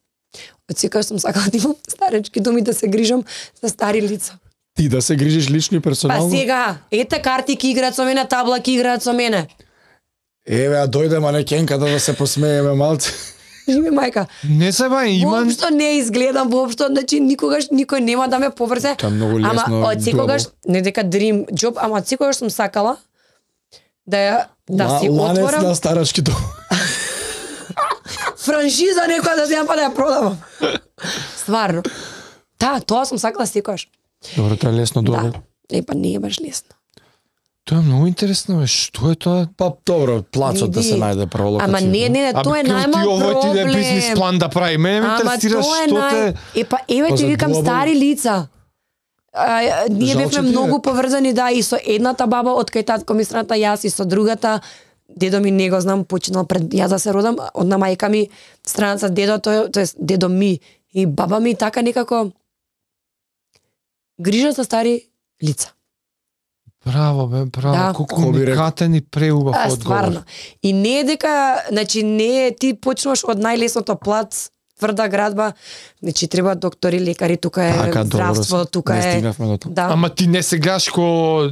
Од секогаш сум сакала да имам старечки доми да се грижам за стари лица. Ти да се грижиш лично и Па персонално? сега, ете карти ки играат со мене, табла ки играат со мене. Еве, а дојде манекенката да се посмееме малце. Живи мајка. Не се ба, има... Воопшто не изгледам, воопшто, значи никогаш никој нема да ме поврзе. Тоа е многу лесно. Ама од секогаш, doable. не дека dream job, ама од секогаш сум сакала да ја да Ла- си ланец отворам на старачки дом. франшиза некоја да земам па да ја продавам. Стварно. Да, тоа сум сакала секогаш. Добро, тоа е лесно добро. Да. Е, па не е баш лесно. Тоа е многу интересно, бе. Што е тоа? Па добро, плацот да Види. се најде прво локација. Ама не, не, не, тоа е Абе, најмал ти овој ти да е проблем. бизнис план да прави. Мене ме Ама интересира тоа е што нај... те... Е, па, еве Па ти за викам глобално- стари лица. А, ние Жал, бевме че ти е. многу поврзани, да, и со едната баба, од кај татко ми страната, јас и со другата. Дедо ми не го знам, починал пред јас да се родам, од на мајка ми страната дедо, тој, тоест дедо ми и баба ми така некако грижа за стари лица. Браво, бе, браво. Да. Колку Ко би рекол? уникатен и преубав А, одговор. стварно. И не е дека, значи не е ти почнуваш од најлесното плац, тврда градба, значи треба доктори, лекари, тука е Така, добро, здравство, тука не е. стигнавме до тоа. Да. Ама ти не се гледаш ко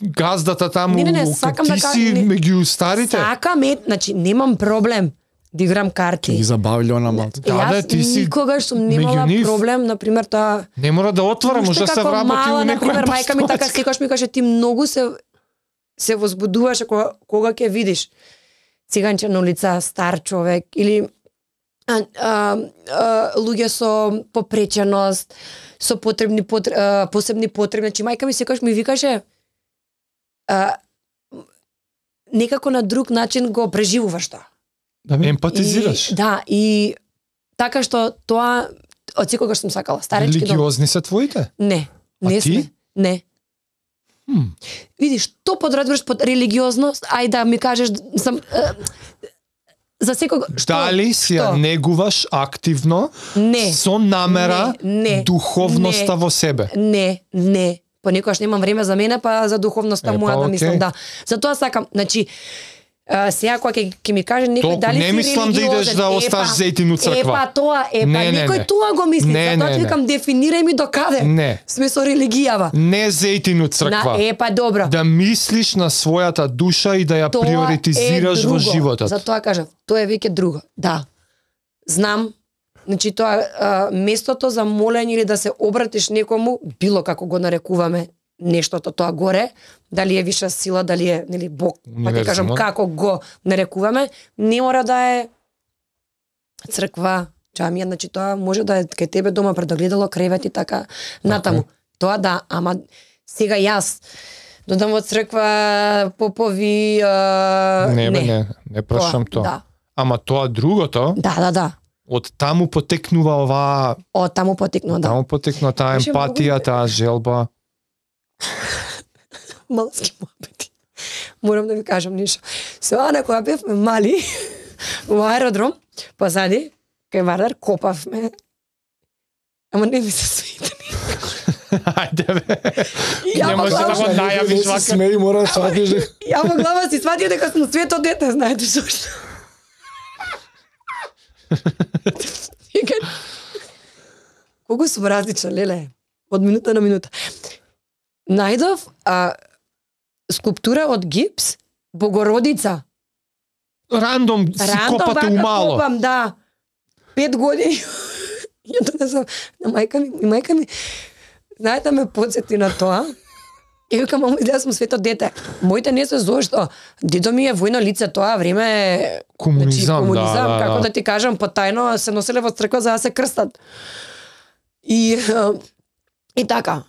газдата таму, Не, не, не, ка- сакам ти да ка- си не. меѓу старите. Сакам е, значи немам проблем да играм Ќе ги карти. забавиле она малце. Да, Јас да, ти си никогаш сум меѓу немала нив. проблем, например, тоа Не мора да отвора, може да се како вработи мала, у например, некоја мајка ми така постовачка. секогаш ми каже ти многу се се возбудуваше кога кога ќе видиш циганче на улица, стар човек или а, а, а, луѓе со попреченост, со потребни потр... а, посебни потреби. Значи мајка ми секогаш ми викаше а, некако на друг начин го преживуваш тоа. Да, бе. Емпатизираш. И, да, и така што тоа од секогаш сум сакала. Старечки дом. Религиозни се твоите? Не, А не ти? сме. Не. Хм. Видиш, што подразбираш под религиозност? Ај да ми кажеш сам е, за секого што? Дали си ја Што? негуваш активно Не. со намера Не, не, духовноста не. во себе? Не, не. Понекогаш немам време за мене, па за духовноста Е, па, моја да окей. мислам, да. Затоа сакам, значи, а, сега кога ќе ќе ми каже некој Толку дали не си мислам да религиозен, идеш да е, оставиш па, зејтин у црква. Е па тоа, е па Не, не, некој не. тоа го мисли. Не, Затоа не, ти не. викам дефинирај ми до каде. Не. Сме со религијава. Не зејтин у црква. На, е па добро. Да мислиш на својата душа и да ја Тоа приоритизираш е во друго. животот. Затоа кажав, тоа е веќе друго. Да. Знам, значи тоа а, местото за молење или да се обратиш некому, било како го нарекуваме нештото тоа горе, дали е виша сила, дали е нели Бог, па ќе кажам Универзумот. како го нарекуваме, не мора да е црква, џамија, значи тоа може да е кај тебе дома пред огледало, кревет и така натаму. Тоа да, ама сега јас додам во црква, попови, а, Не, бе, не, не прашам тоа. тоа. Да. Ама тоа другото, Да, да, да. Од таму потекнува оваа, Од таму потекнува, да. таму потекнува таа Беше емпатија, многу- таа желба. Малски муабети. Морам да ви кажам нешто. Сега на која бевме мали, во аеродром, позади, кај Вардар, копавме. Ама не ми се свита. Ајде бе. Ја Не во може да глава, го најавиш се вака. смеи, мора да сватиш дека ја во глава си сватio дека сум свето дете, знаете зошто. Вика, колку сум различна, леле, од минута на минута. Најдов а, скулптура од гипс, Богородица. Рандом си Рандом копате вака умало. копам, да. Пет години. Ја донесам на мајка ми, и мајка ми, знаете, ме подсети на тоа. И викам, мамо, изгледа сум свето дете. Моите не се зошто. Дедо ми е војно лице тоа време. Комунизам, значи, да, комунизам, да, како да. да ти кажам, потајно се носеле во црква за да се крстат. И а, и така.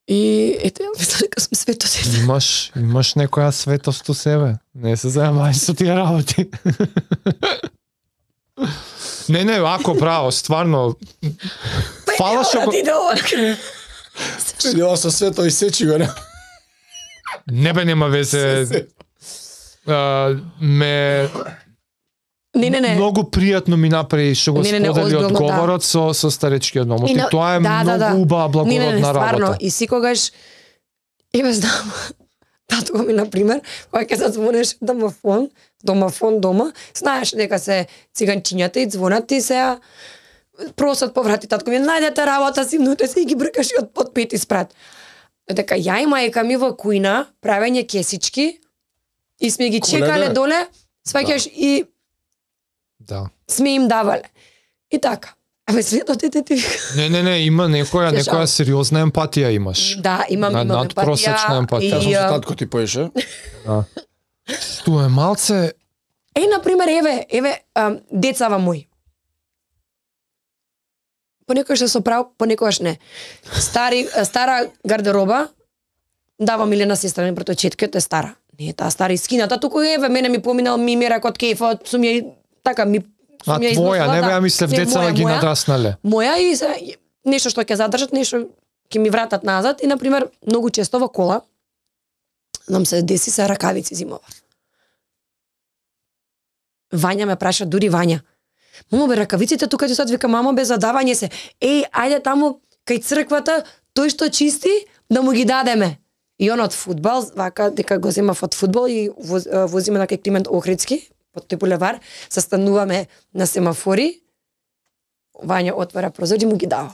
И ете, ја мислам дека сум свето дете. Имаш, имаш некоја светост у себе. Не се зајмај со тие работи. Не, не, ако право, стварно. Фала што го... Ти да ова. Ја со свето и сечи го, не? Не бе, нема везе. А, ме Не, не, не. многу пријатно ми направи што го Не, не, не, сподели озбилно, да. одговорот со со старечкиот номот. И И на- тоа е да, да, да. многу убава Не, не, не, благородна стварно. работа. И секогаш, еве знам, татко ми, например, кога ќе зазвонеш домафон, домафон дома, знаеш дека се циганчињата и звонат и се просат поврати, татко ми, најдете работа, симнуте се и ги бркаш и од, од пети спрат. Дека ја и мајка ми во кујна, правење кесички, и сме ги Коледа. чекале доле, сваќаш и Да. сме им давале. И така. Абе, свето дете ти вика. Не, не, не, има некоја Се некоја жал. сериозна емпатија имаш. Да, имам, На- имам надпросечна емпатија. Јас И, сум со а, татко ти поеше. Да. Тоа е малце Е, например, еве, еве, ам, децава мои. Понекогаш се соправ, понекогаш не. Стари, стара гардероба, давам или на сестра, не прото четката е стара. Не е таа стара искината, туку еве, мене ми поминал, ми мера код кефот, сум ја, и- така, ми, А сум ја твоја, износила, не бе, да. ја мислев Не, децава моја, ги моја. надраснале. Моја и се, нешто што ќе задржат, нешто ќе ми вратат назад и, например, многу често во кола, нам се деси се ракавици зимова. Вања ме праша, дури Вања. Мамо бе, ракавиците тука ти сад вика, мамо бе, задавање се. Еј, ајде таму кај црквата, тој што чисти, да му ги дадеме. И он од фудбал, вака, дека го земав од фудбал и воз, возиме на кај Климент Охридски, под тој булевар, се стануваме на семафори, Вања отвара прозор и му ги дава.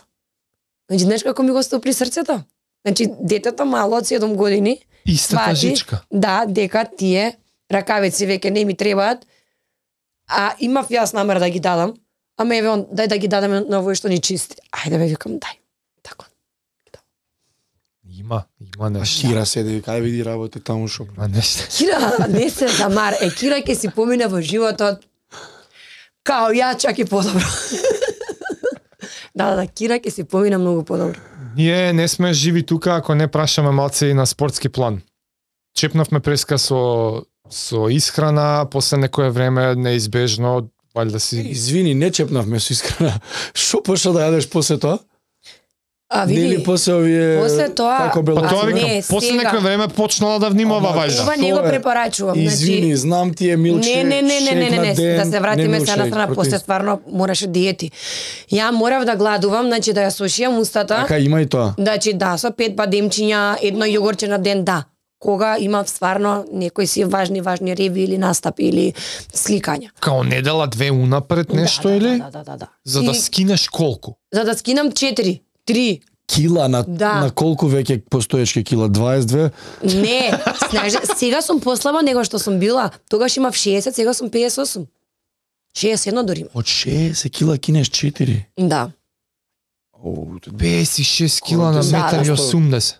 Значи, знаеш како ми го стопли срцето? Значи, детето мало од седум години, Истата свати, жичка. да, дека тие ракавици веќе не ми требаат, а имав јас намер да ги дадам, ама еве он, дај да ги дадеме на овој што ни чисти. Ајде бе, викам, дај. Така. Има, има нешто. Кира седи, кај види работи таму шо. Има нешто. Кира, не се замар, е, Кира ќе си помине во животот као ја, чак и подобро. Да, да, Кира ќе си помине многу подобро. Ние не сме живи тука ако не прашаме малце и на спортски план. Чепнавме преска со со исхрана, после некое време неизбежно, валјда си Извини, не чепнавме со искрена. Шо пошто да јадеш после тоа? А Не види, ли после овие после тоа- како Па бело? тоа не, викам, после сега. некое време почнала да внимава Ама, валјда. ова не го Што е? препорачувам. Извини, Значи, знам ти е милкшейк. Не, не, не, не, не, не, не, шейк на да се ден, вратиме не се на милкшейк, страна, после протеин. стварно мораше диети. Ја морав да гладувам, значи да ја сушијам устата. Така има и тоа. Значи да, со пет бадемчиња, едно јогурче на ден, да. Кога имав стварно некои си важни, важни реви или настапи или сликања. Као недела две унапред нешто да, или? Да, да, да, да. За да И- скинеш колку? За да скинам четири, три. Кила на Да. на колку веќе постоечки кила? дваесет и две? Не, знаеш, сега сум послаба него што сум била. Тогаш имав шеесет, сега сум педесет и осум. шеесет и едно дори имам. Од шеесет кила кинеш четири. Да. Оу, педесет и шест кила на Да, да. метар и осумдесет.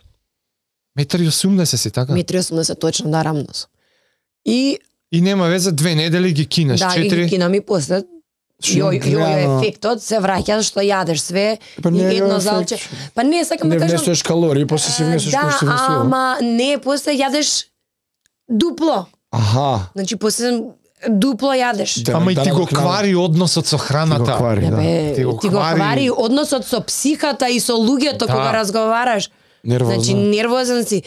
Метар и осумдесет си, така? Метри и осумдесет точно, да, рамно сум. И И нема везе, две недели ги кинеш, да, и ги четири. кинам и после Јој, јој ефектот се враќа што јадеш све Па не е и едно јој залче. ефект. Па не, сакам Не да кажам. внесуваш калории, после си внесуваш кој Да, си внесува. ама не, после јадеш дупло. Аха. Значи после дупло јадеш. Да, Ама и да, ти да, го да, квари односот со храната. Ти го квари, Не, да. бе, Ти го ти го квари- квари односот со психата и со луѓето Да. кога разговараш. Нервозно. Значи нервозен си.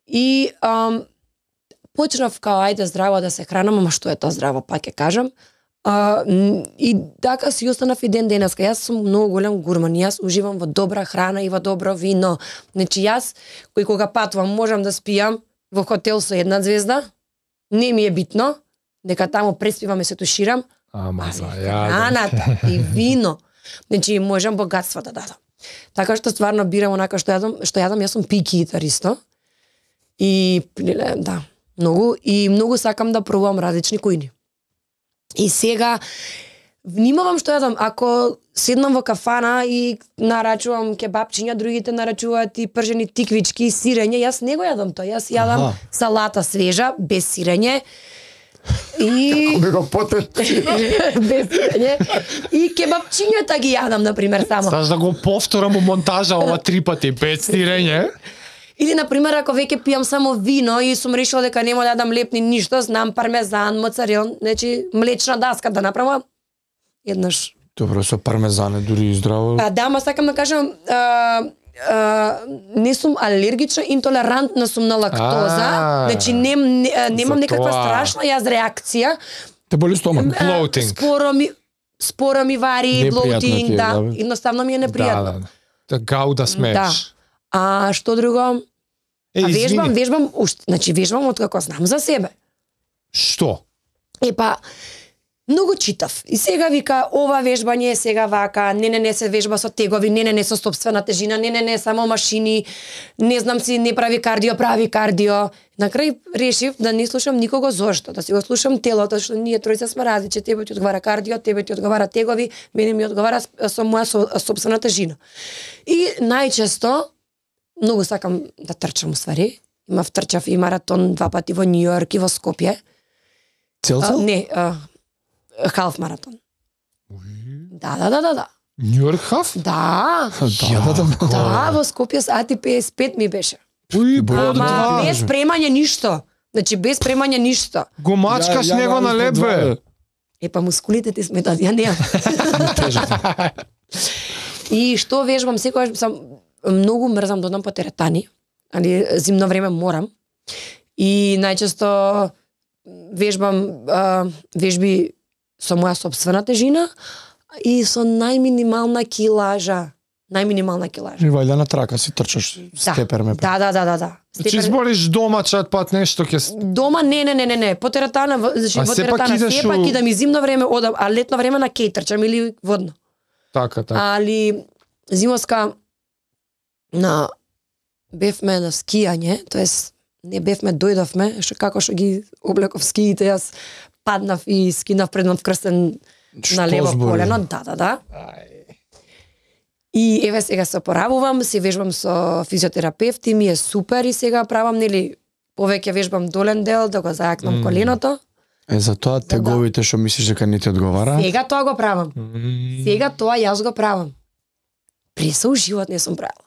И ам, почнав као ајде здраво да се хранам, ама што е тоа здраво, пак ќе кажам. А, м, и така си останав и ден денеска. Јас сум многу голем гурман. Јас уживам во добра храна и во добро вино. Значи јас кој кога патувам можам да спијам во хотел со една звезда. Не ми е битно дека таму преспивам и се туширам. Ама Али за ја. храната и вино. Значи можам богатство да дадам. Така што стварно бирам онака што јадам, што јадам, јас сум пики итар исто. И леле, да, многу и многу сакам да пробувам различни кујни. И сега внимавам што јадам, ако седнам во кафана и нарачувам кебапчиња, другите нарачуваат и пржени тиквички и сирење, јас не го јадам тоа. Јас јадам Аха. салата свежа без сирење. И Ми го потет. без сирење. И кебапчињата ги јадам на пример само. Саш да го повторам у монтажа ова три пати без стирење. Или на пример ако веќе пијам само вино и сум решила дека нема да јадам лепни ништо, знам пармезан, моцарел, значи млечна даска да направам. Еднаш. Добро, со пармезан е дури и здраво. А да, ма сакам да кажам, а, а, не сум алергична, интолерантна сум на лактоза. А, Значи нем, не, немам за некаква тоа. страшна јас реакција. Те боли стомак. А, Bloating. Споро ми споро ми вари, Непријатно ти блоутинг, е, да. да, бе. Едноставно ми е непријатно. Да, да. Да гау да смееш. Да. А што друго? Е, А вежбам, извини. вежбам, уште, значи вежбам од како знам за себе. Што? Е па, многу читав. И сега вика, ова вежбање е сега вака, не, не, не се вежба со тегови, не, не, не со собствена тежина, не, не, не, само машини, не знам си, не прави кардио, прави кардио. На крај решив да не слушам никого зошто, да си го слушам телото, што ние тројца сме различни, тебе ти одговара кардио, тебе ти одговара тегови, мене ми одговара со моја со, собствена тежина. И најчесто, многу сакам да трчам уствари, имав трчав и маратон два пати во Њу Јорк и во Скопје. Цел А, цел? не, а, халф маратон. Да, да, да, да, да. Њујорк хаф? Да, Да, да, да. да, во Скопје с А Т петдесет и пет ми беше. Уи, Ама, под Ама два. без премање ништо. Значи без премање ништо. Го мачкаш Ја- ја него на налив лед, по два, бе. Е па мускулите ти сметат, ја немам. И што вежбам секогаш сам многу мрзам да одам по теретани, али зимно време морам. И најчесто вежбам а, вежби со моја собствена тежина и со најминимална килажа. Најминимална килажа. И вајда на трака си трчаш Да. степер ме. Да, да, да, да, да. Значи Степер- збориш дома чат пат нешто ќе с- Дома не, не, не, не, не, по теретана, во- значи А во сепак теретана, идеш сепак у- идам и зимно време одам, а летно време на кеј трчам или водно. така, така. Али зимоска на бевме на скијање, тоест не бевме, дојдовме, што како што ги облеков скиите, јас паднав и скинав преднав крстен на лево збориш? колено, да, да, да. И еве сега се опоравувам, се вежбам со физиотерапевти, ми е супер и сега правам, нели, повеќе вежбам долен дел, да го зајакнам Мм. коленото. Е, за тоа теговите што мислиш дека не ти одговара? Сега тоа го правам. М, Сега тоа јас го правам. При со живот не сум правила.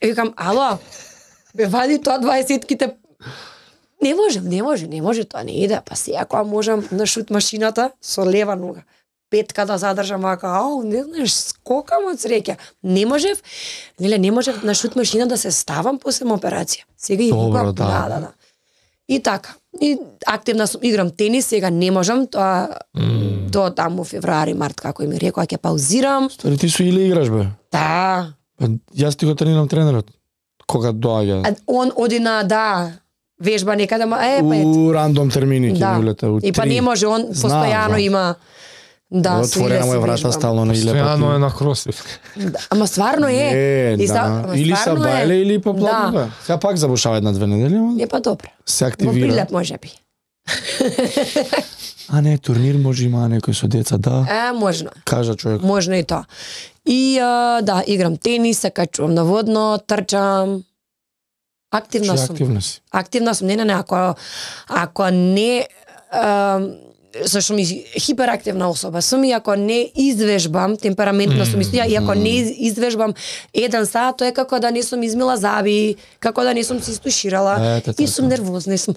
И викам, ало, бе вади тоа дваесетките. Не можем, не може, не може, тоа не иде. Па сега кога можам на шут машината со лева нога, петка да задржам вака, ау, не знаеш, скокам од среќа. Не можев, неле, не можев на шут машина да се ставам после операција. Сега и Добро, викам, да. да, да, да. И така. И активна сум, играм тенис, сега не можам, тоа м. до таму февруари, март, како ми рекоа, ќе паузирам. Стори ти со Иле играш бе. Да. Па, јас ти го тренирам тренерот. Кога доаѓа. А он оди на, да, вежба некаде, ма, е, па ет. У рандом термини ќе Да. ми улета. У И па три. не може, он Знам, постојано знам. има. Да, со Отворена Иле му си е врата вежбам. стално на Иле. Постојано е на кросфит. Да, ама стварно е. Не, И за- да. ама Или са стварно е. бајле или по платно Да. бе. Сега пак забушава една-две недели, ама Не па добро. се Во активира. прилеп може би. А не, турнир може има некој со деца, да. Е, можно. Кажа човек. Можно и тоа. И а, да, играм тенис, се качувам на водно, трчам. Активна Че сум. активна си. Активна сум. Не, не, не, ако ако не а, зашто ми хиперактивна особа сум и ако не извежбам, темпераментна сум исто, и ако не из- извежбам еден сат, тоа е како да не сум измила заби, како да не сум се истуширала Ете, и така. сум нервозна, и сум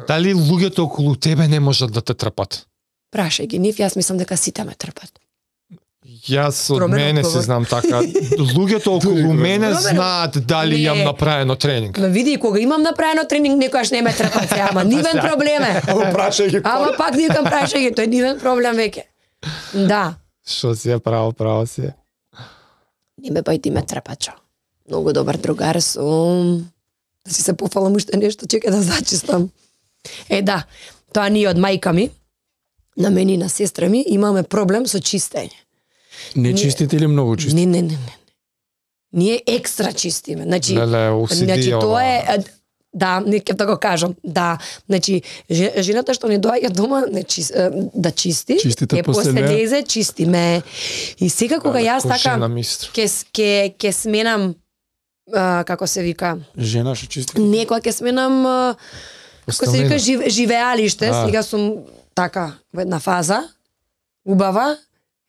Дали луѓето околу тебе не можат да те трпат? Прашај ги нив, јас мислам дека сите ме трпат. Јас од Промен мене одговор. се знам така. Луѓето околу мене Промен- знаат дали Не. имам направено тренинг. Ма види, кога имам направено тренинг, некојаш не ме трпат се, ама нивен проблем е. Ама прашај ги. Ама пак никам прашај ги, тој нивен проблем веќе. Да, Што си е право, право си е. не ме бај ти ме трпачо. Многу добар другар сум. Да си се пофалам уште нешто, чекај да зачистам. Е, да, тоа ние од мајка ми, на мене и на сестра ми, имаме проблем со чистење. Не чистите или многу чистите? Не, не, не, не. Ние екстра чистиме. Значи, Леле, о си ди значи ова. тоа е е, да, не ќе да го кажам. Да, значи же- жената што не доаѓа дома не чис, е, да чисти, Чистите е после после неа. лезе, чистиме. И сега кога јас Како жена така мистро. ќе с- ќе ќе сменам а, како се вика, Жена што чисти? некоја ќе сменам а, како се вика жив, живеалиште, А. сега сум така во една фаза убава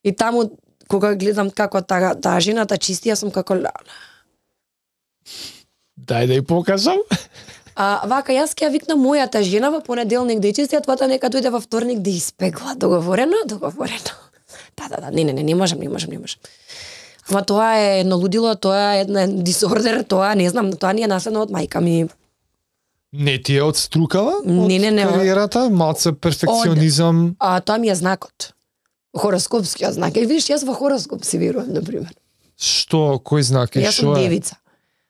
и таму кога гледам како таа таа жената чисти, јас сум како ла. Дај да ја покажам. А вака јас ќе ја викнам мојата жена во понеделник да ја чисти, а твојата нека дојде во вторник да испегла. Договорено, договорено. Да, да, да, не, не, не, не можам, не можам, не можам. Ама тоа е едно лудило, тоа е една дисордер, тоа не знам, тоа ни е наследно од мајка ми. Не ти е од струкава? Не, не, не, Од од- кариерата, малце перфекционизам. А тоа ми е знакот. Хороскопскиот знак. Е, видиш, јас во хороскоп си верувам, на пример. Што, кој знак е, Јас што сум е? девица.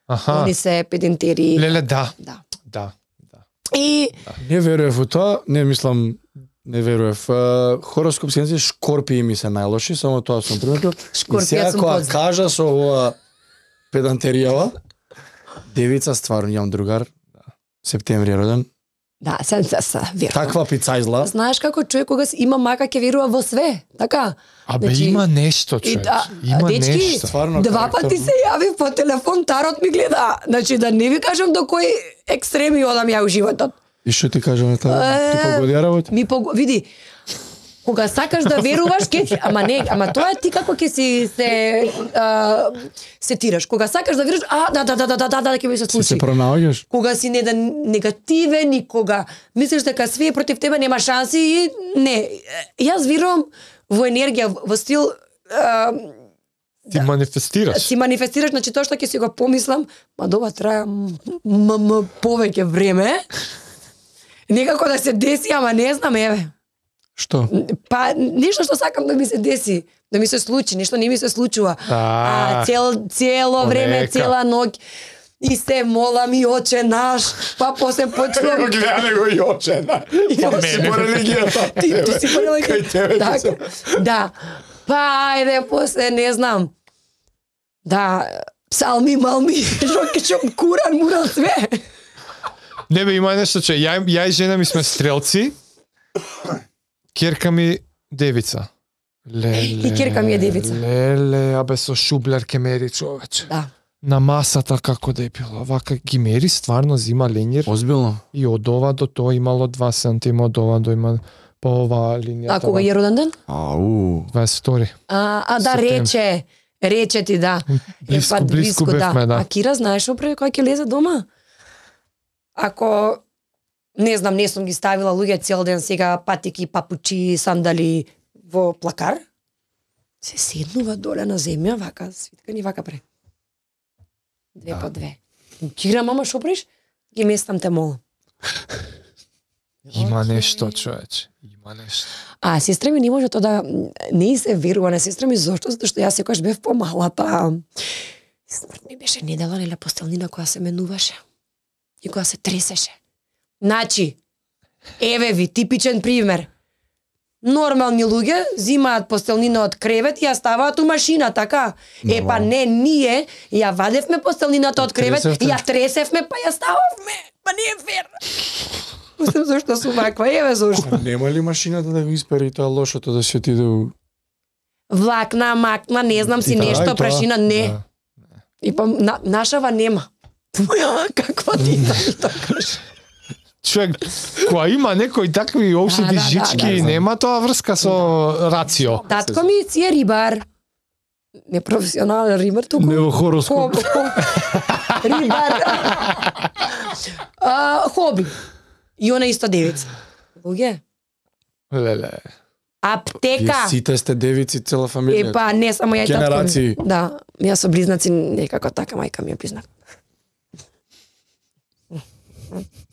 Аха. Они се педентери. Леле, да. Да. Да. Да. И Не верував во тоа, не мислам, не верував. Uh, хороскоп сенци шкорпии ми се најлоши, само тоа сум приметил. Шкорпија И сега сум кога позна. кажа со ова педантеријава, девица стварно имам другар, септември е роден. да, се се се верувам. Таква пицајзла. Знаеш како човек кога си има мака ќе верува во све, така? Абе, Значи, има нешто, И човек. да, Има дечки, нешто. Стварно Два карактер. пати се јави по телефон, тарот ми гледа. Значи да не ви кажам до кој екстреми одам ја у животот. И што ти кажам тоа? Ти Е, погоди работа? Ми пог... види, кога сакаш да веруваш, ке ти... ама не, ама тоа е ти како ќе си се а, сетираш. Кога сакаш да веруваш, а да да да да да да да ќе ми се Ти случи. се пронаоѓаш? Кога си не да негативен и кога мислиш дека све е против тебе, нема шанси и не. Јас верувам во енергија, во стил а, Ти манифестираш. си манифестираш, значи тоа што ќе си го помислам, ма дова трае м- м- м- повеќе време. Некако да се деси, ама не знам, еве. Што? Па нешто што сакам да ми се деси, да ми се случи, нешто не ми се случува. А, А цел цело време, понека. цела ноќ и се молам и оче наш, па после почнувам Гледа го и очена. Па си по религијата. Ти, ти си порела Кај тебе да, ти се- да. Па ајде после не знам. Да, псалми, малми, шо ќе шо куран, муран све. Не бе, има нешто, че ја, ја и жена ми сме стрелци. Керка ми девица. Леле. И керка ми е девица. Леле, абе со шублер ке мери човече. Да. На масата како да е било. Вака ги мери стварно, зима ленјер. Озбилно? И од ова до тоа имало два сантима, од ова до има по оваа линија. А кога е роден ден? Ау. дваесет втори. А, а да, Септември. рече. Рече ти, да. Блиско, Е, па, блиско бевме, да. А Кира, знаеш што прави кога ќе лезе дома? Ако, не знам, не сум ги ставила луѓе цел ден сега патики, папучи, сандали во плакар, се седнува доле на земја, вака, свиткани, вака пре. Две по две. Кира, мама, шо правиш? Ги местам те, молам. Има нешто, човече. Има нешто. А сестра ми не може тоа да не ѝ се верува на сестра ми, зошто? Затоа што јас секогаш бев помала, па смрт ми беше недела нели постелнина која се менуваше и која се тресеше. Значи, еве ви типичен пример. Нормални луѓе зимаат постелнина од кревет и ја ставаат у машина, така? Е, па не, ние ја вадевме постелнината од кревет, Тресевте? ја тресевме, па ја стававме. Па не е фер. Мислам зашто сум ваква, еве зашто. Нема ли машината да го испери тоа лошото да се отиде у... Влакна, макна, не знам си И тоа, и нешто, тоа. прашина, не. Да. И па на, нашава нема. Моја, каква ти да ми тоа кажеш? Човек, која има некои такви обшети Да, да, жички, да, да. нема тоа врска со рацио. Татко ми си е рибар. Не професионален рибар, туку. Не во хороскоп. Хоб- хоб- Рибар. а, хоби. И она исто девица. Луѓе. Леле. Аптека. Вие сите сте девици, цела фамилија. Е, па не само ја и татко ми. Генерации. Да, јас со близнаци некако така, мајка ми е близнак.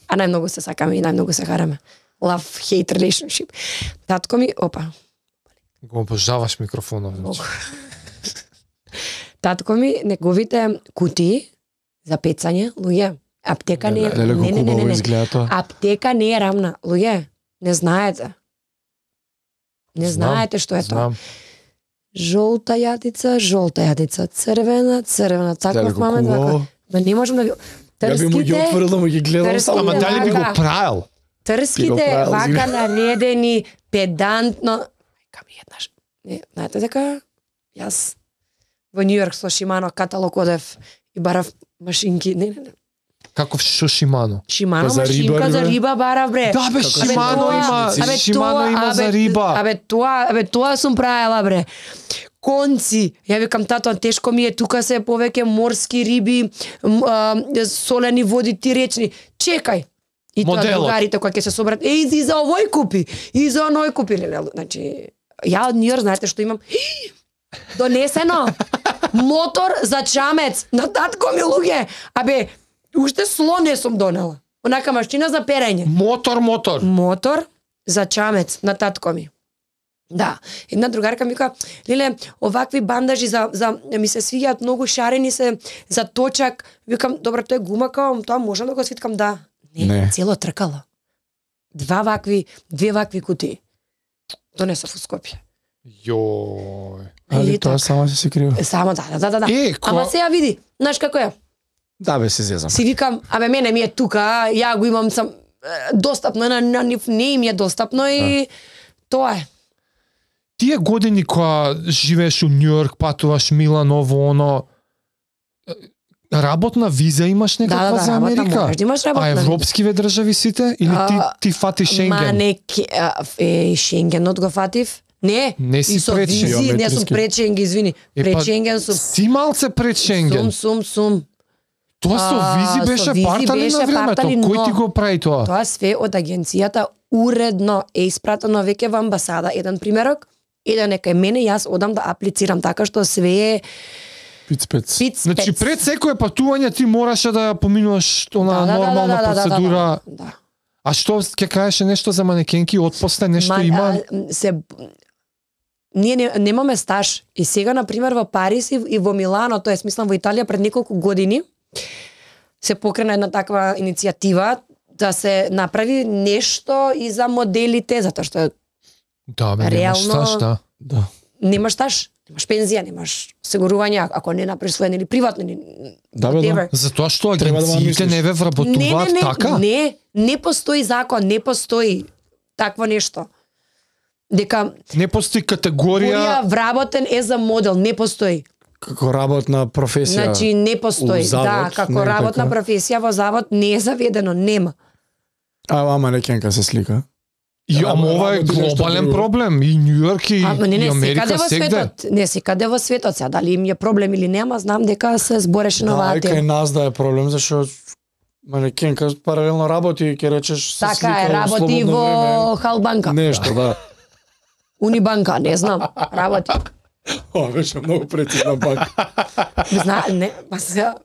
А најмногу се сакаме и најмногу се хараме. Love-hate relationship. Татко ми, опа. Го обожаваш микрофонот. Значи. Татко ми, неговите кутии за пецање, луѓе, аптека не е... Леле, Не, не, не, не, не. изгледа тоа. Аптека не е рамна. Луѓе, не знаете. Не Знам, знаете што е тоа. Знам. Жолта јадица, жолта јадица, црвена, црвена, таков маме, таков. Ма не можам да ви... Ја би му ги Трските, отворил да му ги гледам Трските, само. Ама дали би го вака. правил? Би го трските правил, вака зима. наредени, педантно. Мајка ми еднаш. Не, знаете дека јас во Нью Йорк со Шимано каталог одев и барав машинки. Не, не, не. Каков шо Шимано? Шимано Па за машинка риба, за бе? риба барав бре. Да бе, Како Шимано тоа? има, Абе, Шимано има абе, за риба. Абе тоа, абе тоа сум правела бре. Конци. Ја викам тато, тешко ми е, тука се повеќе морски риби, м, а, солени води, ти речни. Чекај. И тоа Моделот. другарите кои ќе се соберат, е, и за овој купи, и за оној купи. Леле, значи, ја од Нью Йорк, знаете што имам? Донесено. Мотор за чамец. На татко ми, луѓе. Абе, уште слон не сум донела. Онака машина за перење. Мотор, мотор. Мотор за чамец на татко ми. Да, една другарка ми вика, леле, овакви бандажи за за ми се свиѓаат многу шарени се за точак. Викам, добро, тоа е гума, као, тоа можам да го свиткам, да. Не, Не. цело тркало. Два вакви, две вакви кутии. Донесов у Скопје. Јој. Али Или тоа така. само се се крива. Е, само да, да, да, да. Е, ко- Ама сега види, знаеш како е? Да бе, се зезам. Си викам, абе мене ми е тука, ја го имам сам е, достапно на на нив не им е достапно и тоа е. Тие години кога живееш у Нью Йорк, патуваш Милан, ово, оно, работна виза имаш некаква Да, да, да, за работна Америка? можеш да имаш работна А виза. европскиве држави сите? Или ти, А, ти фати Шенген? Ма не, ке- а, е, Шенгенот го фатив. Не, Не си и со пред визи, не Биометриски. сум пред Шенген, извини. Е, Пред па, Шенген сум. Си малце пред Шенген. Сум, сум, сум. Тоа со А, визи со беше визи партали беше на времето. партали, Кој но- ти го прави тоа? Тоа све од агенцијата уредно е испратено веќе во амбасада. Еден примерок, еден е кај мене, јас одам да аплицирам, така што све е Пиц-пец. пиц Значи пец. пред секое патување ти мораше да ја поминуваш она Да, да, да, нормална да, да, да, процедура. Да, да. А што ќе кажеше нешто за манекенки отпосте нешто Ма, има? а, се ние не, немаме стаж и сега на пример во Париз и, и во Милано, тоа е смислам во Италија пред неколку години се покрена една таква иницијатива да се направи нешто и за моделите, затоа што Да, ме немаш реално- стаж, да. Да. немаш стаж, немаш пензија, немаш осигурување ако не направиш свој или приватно или Да, бе, да. whatever. Затоа што Треба да ма агенциите мислиш. не ве вработуваат не, не, така? Не, не постои закон, не постои такво нешто. Дека Не постои категорија. Категорија вработен е за модел, не постои. Како работна професија. Значи не постои. у завод, Да, како не е работна така? професија во завод не е заведено, нема. А, ама некенка се слика. И Ама ама ова е работи нешто глобален друго. проблем. И Нью Йорк и, Ама не, и не, Америка секаде во сегде. светот. Не, секаде во светот. Сега дали им е проблем или нема, знам дека се збореше на Да, оваа и кај тема. нас да е проблем, зашто манекенка паралелно работи и ќе речеш се Така слика е, во работи слободно во време. Халбанка. Нешто, да. Унибанка, не знам, работи. Ова беше многу прецизна банка. Зна, не, па сега,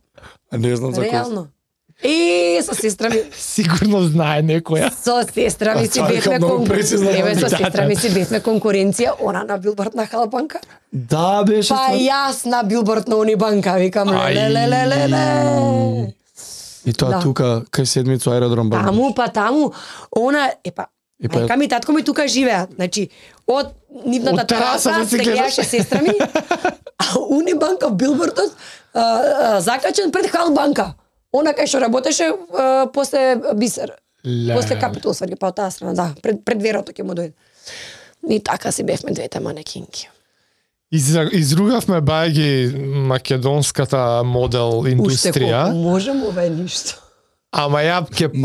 А не знам за кој. реално. И со сестра ми, Сигурно знае некоја. со сестра ми А, си тоа е бевме многу прецизно, Еве, со да, сестра да. ми си бевме конкуренција, она на билборд на Халбанка. Да, беше Па ствар- јас на билборд на Унибанка, викам Ај. леле леле леле. И тоа Да. тука кај седмицу аеродром Бабич. Таму па таму, она епа И па- мајка ми и татко ми тука живеат. Значи, од нивната Од тераса тераса да се се гледаш. гледаше сестра ми, а Унибанка билбордот а, а, закачен пред Халбанка. Она кај што работеше а, после Бисер. Ле. После Капитол сврги, па од таа страна, да, пред, пред верото ќе му дојде. И така си бевме двете манекинки. Изра- Изругавме бајги македонската модел Уште индустрија, колку можем, ова е ништо. ама ја ќе пробам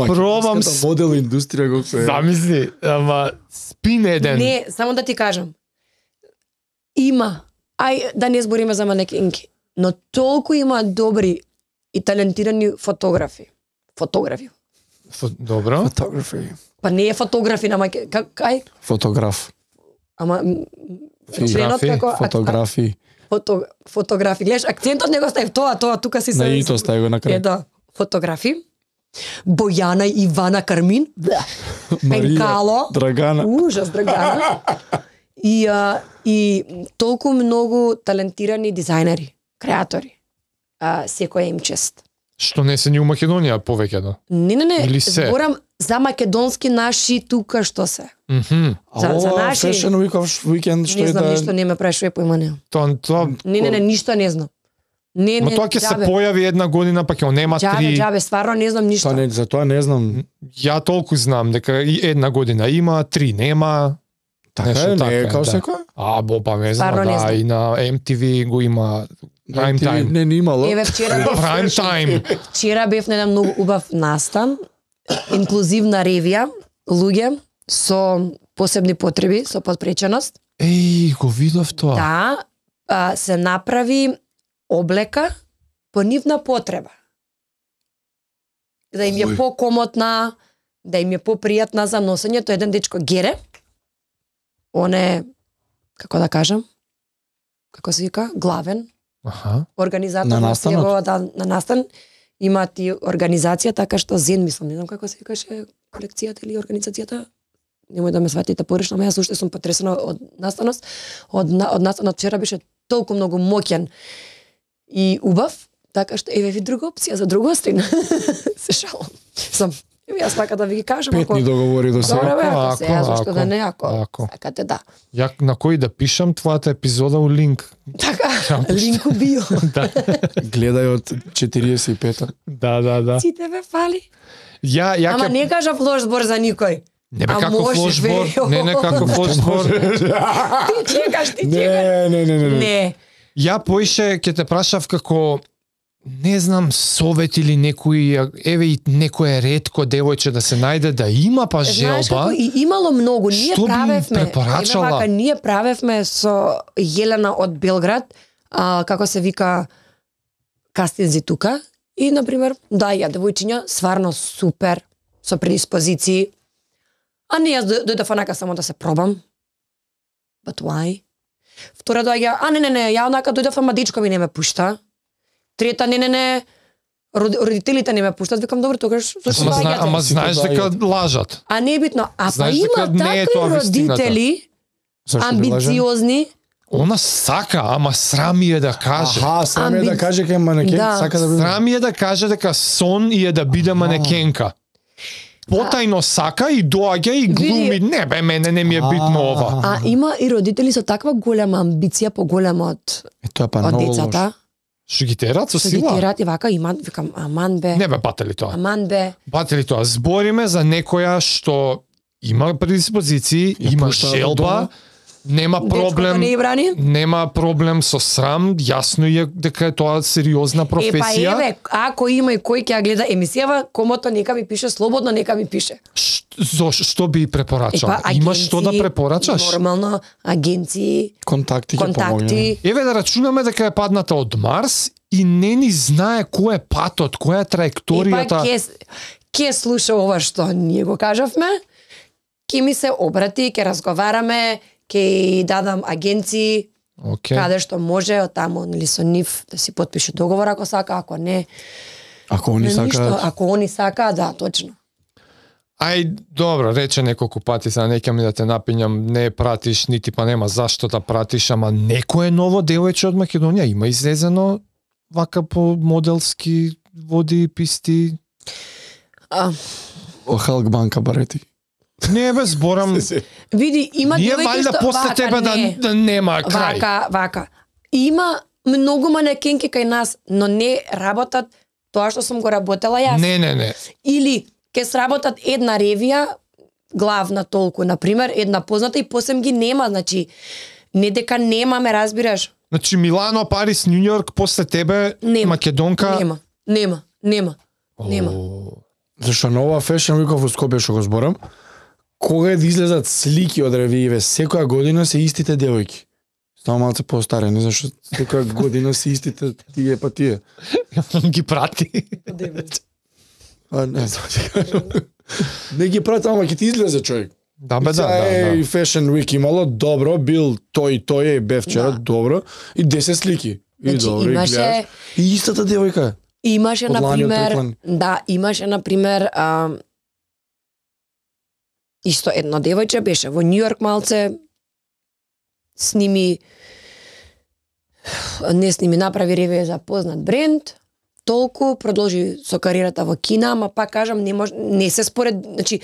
Македонската с... модел индустрија го се. Замисли, ама спин еден. Не, само да ти кажам. Има, ај да не збориме за манекинки, но толку има добри и талентирани фотографи. Фотографи. Фо- Добро. Photography. Па не е фотографи на маке... Как, кај? Фотограф. Ама... м, членот Фотографи, како... а- Фотографи. Фото, фотографи. Гледаш, акцентот не го ставив тоа, тоа, тука си се... На ито стави го на Е, крај. да. Фотографи. Бојана Ивана Кармин. Марија, Пенкало. Драгана. Ужас, Драгана. И, а, и толку многу талентирани дизајнери, креатори. А, секоја им чест. Што не се ни у Македонија повеќе да. Не, не, не, Или се? зборам за македонски наши тука што се. Мгм. А За- за ова наши- Fashion Week weekend што Не е знам да... ништо, не ме прашува поима не. Тоа тоа Не, не, не, ништо не знам. Не, Ма не, тоа ќе се џабе. појави една година, па ќе нема Џабе, три. џабе, стварно не знам ништо. Тоа не, за тоа не знам. Ја толку знам дека и една година има, три нема. Така Нешто е, не така е е, као да. секој? А, бо па не знам, Стварно не да, знам. и на Ем Ти Ви го има prime time. Не, не имало. Еве вчера бев, Prime time. вчера бев на еден многу убав настан, инклузивна ревија, луѓе со посебни потреби, со подпреченост. Еј, го видов тоа. Да, а, се направи облека по нивна потреба. Да им е Ој. покомотна, да им е попријатна за носење. Тоа е еден дечко Гере. Он е, како да кажам, како се вика, главен Аха. организатор На настанот? неговата- да, на настан. Има ти организација, така што Зен, мислам, не знам како се викаше колекцијата или организацијата. Немој да ме сватите погрешно, ама јас уште сум потресена од настаност. Од, на- од настанот вчера беше толку многу моќен и убав, така што еве ви друга опција за другостин. Се шалам. Сам, еве јас така да ви ги кажам. Пет ни договори до сега. Добре, бе, Ако, ако се, ако, зашто да ако, не, ако, ако. сакате да. Ја на кој да пишам твојата епизода у линк. Така, линк у био. Да. Гледај од четириесет и пета. Да, да, да. Сите ве фали. Ја ја Ама ќе не кажав лош збор за никој. не бе А како може, лош бе, збор. Не, не како лош збор. Ти чекаш, ти чекаш. Не, не, не, не. не. Не. Ја поише ќе те прашав како не знам совет или некој еве и некое ретко девојче да се најде да има па Знаеш желба. како и имало многу, ние Што би правевме. препорачала? Еве вака, ние правевме со Јелена од Белград, а, како се вика кастинзи тука и на пример, да, ја девојчиња сварно супер со предиспозиции. А не јас дој- дојдов онака само да се пробам. But why? Втора доаѓа, а не не не, ја онака дојдов, ама дечко ми не ме пушта. Трета, не не не, род- родителите не ме пуштат, викам добро тогаш зашто Ама, зна, доаѓате? ама знаеш дека лажат. А не е битно, а па Знаеш има дека не е такви тоа вистината. родители Зашто би лажал? амбициозни. Она сака, ама срам е да каже. Аха, сам е да Амби- каже кај манекен, Да. сака да биде. Срам е да каже дека сон и е да биде манекенка. Потајно сака и доаѓа и глуми. Види- Не бе, мене не ми е битно ова. А има и родители со таква голема амбиција, поголема од, Е, тоа е па од многу децата. лошо. Што ги терат со Што ги сила? терат и вака имат, викам, аман бе, Не бе, батели тоа. аман бе. Батели тоа. Збориме за некоја што има предиспозиции, Ја има пуштаат од желба, дома. нема Дечкото проблем, не ја брани. нема проблем со срам, јасно е дека е тоа сериозна Е, па професија. еве, ако има и кој ќе ја гледа емисијава, комото нека ми пише слободно, нека ми пише. Ш- Зо што би Е, препорачал? па, Има што да агенции, препорачаш? Нормално, агенции, Контакти ќе помогне. контакти. Еве да рачунаме дека е падната од Марс и не ни знае кој е патот, која е Е, па траекторијата. ќе, ќе слуша ова што ние го кажавме, ќе ми се обрати, ќе разговараме, ќе и дадам агенции, Океј. каде што може, од таму нели со нив да си потпише договор ако сака, ако не, Ако они не ништо, сакаат, ако они сака, да, точно. Ај, добро, рече неколку пати, сега не ќе ми да те напињам, не пратиш, нити па нема зашто да пратиш, ама некое ново девојче од Македонија има излезено вака по моделски води, писти. А, о Халк банка барети. Не бе, зборам, види, има ние девојки валјда што после вака, тебе да, не. да нема крај. Вака, вака. Има многу манекенки кај нас, но не работат тоа што сум го работела јас. Не, не, не. Или ќе сработат една ревија, главна толку, на пример, една позната и посем ги нема, значи не дека немаме, разбираш? Значи Милано, Парис, Нью Йорк, после тебе Нема. Македонка. Нема, нема, нема. Нема. О, Зашто на ова Fashion Week во Скопје што го зборам, кога е да излезат слики од ревијеве, секоја година се истите девојки. Само малце постарени, зашто секоја година се истите тие па тие. ги прати. А не знам ти кажам. Не ги прати, ама ќе ти излезе човек. Да, бе, да, Сега да, е и да. Fashion Week имало, добро, бил тој, тој е, бе вчера, Да. добро, и десет слики. И Значи, добро, имаше- и гледаш. И истата девојка. Имаше, Од лани, од например, преклани. да, имаше, например, а, исто едно девојче беше во Нью Йорк малце, сними, не сними, направи реве за познат бренд, толку, продолжи со кариерата во Кина, ама пак кажам, не може, не се според, значи,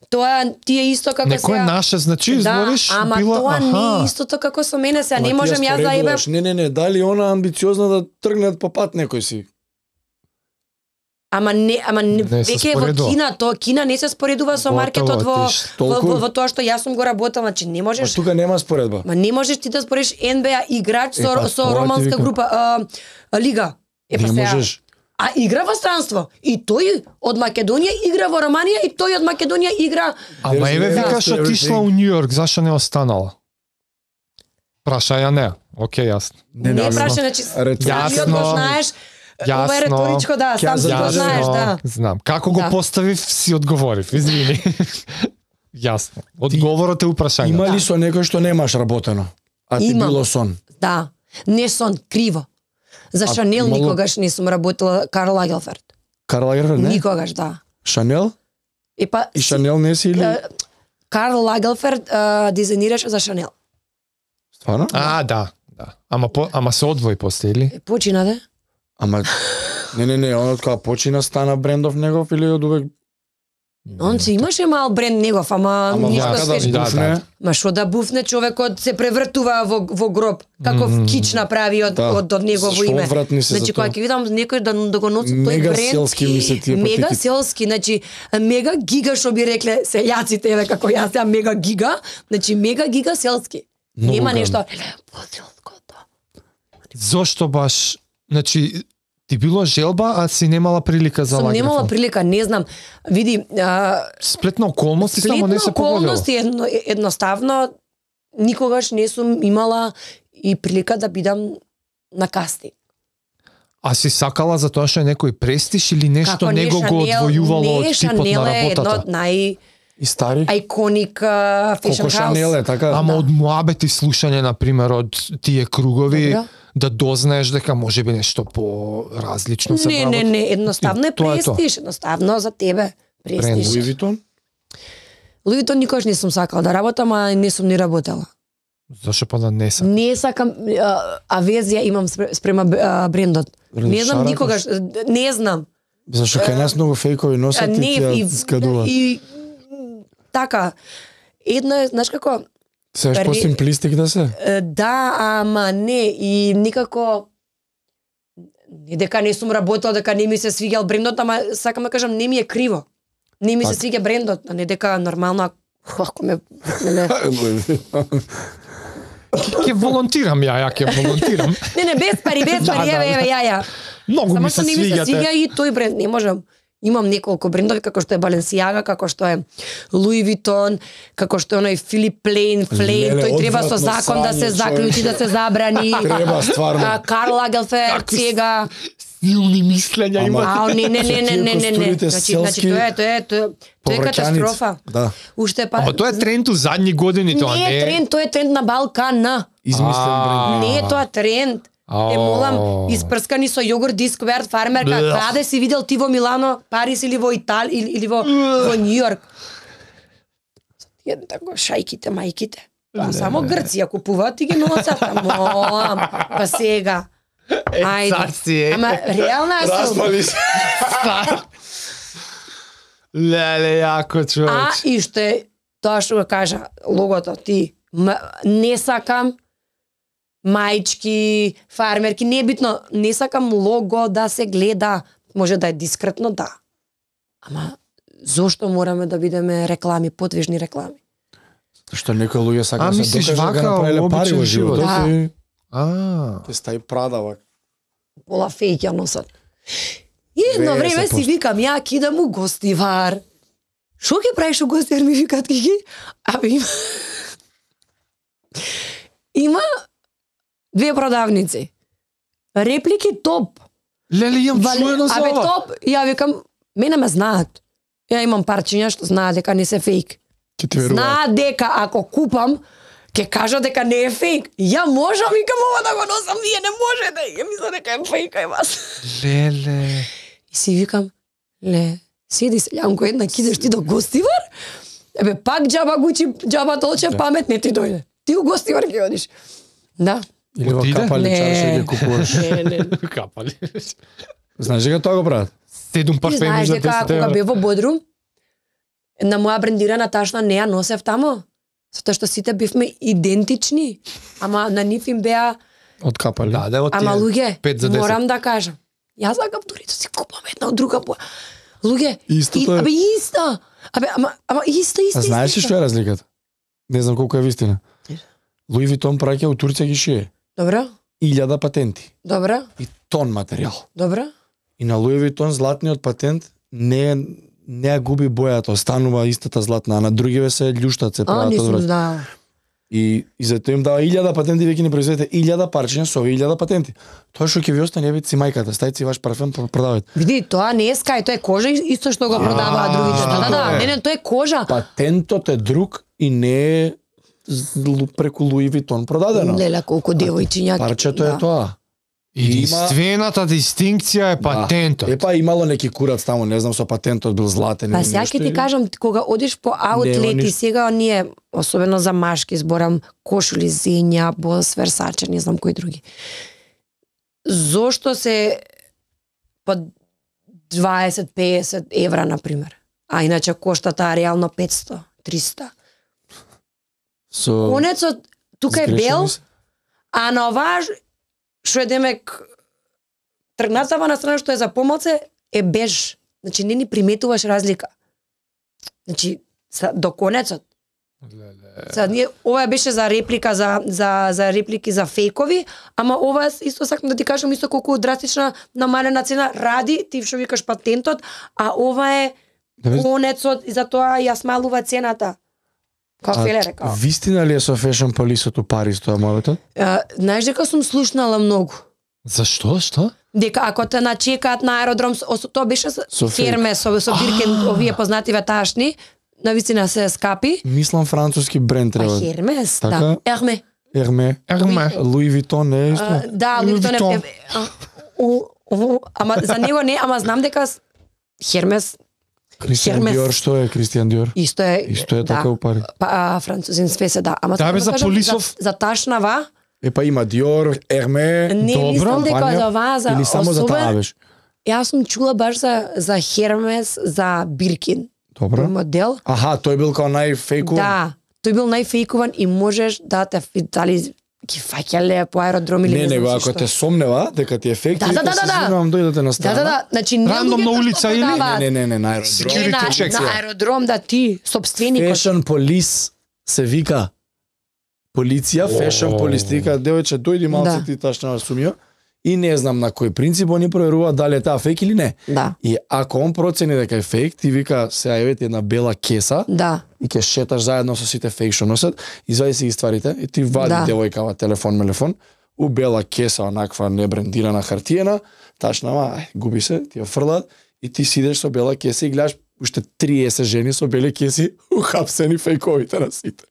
тоа ти е исто како Некој сега... наше, значи, избориш, да, ама била, тоа не аха. е истото како со мене, сега Ама не ти ја можем јас да ебе... споредуваш. Не, не, не, дали она амбициозна да тргнат по пат некој си? Ама не, ама не, Не се веќе во споредува. Кина, тоа Кина не се споредува со Готово, маркетот во, ти ш- во, толку- во, во тоа што јас сум го работел, значи не Ма можеш, тука нема споредба. ма не можеш ти да спориш Н Б А играч Е, со па, со тоа ти романска викам. група, а, а, лига. Е па Не сега. можеш. А игра во странство. И тој од Македонија игра во Романија и тој од Македонија игра. Ама There's еве no викаш everything. отишла у Нью Йорк, зашо не останала? Праша ја не. Океј, јасно. Не, не, праша, значи Ретро- самиот го Јасно. знаеш. Ова е Јасно. реторичко, да, Ќе сам си го зададеш, знаеш, да. Знам. Како го Да. поставив, си одговорив. Извини. Јасно. Одговорот е упрашање. Има Да. ли со некој што немаш работено? А ти Имам. било сон? Да. Не сон, криво. За А, Шанел имало- никогаш не сум работела Карл Лагелферд. Карл Лагерфелд, не? Никогаш, да. Шанел? И па И Шанел не си или? Е, Карл Лагелферд а, дизајнираше за Шанел. Стварно? А, да. Да. Ама по, ама се одвои после или? Е, почина да? Ама не, не, не, он од кога почина стана брендов негов или од увек? Он си имаше мал бренд негов, ама, Ама ништо вака да свежо. да, буфне. да. Ма што да буфне човекот се превртува во во гроб. Каков Мгм. кич направи од Да. од, од негово Што име. одвратни се за Значи тоа. кога ќе видам некој да, да го носи тој Мега бренд, селски ми се тие мега патики. селски, значи мега гига што би рекле селјаците, еве како јас ја мега гига, значи мега гига селски. Многу Нема гадно. нешто по-селско, да. Зошто баш, значи, ти било желба, а си немала прилика за Сум Лагерфелд? немала прилика, не знам. Види, а, Сплетна околности, само не сплетна се погодило. околности едно, едноставно никогаш не сум имала и прилика да бидам на кастинг. А си сакала за тоа што е некој престиж или нешто Како не него го Шанел- одвојувало од не, типот Шанел на е едно работата? од нај И стари? iconic uh, fashion Колко Шанел house. е, така? Ама од муабети слушање, например, од тие кругови, Добро. да дознаеш дека може би нешто по-различно се Не, не, прават. не, едноставно е Тоа е тоа. престиж, едноставно за тебе Бренд. престиж. Луи Витон? Луи Витон никош не сум сакала да работам, а не сум ни работела. Зашо па да не сакам? Не сакам, а, авезија имам спре- спрема а, брендот. Не знам Шаракаш? никогаш, не знам. Зашто кај нас многу фейкови А, носат и не, ти и, ја скадува. и така, едно е, знаеш како, Сеш ре- по симплистик да се? е, да, ама не, и никако, не дека не сум работела, дека не ми се свиѓал брендот, ама сакам да кажам, не ми е криво. Не ми се Така. свиѓа брендот, а не дека нормално, ако ме, не, не, Ќе волонтирам ја, ја ќе волонтирам. не, не, без пари, без Да, пари, да, еве, да. еве, ја, ја. Многу Само ми што се не ми се свиѓате. свиѓа и тој бренд, не можам. Имам неколку брендови, како што е Balenciaga, како што е Louis Vuitton, како што е оној Philip Plain, Flame, Леле, тој треба со одвратно закон да се срање, заклучи, да се забрани. Треба, стварно. А, Карл Лагелферд, Какви сега. Силни мислења Ама- има. Ау, не, не, не, не, не, не, не. костурите Значи, значи селски, тоа е, тоа е, тоа е, тоа е повраќаници. катастрофа. Да. Уште па Ама тоа е тренд у задни години, тоа не не е тренд, тоа е тренд на Балкана. Измислен А. бренд. Не е тоа тренд. Е, молам, испрскани со јогурт дискверт фармерка. Блeh. Каде си видел ти во Милано, Париз или во Итали или, или во во Њу Јорк? Едно тако шајките, мајките. Па само Грција купуваат и ги носат, а молам. Па сега. Ајде. цар си е. Ама реална е сум. Распали се. Леле, јако А човеч. и што тоа што го кажа логото ти, м, не сакам мајчки, фармерки, не е битно, не сакам лого да се гледа, може да е дискретно, да. Ама зошто мораме да бидеме реклами, подвижни реклами? Што некои луѓе А, сакаат да се мислиш, докажат дека вака, направиле пари обичен во живот? животот Да. и А, ќе стаи прада вака. Пола фејк ја носат. И едно време деветдесет си проценти. викам, ја кидам у гостивар. Шо ќе правиш у гостивар, ми викаат Кики? Абе има... има две продавници. Реплики топ. леле, јам Вале, чуено за абе ова. топ, ја викам, Мене ме знаат. Ја имам парчиња што знаат дека не се фейк. Ќе ти веруваат. Знаат дека ако купам, ќе кажа дека не е фейк. Ја можам и кам ова да го носам, вие не можете. Ја мисля дека е фейк, е вас. Леле. И си викам, ле, седи се, Јанко, една кидеш ти до Гостивар? Ебе, пак џаба Гучи, џаба толче Да. памет не ти дојде. Ти у Гостивар ќе одиш. Да. Или во Отиде? капали Не. чарше ги купуваш. Не, не. Капали. Знаеш дека тоа го прават? Седум Ти парфеми знаеш за дека десет кога евра. бев во Бодрум, на моја брендирана ташна не ја носев тамо. Затоа што сите бевме идентични. Ама на нив им беа, Од капали. Да, да, од ама тие луѓе, пет за десет. морам да кажам. Јас сакам дури да си купам една од друга боја. Луѓе, Истото е. абе исто. Абе, ама, ама исто, исто, А знаеш ли исто. што е разликата? Не знам колку е вистина. Луи Витон праќа у Турција ги шие. Добро, Илјада патенти добро, и тон материјал. добро. И на Луи Витон златниот патент не е- не ја губи бојата, останува истата златна, а на другиве се љуштат, се А, прават не од сум враќа. знаела. И и затоа им дава илјада патенти, веќе ни произведете илјада парчиња со овие илјада патенти. Тоа што ќе ви остане, ебе си мајката, стајте си ваш парфем, продавајте. Види, тоа не е скај, тоа е кожа исто што го продаваат другите. Да, да, да, не, не, тоа е кожа. Патентот е друг и не е з- преку Луи Витон продадено. Леле, колку девојчиња. Парчето е тоа. Единствената дистинкција е патентот. Да. Епа имало неки курац таму, не знам, со патентот бил златен. Па или сега нешто ќе ти и- кажам, кога одиш по аутлети, ништо. сега оние, особено за машки, зборам кошули Зења, Бос, Версаче, не знам кои други. Зошто се по дваесет песет евра, например? А иначе кошта таа реално петсто, триста. Со Конецот, тука е сгрешени бел, се. а на оваа што е демек тргнатава на страна што е за помалце е беж. Значи не ни приметуваш разлика. Значи са, до конецот. Сега ние ова беше за реплика за за за реплики за фейкови, ама ова исто сакам да ти кажам исто колку драстична намалена цена ради ти што викаш патентот, а ова е Да, бе, конецот и затоа ја смалува цената. Како Феле рекao. Вистина ли е со Fashion Police у Париз тоа моето? А, знаеш дека сум слушнала многу. Зашто? Што? Дека ако те начекаат на аеродром, со- тоа беше со, Со фейк. ферме, со, со Биркен, овие познативе ташни, навистина се скапи. Мислам француски бренд А треба. Хермес, Така? да. Ерме. Ерме. Ерме. Луи Витон не е исто? А, да, Луи Луи Витон е... Витон. е- а, у- у- Ама за него не, ама знам дека с- Хермес Кристијан Хермес. Диор, што е Кристијан Диор? исто е... Исто е така да. у Париз. Па, а, французин све се да. Ама Да, сакам бе, за кажам, Полисов. За, за ташнава, Епа има Диор, Ерме, не Добро. мислам дека компанија, за оваа, за или само за особен- таа беше? Јас сум чула баш за, за Хермес, за Биркин. Добро. Модел. Аха, тој бил као најфейков. Да, тој бил најфейкуван и можеш да те фи- дали ги фаќале по аеродром или Не, не, него знам ако што. те сомнева дека ти е фейк, Да, ти да, вика, да, се да, да. извинувам, дојдете на Да, страна. да, да, значи не Рандом луѓето на што улица или? продаваат. Не, не, не, на аеродром. Security Не, на, check, на ја. аеродром да ти, собственикот. Fashion Police се вика. Полиција, Fashion Police, ти вика, девојче, дојди малце Да. ти ташна сумио. И не знам на кој принцип они проверуваат дали е таа фейк или не. Да, И ако он процени дека е фейк, ти вика, сега еве ти една бела кеса да, и ќе шеташ заедно со сите фейк што носат, извади си ги стварите и ти вади Да. девојкава телефон, мелефон, у бела кеса, онаква небрендирана хартиена, ташнава, ај, губи се, ти ја фрлаат и ти сидеш со бела кеса и гледаш уште триесет жени со бели кеси ухапсени фейковите на сите.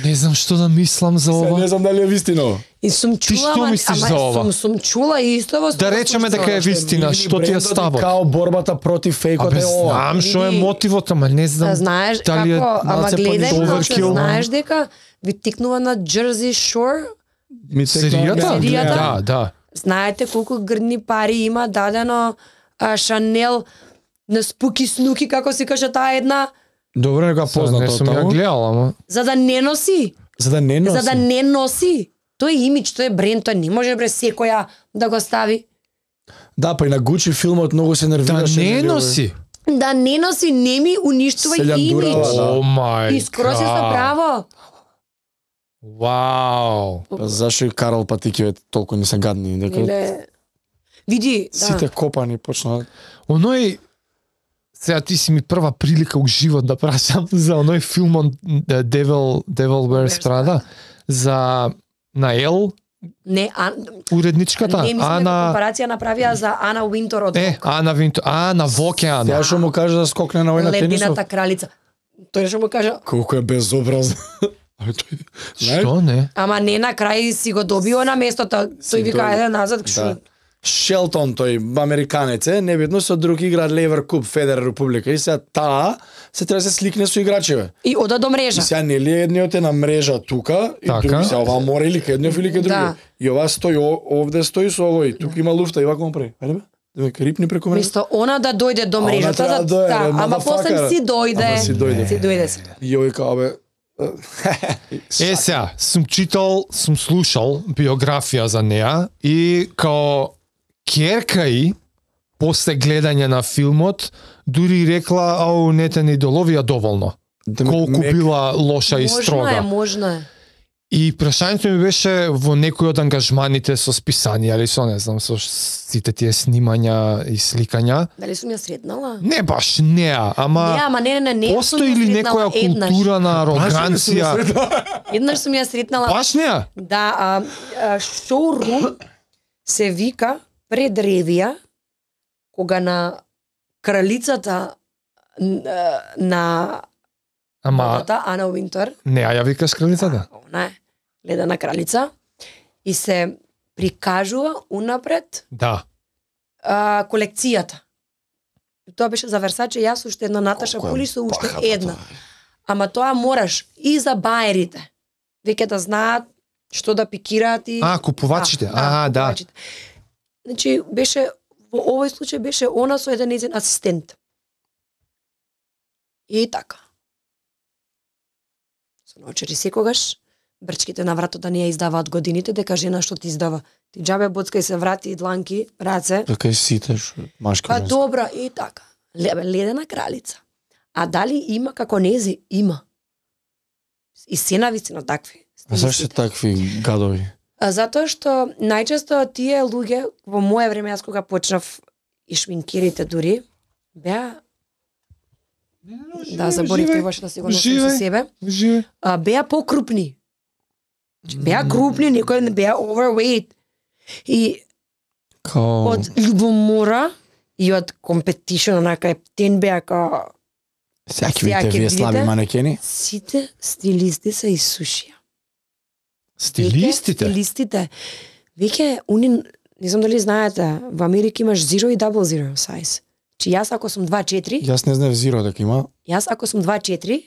Не знам што да мислам за Сега ова. не знам дали е вистина. и сум Ти чула, што ама, мислиш ама за ова? Сум, сум чула и исто во Да речеме дека е вистина, што ти е ставот? Као борбата против фейкот Абе, е ова. знам што е Види, мотивот, ама не знам. Да знаеш дали е како, ама малце гледај, понижен значи, overkill. знаеш дека ви тикнува на Jersey Shore. Ми текна- Серијата? Серијата? Да, да. Знаете колку грдни пари има дадено а, Шанел на Спуки Снуки, како се каже таа една, Добро, нека Сега познато не од сум ја таму. гледал, ама. за да не носи. За да не носи. За да не носи. Тој е имидж, тој е бренд, тој не може бре секоја да го стави. Да, па и на Гучи филмот многу се Да нервираше. не нели, носи. Да не носи, не ми уништува Се љандурава, имидж. да. О мај. И скоро си со право. Вау. Па зашо и Карл Патикиве толку не се гадни, дека Иле... Види, да. сите копани почнаа. Оној сега ти си ми прва прилика у живот да прашам за оној филм on Devil Devil Wears Prada за на Ел Не, а, Уредничката, не мислам дека Ана... компарација направија за Ана Уинтор од Е, Ана Винтор, Ана Вокеан. Ја што му кажа да скокне на војна тенисот. Ледената кралица. Тој што му кажа, Колку е безобразно. Али тој... Што не? ама не на крај си го добио на местото. Тој вика дојде. ајде назад Да. што. Шелтон, тој американец е, небитно со друг игра Левер Куп, Федерер Република. И сега таа се треба да се сликне со играчеве. И ода до И мрежа. сега нели едниот е на мрежа тука, и Така. други сега ова мора или кај едниот или кај други. Да. И ова стои о- овде стои со овој, тука има луфта и вака му прави. Ајде бе, да ме рипни преку мене. Место она да дојде до А она мрежата, треба да, да дојде, да, бе, ама после motherfucker. си дојде. Ама си дојде. Си дојде си. И овој као бе. Е, сега, сум читал, сум слушал биографија за неа и као ќерка и после гледање на филмот дури рекла, ау, не те не идоловија доволно. Да ме- Колку мек- била лоша и Можно е, строга. можно е. И прашањето ми беше во некој од ангажманите со списанија или со, не знам, со сите тие снимања и сликања. Дали сум ја сретнала? Не баш неа, ама... Не, ама не, не, не, не. Постои ли некоја култура на ароганција? Еднаш сум ја сретнала. Баш неа? Да, а, а шоурум се вика пред ревија, кога на кралицата н- а, на Ама модата, Ана Уинтер, неа ја викаш кралицата? она е ледена кралица, и се прикажува унапред Да. а, колекцијата. И тоа беше за Версаче, јас уште една Наташа Колку е Пули со уште бахата една. тоа. Ама тоа мораш и за баерите. Веќе да знаат што да пикираат и... А, купувачите. А, да. купувачите. Значи, беше, во овој случај беше она со еден нејзин асистент. И така. Со научери секогаш, брчките на вратот не ја издаваат годините, дека жена што ти издава. Ти џабе боцкај се врати, дланки, раце. Така и сите што машки. Па женски. добра, и така. Ле- Ледена кралица. А дали има како нези? Има. И се навистина такви. А зашто такви гадови? А затоа што најчесто тие луѓе во моје време, јас кога почнав и шминкерите дури, беа да заборив требаше да си го носим со Живеј. себе, Живе. а, беа покрупни. Беа крупни, некои не беа overweight. И Као... од љубомора и од компетишн, онака ептен беа као Сега ќе сега видите ќе вие слаби видите. манекени? сите стилисти се исушија. Стилистите? Веќе Стилистите. Веќе, уни, не знам дали знаете, во Америка имаш zero и double zero size. Чи јас ако сум два четири, Јас не знам зиро дека има. јас ако сум два четири,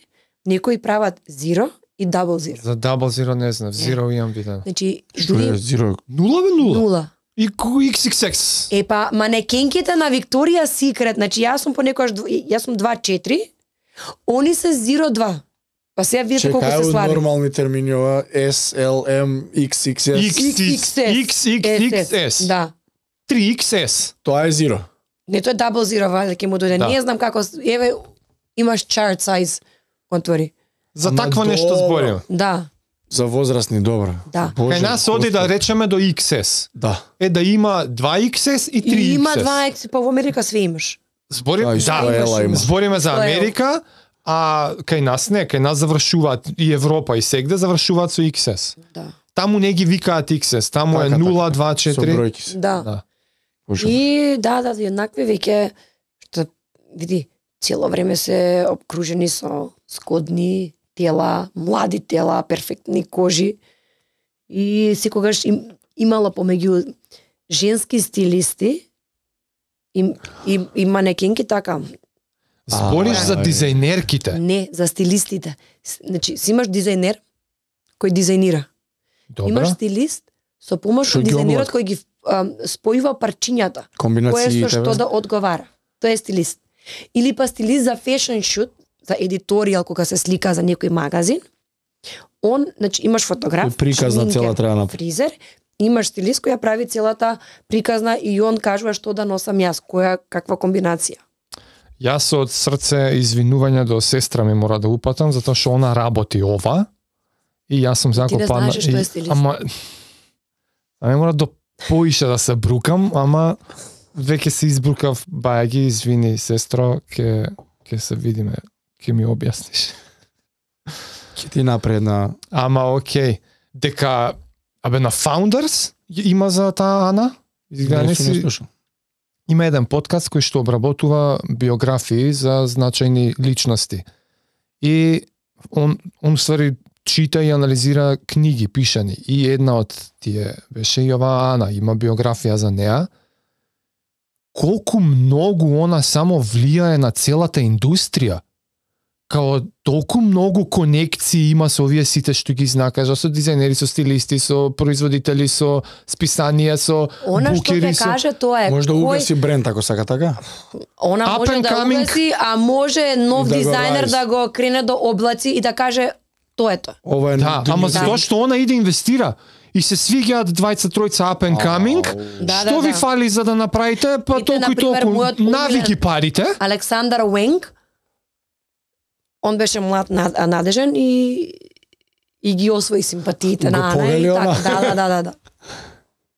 некои прават zero и double zero. За Double Zero не знам, Zero имам видено. Значи, Што е дури зиро? Нула бе нула? нула. И ку икс икс екс. Е па, манекенките на Викторија Секрет, значи јас сум понекогаш, дв- јас сум два четири, они се zero два. Па сега видите колку Чекај се од слаби. нормални термини ова S, L, M, X, X, S. X, X, X, X, S. Да. три икс ес. Тоа е зиро. Не, тоа е double zero, вајде ќе му дојде. Да. Не знам како, еве, имаш chart size, отвори. За Ама такво нешто добро. зборим. Да, За возрастни добро. Да. Боже, Кај нас оди да Господи. речеме до икс ес. Да. Е да има два икс ес и три и има икс ес. два екс, па во Америка све имаш. Зборим, Да, и да, што ела има. збориме за Што е? Америка, а кај нас не, кај нас завршуваат и Европа и сегде завршуваат со икс ес. Да. Таму не ги викаат икс ес, таму е Така, нула, два, Со четири. бројки се. Да. Да. Боже. И да, да, еднакви веќе што види, цело време се обкружени со скодни тела, млади тела, перфектни кожи. И секогаш им, имало помеѓу женски стилисти и, и, и манекенки така. Збориш А, за ај. дизајнерките. Не, за стилистите. С- Значи, си имаш дизајнер кој дизајнира. Имаш Добра. стилист со помош Што од ги дизајнерот облака? кој ги а, спојува парчињата. Кој Комбинациите. со што бе. да одговара. Тој е стилист. Или па стилист за фешн шут, за едиторијал кога се слика за некој магазин. Он, значи имаш фотограф, Кој приказна шминкер, цела треба направи. фризер, имаш стилист која прави целата приказна и он кажува што да носам јас, која каква комбинација. Јас од срце извинување до сестра ми мора да упатам, затоа што она работи ова и јас сум не закопана. знаеш што е стилист. Ама, ама мора до поише да се брукам, ама веќе се избрукав, бајаги, извини, сестро, ке, ке се видиме, ке ми објасниш. Ќе ти напредна. Ама окей, дека Абе на Founders има за таа Ана? Изгледа не си... слушам. Има еден подкаст кој што обработува биографии за значајни личности. И он, он ствари чита и анализира книги пишани. И една од тие беше и ова Ана, има биографија за неа. Колку многу она само влијае на целата индустрија. Као толку многу конекции има со овие сите што ги знакаш, со дизајнери, со стилисти, со производители, со списанија, со Она што букери, ќе со... каже тоа е Може да кој- угаси бренд ако сака така? Она Up може and да coming. угаси, а може нов Да го дизајнер rise. да го крене до облаци и да каже тоа е тоа. Ова е Да, други ама дизајн. затоа што она иде инвестира и се свиѓаат двајца тројца up and coming. Да, Што да, ви да. фали за да направите? Па Ите, толку и например, толку. мојот Навики умилен- парите. Александар Уенг, он беше млад, над- надежен и и ги освои симпатиите Го на Ана повели и она. така. Да, да, да, да, да.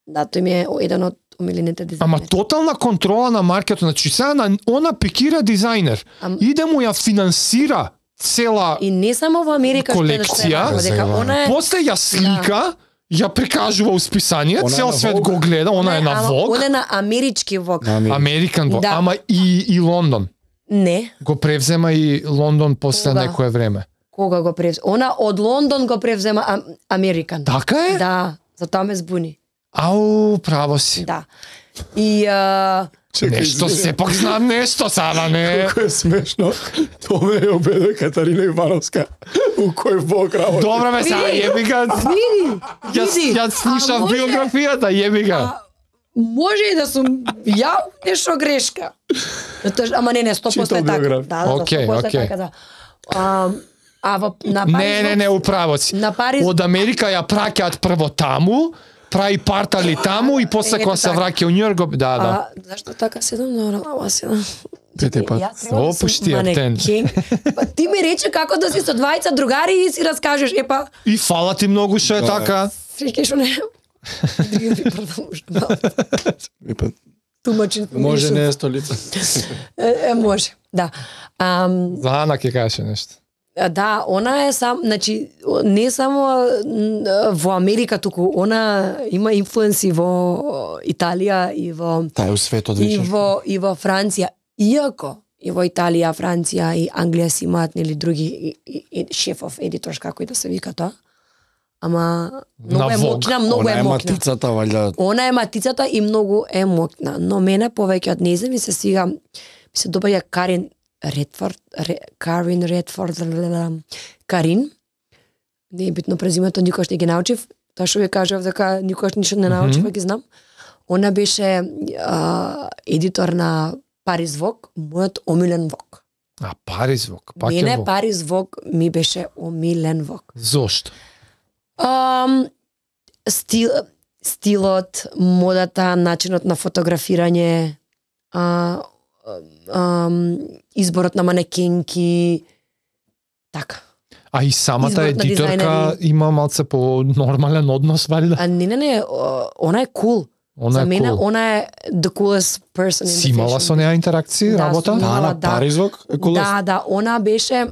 Да, тој ми е еден од омилените дизајнери. Ама тотална контрола на маркетот. Значи сега на она пикира дизајнер. Ам- Иде му ја финансира цела, И не само во Америка што е да колекција, се дека заебано. она е после ја слика, ја прикажува у списание, Она е цел на свет Vogue. го гледа, она е на ама Vogue, Она е на амерички Vogue. На Америка. Американ Vogue, Да. ама и и Лондон. Не, Го превзема и Лондон после Кога? некое време. кога го превзема. Она од Лондон го превзема ам, Американ. Така е? Да, затоа ме збуни. Ау, право си. Да. И а, Нешто сепак знам нешто сада, не. Колку е смешно. Тоа ме ја обеде Катарина Ивановска. У кој Бог работи. Добра ме сега, јеби га. види, Јас види. јас слушав А може- биографијата, јеби га. А, може и да сум ја нешто грешка. Тоа, ама не, не, сто проценто Читал е така. биографија. Да, да, Окей, сто проценто окей. е така, да. А, а во, на Париз... Не, не, не, управо си. На Париз... Од Америка ја праќаат прво таму, прави партали таму и после Ето кога се така. враќа у Њујорк, го- да, да. А, зашто така седам на ама седам? Пете пат. Јас треба да сум Опушти аптен. манекен. Па ти ми рече како да си со двајца другари и си раскажеш, е па, И фала ти многу што е Да. така. фрики што не... Други ми продолжам. И па, Тумачен. може не е столица. Е, е, може, да. Ам, За Ана ќе кажеш нешто. А, Да, она е сам, значи не само н- во Америка, туку она има инфлуенси во Италија и во Тај у светот и вечер. во и во Франција. Иако и во Италија, Франција и Англија си имаат нели други и, и, и шефов едитор како и да се вика тоа. Ама многу На е Vogue. мокна, многу Она е е мокна. матицата, валја. Она е матицата и многу е мокна, но мене повеќе од нејзе ми се свига, ми се добаја Карин Редфорд, Ре, Карин Редфорд, лелелелам, Карин. Не е битно презимето, никош не ги научив. Тоа што ви кажав дека никош ништо не научив, mm -hmm. ги знам. Она беше а, едитор на Париз Vogue, мојот омилен Vogue. А Париз Vogue, пак е Мене Vogue. Париз Vogue ми беше омилен Vogue. Зошто? Um, стил, стилот, модата, начинот на фотографирање, а, а, изборот на манекенки, така. А и самата Изборот на едиторка дизајнери. има малце по нормален однос, валјда? А не, не, не, о, она е cool. Она За е мене, cool. она е the coolest person in Си the имала fashion со неа интеракции, Да, работа? сум имала. Ана да. Паризвок е кулост. Да, да, она беше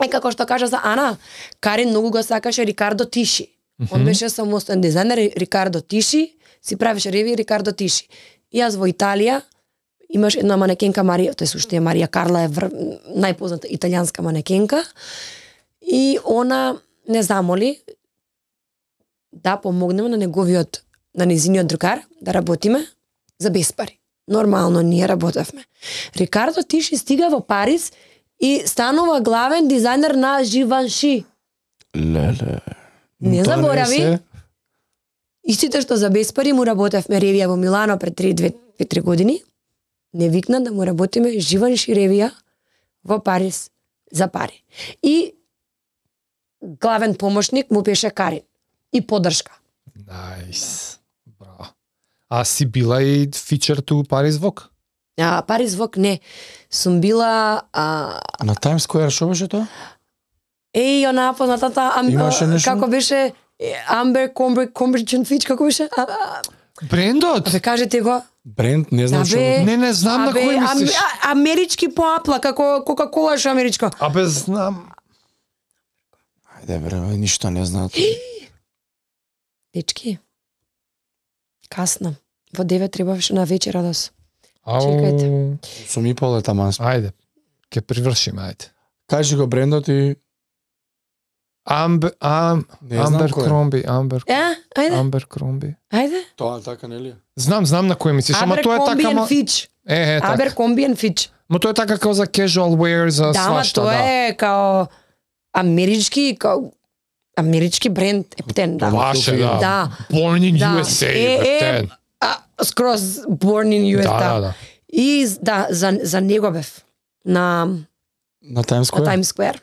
е како што кажа за Ана, Карин многу го сакаше Рикардо Тиши. Он беше самостоен дизајнер, Рикардо Тиши, си правеше реви Рикардо Тиши. И јас во Италија имаш една манекенка Марија, тој суште е Марија Карла е вр... најпозната италијанска манекенка. И она не замоли да помогнеме на неговиот, на незиниот другар да работиме за без пари. Нормално ние работевме. Рикардо Тиши стига во Париз и станува главен дизајнер на Живанши. Леле. Не Тоа заборави. се- Истите што за без пари му работевме ревија во Милано пред три години. Не викна да му работиме Живанши ревија во Париз за пари. И главен помошник му беше Карин. И поддршка. Најс. Браво. А си била и фичер ту Париз Vogue? А, Париз Vogue не. Сум била а, На Times Square што беше тоа? еј, она познатата ам, Имаше а, нешто? како беше е, Амбер Комбер Комбриджен Фич, како беше? А, а, Брендот? Абе, кажете го. Бренд, не знам Абе, што. Не, не знам на Абе, кој ам, мислиш. а, амерички по апла, како Кока-кола ше америчко. Абе, знам. Ајде бре, ништо не знаат. Дечки, касно. Во девет требаше на вечера да се. Ау, Чекајте. Сум и пол е таман. Ајде, ќе привршиме, ајде. Кажи го брендот и Амбер, ам, не знам Амбер кој е. Кромби, Амбер, Е, ајде, Амбер Кромби. ајде. Тоа така нели? Знам, знам на кој мислиш, ама тоа е така, Abercrombie ма... and Fitch. Е, е, така. Abercrombie and Fitch. Ма тоа е така како за casual wear, за Да, ама свашта, тоа да. е као амерички, као амерички бренд Ептен, да. Ваше, да. Да. Born in Да. U S A, Е, е, Ептен. А, скроз born in U S, Да, да. да, да. И да, за за него бев на На Times на Square? Times Square.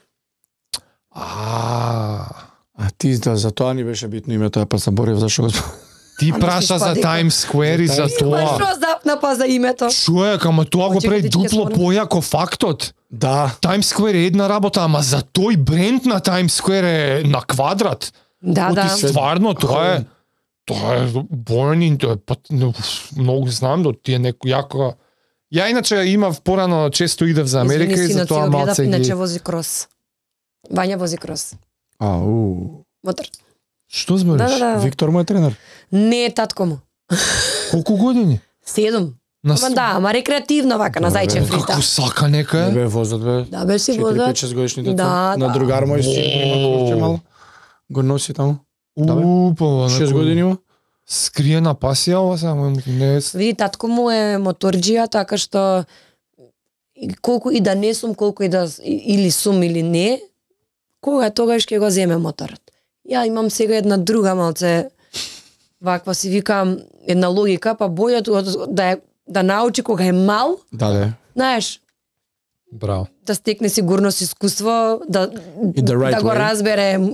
А, А ти да, за тоа ни беше битно името, ја па заборев зашо го ти Ама праша си за спади, Times Square и За за Times Ма тоа. што запна па за името? Човек, ама тоа го прави Очекайте, ќе дупло спомнам. појако фактот. Да. Times Square е една работа, ама за тој бренд на Times Square е на квадрат. Да, Оти да. стварно тоа е тоа е born in, тоа е пат, но, многу знам да ти е неко јако. Ја иначе имав порано често идев за Америка Извини, и за синот, тоа си го гледав, малце ги. иначе вози крос. Вања вози крос. Ау. Мотор. Што збориш? Да, да, да. Виктор му е тренер. Не е татко му. Колку години? Седум. На Ама да, ама рекреативно вака на Добре. зајчев фрита. Како сака нека Не е? бе возат бе. Да, бе си четири возат. пет шест годишни дете. Да, На да. другар мој си има О. курче мало. Го носи таму. Да, бе. Упа, шест години има. Скриена пасија ова само не е. Види, татко му е моторџија, така што и колку и да не сум, колку и да и- или сум или не, кога тогаш ќе го земе моторот. Ја имам сега една друга малце ваква си викам една логика, па бојот од- да е, да научи кога е мал, Да, да. знаеш, Браво. да стекне сигурност, искуство, да И the right да го way. разбере м-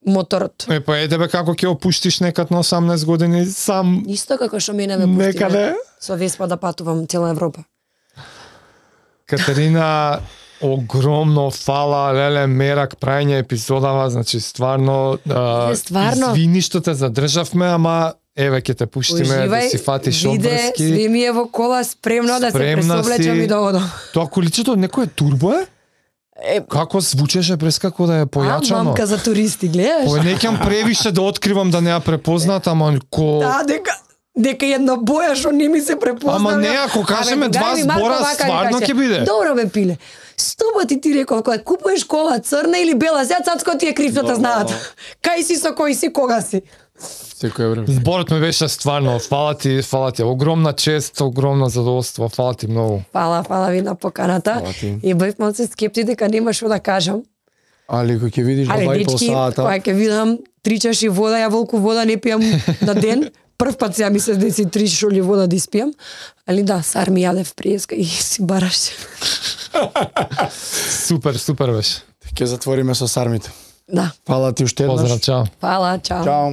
моторот. Е, па е тебе како ќе опуштиш некад на осамнаесет години сам Исто како што мене ме пусти некаде? со Веспа да патувам цела Европа. Катерина, огромно фала, леле, мерак, прајање епизодава, значи стварно, а, Е, стварно. извини што те задржавме, ама еве ќе те пуштиме да си фатиш виде, обврски. све ми е во кола спремно да се Спремна пресоблечам си. и да одам. Тоа количето некој е турбо е? Е, Како звучеше през како да е а, појачано? мамка за туристи, гледаш? Па не ќам превише да откривам да не ја препознат, ама ко... Да, дека дека една боја што не ми се препозна. Ама не, бе. ако кажеме Абе, два дај ми Марко збора, вака ми стварно каже. ќе биде. Добро бе, пиле. Сто пати ти реков, кога купуваш кола црна или бела, сега цацко ти е кривната знаат. Кај си со кој си, кога си? Секој време. Зборот ми беше стварно, фала ти, фала ти, огромна чест, огромно задоволство, фала ти многу. Фала, фала ви на поканата. Фала ти. И бев малце скепти дека нема што да кажам. Али кој ќе видиш Але два и пол дечки, сата. кога ќе видам три чаши вода, ја волку вода не пијам на ден. Прв пат сега ми се деси три шоли вода да испијам. Али да, сар ми јадев приеска и си бараш. Супер, супер беше. Ќе затвориме со сармите. Да. Фала ти уште еднаш. Поздрав, чао. Фала, чао. Чао.